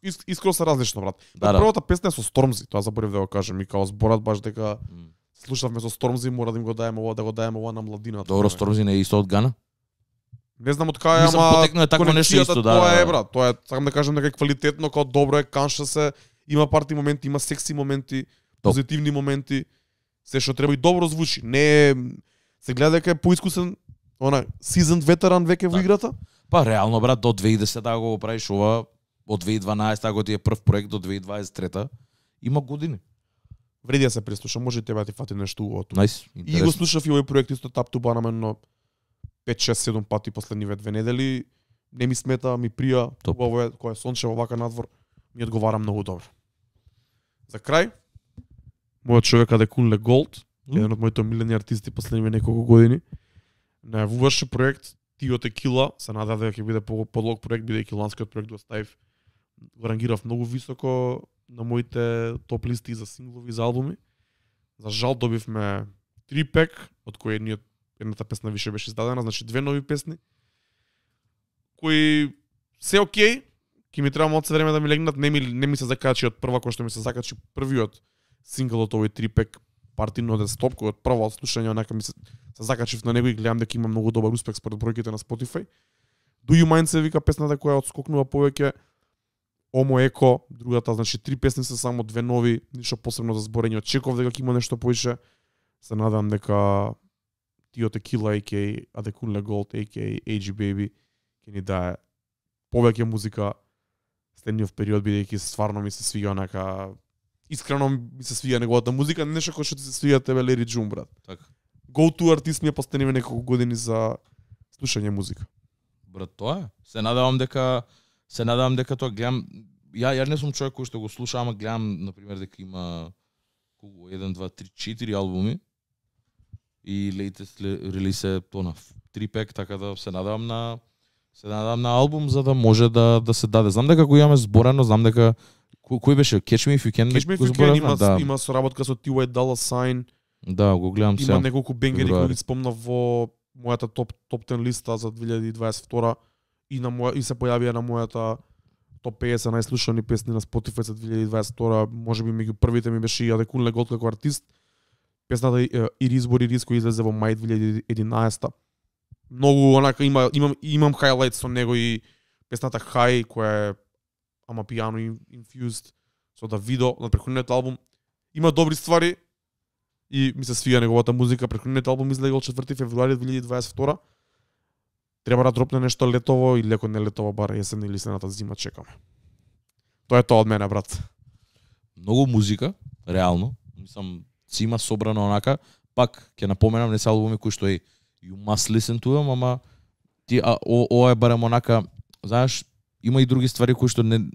Ис, искро се различно, брат. Да, да. Првата песна е со Stormzy, тоа заборев да го кажам, и као зборат баш дека mm. слушавме со Stormzy, мора да им го даеме ова, да го даеме ова на младината. Добро, Stormzy не е исто од Гана? Не знам од кај, ама потекно е такво нешто исто, да. Тоа е, брат, тоа е, сакам да кажам дека е квалитетно, као добро е, канша се, има парти моменти, има секси моменти, позитивни моменти, се што треба и добро звучи. Не е Се гледа дека е поискусен, она seasoned ветеран веќе во играта. Па реално брат до две илјади и десета го правиш ова, од две илјади и дванаесета го ти е прв проект до две илјади дваесет и трета. Има години. Вреди да се преслуша, може тебе да ти фати нешто убаво. Nice, и го слушав и овој проект исто Tap to Bar на пет шест седум пати последниве две недели. Не ми смета, ми прија, убаво е, кој е сончево вака надвор, ми одговара многу добро. За крај, мојот човек Адекунле Голд, mm. еден од моите омилени артисти последниве неколку години, најавуваше проект Тио Текила, се надев дека ќе биде подлог проект, бидејќи ланскиот проект го ставив, го рангирав многу високо на моите топ листи за синглови, за албуми. За жал добивме три пек, од кои едниот едната песна више беше издадена, значи две нови песни, кои се окей, ќе ми треба малку време да ми легнат, не ми, не ми се закачи од прва, кој што ми се закачи првиот сингл од овој три пек Party Not a Stop, кој од прво слушање онака ми се, се закачив на него и гледам дека има многу добар успех според бројките на Spotify. Do You Mind се вика песната која отскокнува повеќе. Омо Еко, другата, значи три песни се само две нови, ништо посебно за зборење. Очекував дека ќе има нешто повеќе. Се надам дека Тио Текила, а ка а Адекунле Голд, а ка а ей джи Baby, ќе ни дае повеќе музика следниот период, бидејќи стварно ми се свиѓа онака, искрено ми се свиѓа неговата музика, нешто кој што ти се свиѓа тебе Лери Джун, брат. Така. Go to артист ми е последниве неколку години за слушање музика. Брат, тоа е. Се надевам дека се надевам дека тоа гледам, ја ја не сум човек кој што го слуша, ама гледам на пример дека има колку еден, два, три, четири албуми и latest релиз е тоа на три пек, така да се надевам на се надевам на албум за да може да да се даде. Знам дека го имаме зборено, знам дека кој, кој беше Catch Me If You Can? Catch Me If You Can има да. Има соработка со Ти Уајт Дала Сайн. Да, го гледам сега. Има неколку бенгери кои ги спомнав во мојата топ топ десет листа за две илјади дваесет и втора и на моја и се појавија на мојата топ песет најслушани песни на Spotify за две илјади дваесет и втора. Можеби меѓу првите ми беше и Адекунле Голд како артист. Песната Ирис Бори Рис кој излезе во мај две илјади и единаесета. Многу онака има имам имам хайлайт со него и песната High која е ама пиано infused со Давидо на претходниот албум. Има добри ствари и ми се свија неговата музика. Претходниот албум излегол четврти февруари две илјади дваесет и втора. Треба да дропне нешто летово и леко не летово, бар есен или следната зима чекаме. Тоа е тоа од мене, брат. Многу музика, реално. Мислам, си има собрано онака. Пак ќе напоменам, не се албуми кои што е you must listen to them, ама ти а, о, ова е барем онака, знаеш, има и други ствари кои што не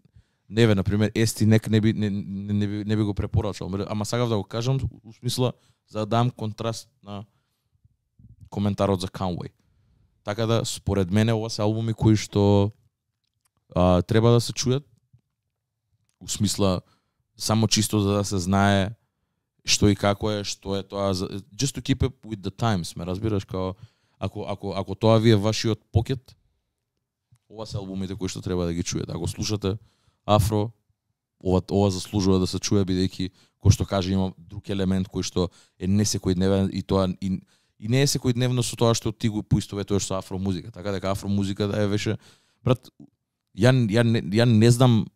не ве, на пример, Ести нек не би не, не, не, би, не би го препорачал, ама сакав да го кажам у смисла за да дам контраст на коментарот за Conway. Така да според мене ова се албуми кои што а, треба да се чујат. У смисла само чисто за да се знае што и како е, што е тоа, just to keep up with the times, ме разбираш, као ако ако ако тоа ви е вашиот покет, ова се албумите кои што треба да ги чуете. Ако слушате афро, ова ова заслужува да се чуе, бидејќи кој што каже има друг елемент кој што е не секојдневен и тоа и, и не е секојдневно со тоа што ти го поистоветуваш со афро музика. Така дека афро музика да е веше, брат, ја ја не, ја не знам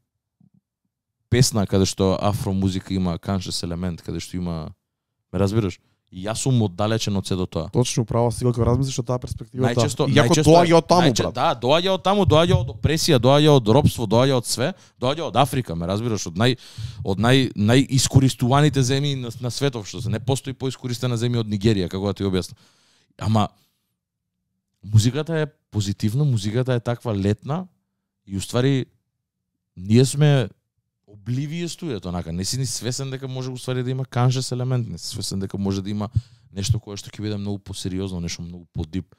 песна каде што афро музика има conscious елемент, каде што има, ме разбираш? И јас сум оддалечен од се до тоа. Точно право, си кога размислиш од таа перспектива. Најчесто, иако доаѓа од таму, брат. Да, доаѓа од таму, доаѓа од опресија, доаѓа од робство, доаѓа од све, доаѓа од Африка, ме разбираш, од нај од нај најискористуваните земји на, на светов, што се не постои поискористена земја од Нигерија, како да ти објаснам. Ама музиката е позитивна, музиката е таква летна и уствари ние сме обливие студиото, онака, не си ни свесен дека може уствари да има conscious елемент, не си свесен дека може да има нешто кое што ќе биде многу посериозно, нешто многу подип.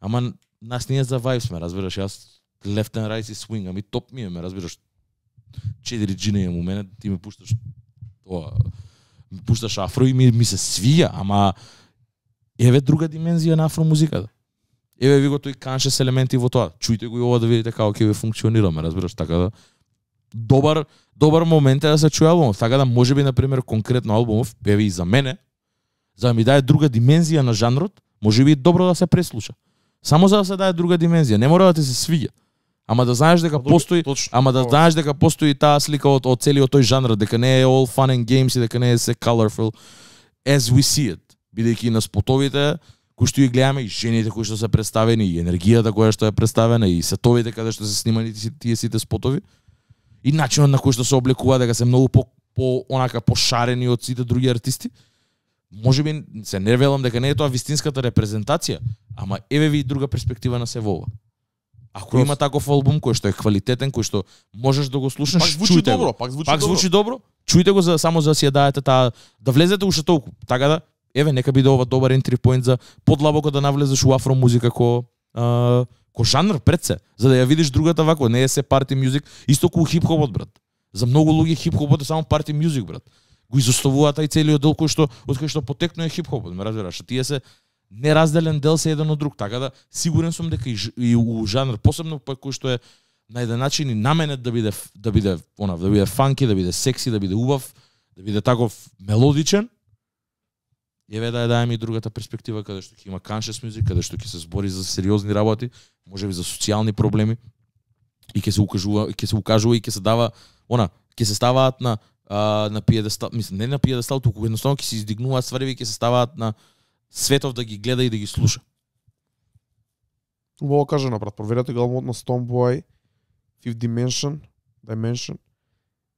Ама нас ние за вајб сме, разбираш, јас left and right и swing, ами топ ми е, ме разбираш. Четири джини имам у мене, ти ми пушташ тоа, ми пушташ афро и ми, ми се свија, ама еве друга димензија на афро музиката. Еве ви го тој conscious елементи во тоа. Чујте го и ова да видите како ќе ви функционира, ме разбираш, така да добар добар момент е да се чуе албумов, така да можеби на пример конкретно албумов, еве и за мене, за да ми даде друга димензија на жанрот, можеби добро да се преслуша. Само за да се даде друга димензија, не мора да ти се свиѓа. Ама да знаеш дека постои, точно, ама да знаеш дека постои таа слика од, од целиот тој жанр, дека не е all fun and games и дека не е се colorful as we see it. Бидејќи на спотовите кои што ги гледаме, и жените кои што се представени, и енергијата која што е представена, и сетовите каде што се снимани тие сите спотови, и начинот на кој што се облекува дека се многу по, по онака пошарени од сите други артисти. Можеби се не велам дека не е тоа вистинската репрезентација, ама еве ви друга перспектива на се во ова. Ако Просто. Има таков албум кој што е квалитетен, кој што можеш да го слушнеш, пак звучи чујте добро, го. пак звучи пак добро. звучи добро. Чујте го за само за да си ја даете таа да влезете уште толку. Така да еве нека биде ова добар entry point за подлабоко да навлезеш у афро музика ко а, ко жанр пред се, за да ја видиш другата вако, не е се парти мюзик, исто ку хип-хопот, брат. За многу луѓе хип-хопот е само парти мюзик, брат. Го изоставуваат тај целиот дел кој што од кој што потекнува хип-хопот, ме разбираш, тие се неразделен дел се еден од друг, така да сигурен сум дека и, и у жанр посебно па кој што е на еден начин и наменет да биде да биде она да биде фанки, да биде секси, да биде убав, да биде таков мелодичен. Еве да ја даеме и другата перспектива каде што ќе има conscious music, каде што ќе се збори за сериозни работи, можеби за социјални проблеми и ќе се укажува, ќе се укажува и ќе се дава она, ќе се ставаат на а, на пиедестал, мислам не на пиедестал, туку едноставно ќе се издигнуваат ствари и ќе се ставаат на светов да ги гледа и да ги слуша. Убаво кажано, брат, проверете го албумот на Stonebwoy, Fifth Dimension, Dimension,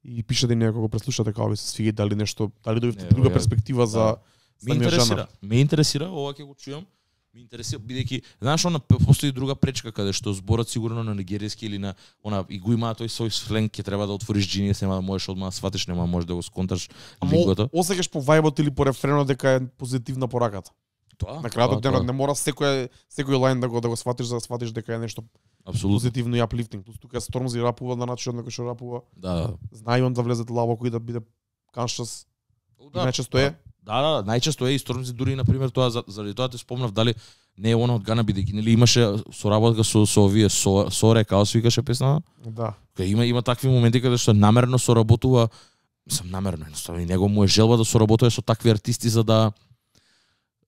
и пишете некој го преслушате како ви се свиѓа, дали нешто, дали добивте друга ја, перспектива за да. Ме интересира, жанр. ме интересира, ова ќе го чујам. Ме интересира бидејќи знаеш она постои друга пречка каде што зборот сигурно на нигеријски или на она и го има тој свој сленг, ќе треба да отвориш Genius, нема да можеш одма да сватиш, нема можеш да го сконташ лингвото. Осеќаш по вајбот или по рефренот дека е позитивна пораката. Тоа. На крајот денот не мора секој секој лајн да го да го сватиш за да сватиш дека е нешто апсолутно позитивно и аплифтинг. Плюс тука Stormzy рапува на начинот на кој што рапува. Да. Знае он да влезе длабоко и да биде conscious. Да. Најчесто е. Да, да, најчесто е и Stormzy дури на пример тоа заради тоа те спомнав дали не е она од Гана бидејќи нели имаше соработка со со овие со Соре Каос викаше песна. Да. Кај има има такви моменти каде што намерно соработува, сам намерно, едноставно и него му е желба да соработува со такви артисти за да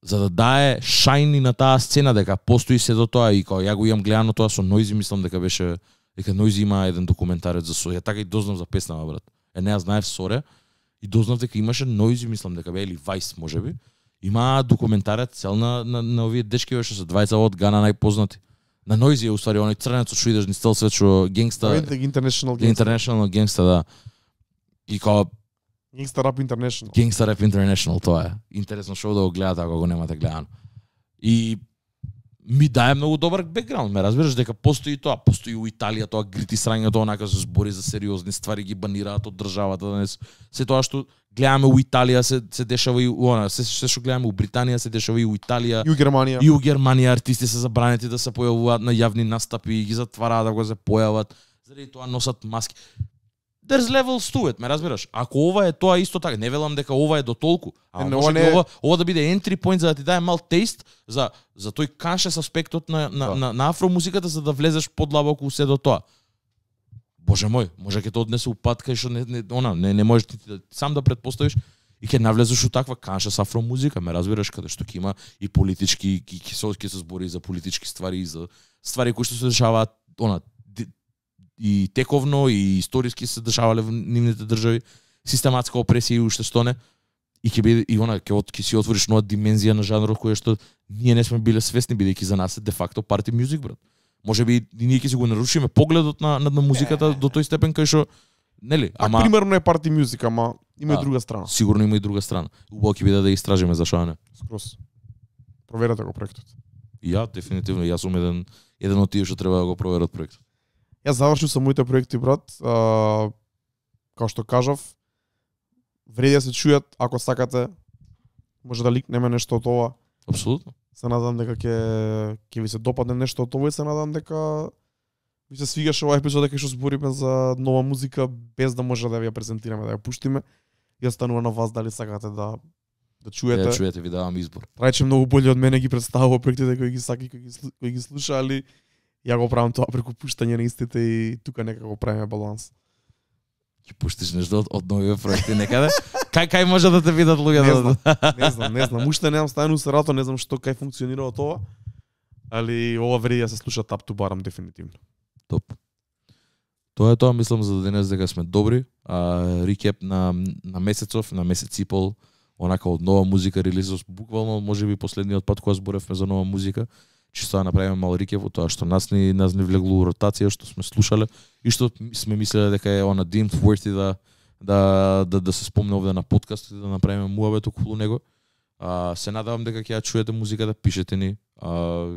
за да дае шајни на таа сцена дека постои се до тоа и кога ја го имам гледано тоа со Noisy, мислам дека беше дека Noisy има еден документарец за Соре. Така и дознав за песнава, брат. Е не ја знаев Соре и дознав дека имаше Noisy, мислам дека бе или Vice можеби. Има документарец цел на на, на овие дечки што се двајца од Гана најпознати. На Noisy е уствари оној црнецот што идеш низ цел свет што генгста International Gangsta. International Gangsta, да. И кога Gangsta Rap International. Gangsta Rap International, тоа е. Интересно шоу да го гледате ако го немате гледано. И ми дае многу добар бекграунд, ме разбираш дека постои тоа, постои у Италија тоа грити срањето, онака се збори за сериозни ствари, ги банираат од државата, да не се тоа што гледаме у Италија се се дешава и она, се се што гледаме у Британија се дешава и у Италија. И у Германија. И у Германија артисти се забранети да се појавуваат на јавни настапи и ги затвараат да го се појават, заради тоа носат маски. There's levels to it, ме разбираш? Ако ова е тоа исто така, не велам дека ова е до толку, а не, може не... ова, ова да биде entry point за да ти даде мал тест за за тој conscious аспектот на на, да. на, на афромузиката за да влезеш подлабоко се до тоа. Боже мој, може ќе те однесе у пат кај што не, не она не не можеш ти да, сам да претпоставиш и ќе навлезеш у таква conscious афромузика, ме разбираш, каде што ќе има и политички ќе ќе се збори за политички ствари и за ствари кои што се дешаваат она и тековно и историски се дешавале во нивните држави, систематска опресија и уште што не. И ќе биде и она ќе ќе си отвориш нова димензија на жанрот која што ние не сме биле свесни бидејќи за нас е де факто парти мюзик, брат. Можеби и ние ќе си го нарушиме погледот на на, на музиката до тој степен кај што нели, ама примерно е парти мюзик, ама има и друга страна. Сигурно има и друга страна. Убаво ќе биде да истражиме зашо не. Скрос. Проверете го проектот. И ја дефинитивно јас сум еден еден од тие што треба да го проверат проектот. Јас завршив со моите проекти, брат. А, како што кажав, вреди да се чујат, ако сакате, може да ликнеме нешто од ова. Апсолутно. Се надам дека ќе ќе ви се допадне нешто од ова и се надам дека ви се свигаше оваа епизода кај што збориме за нова музика без да може да ви ја презентираме, да ја пуштиме. И останува на вас дали сакате да да чуете. Да чуете, ви давам избор. Трајче многу боле од мене ги представува проектите кои ги саки, кои ги кои ги слуша, али ја го правам тоа преку пуштање на истите и тука нека го правиме баланс. Ќе пуштиш нешто од, од нови проекти некаде? Кај кај може да те видат луѓето? Не знам, не знам, не знам. Уште немам стану се рато, не знам што кај функционира тоа. Али ова вреди да се слуша Top to Bottom дефинитивно. Топ. Тоа е тоа, мислам за денес дека сме добри. А, рекеп на на месецов, на месец и пол онака од нова музика релизов, буквално можеби последниот пат кога зборевме за нова музика, чисто да направиме мал рикеп во тоа што нас ни нас ни влегло у ротација, што сме слушале и што сме мислеле дека е она deemed worthy да да да да се спомне овде на подкаст и да направиме муабет околу него. А, се надевам дека ќе ја чуете музиката, пишете ни. А,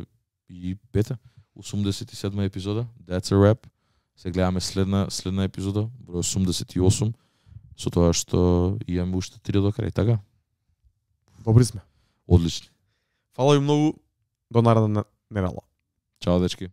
и бете, осумдесет и седма епизода, That's a Rap. Се гледаме следна следна епизода, број осумдесет и осум, со тоа што имаме уште три до крај, така? Добри сме. Одлични. Фала ви многу. До наредна недела. Чао, дечки.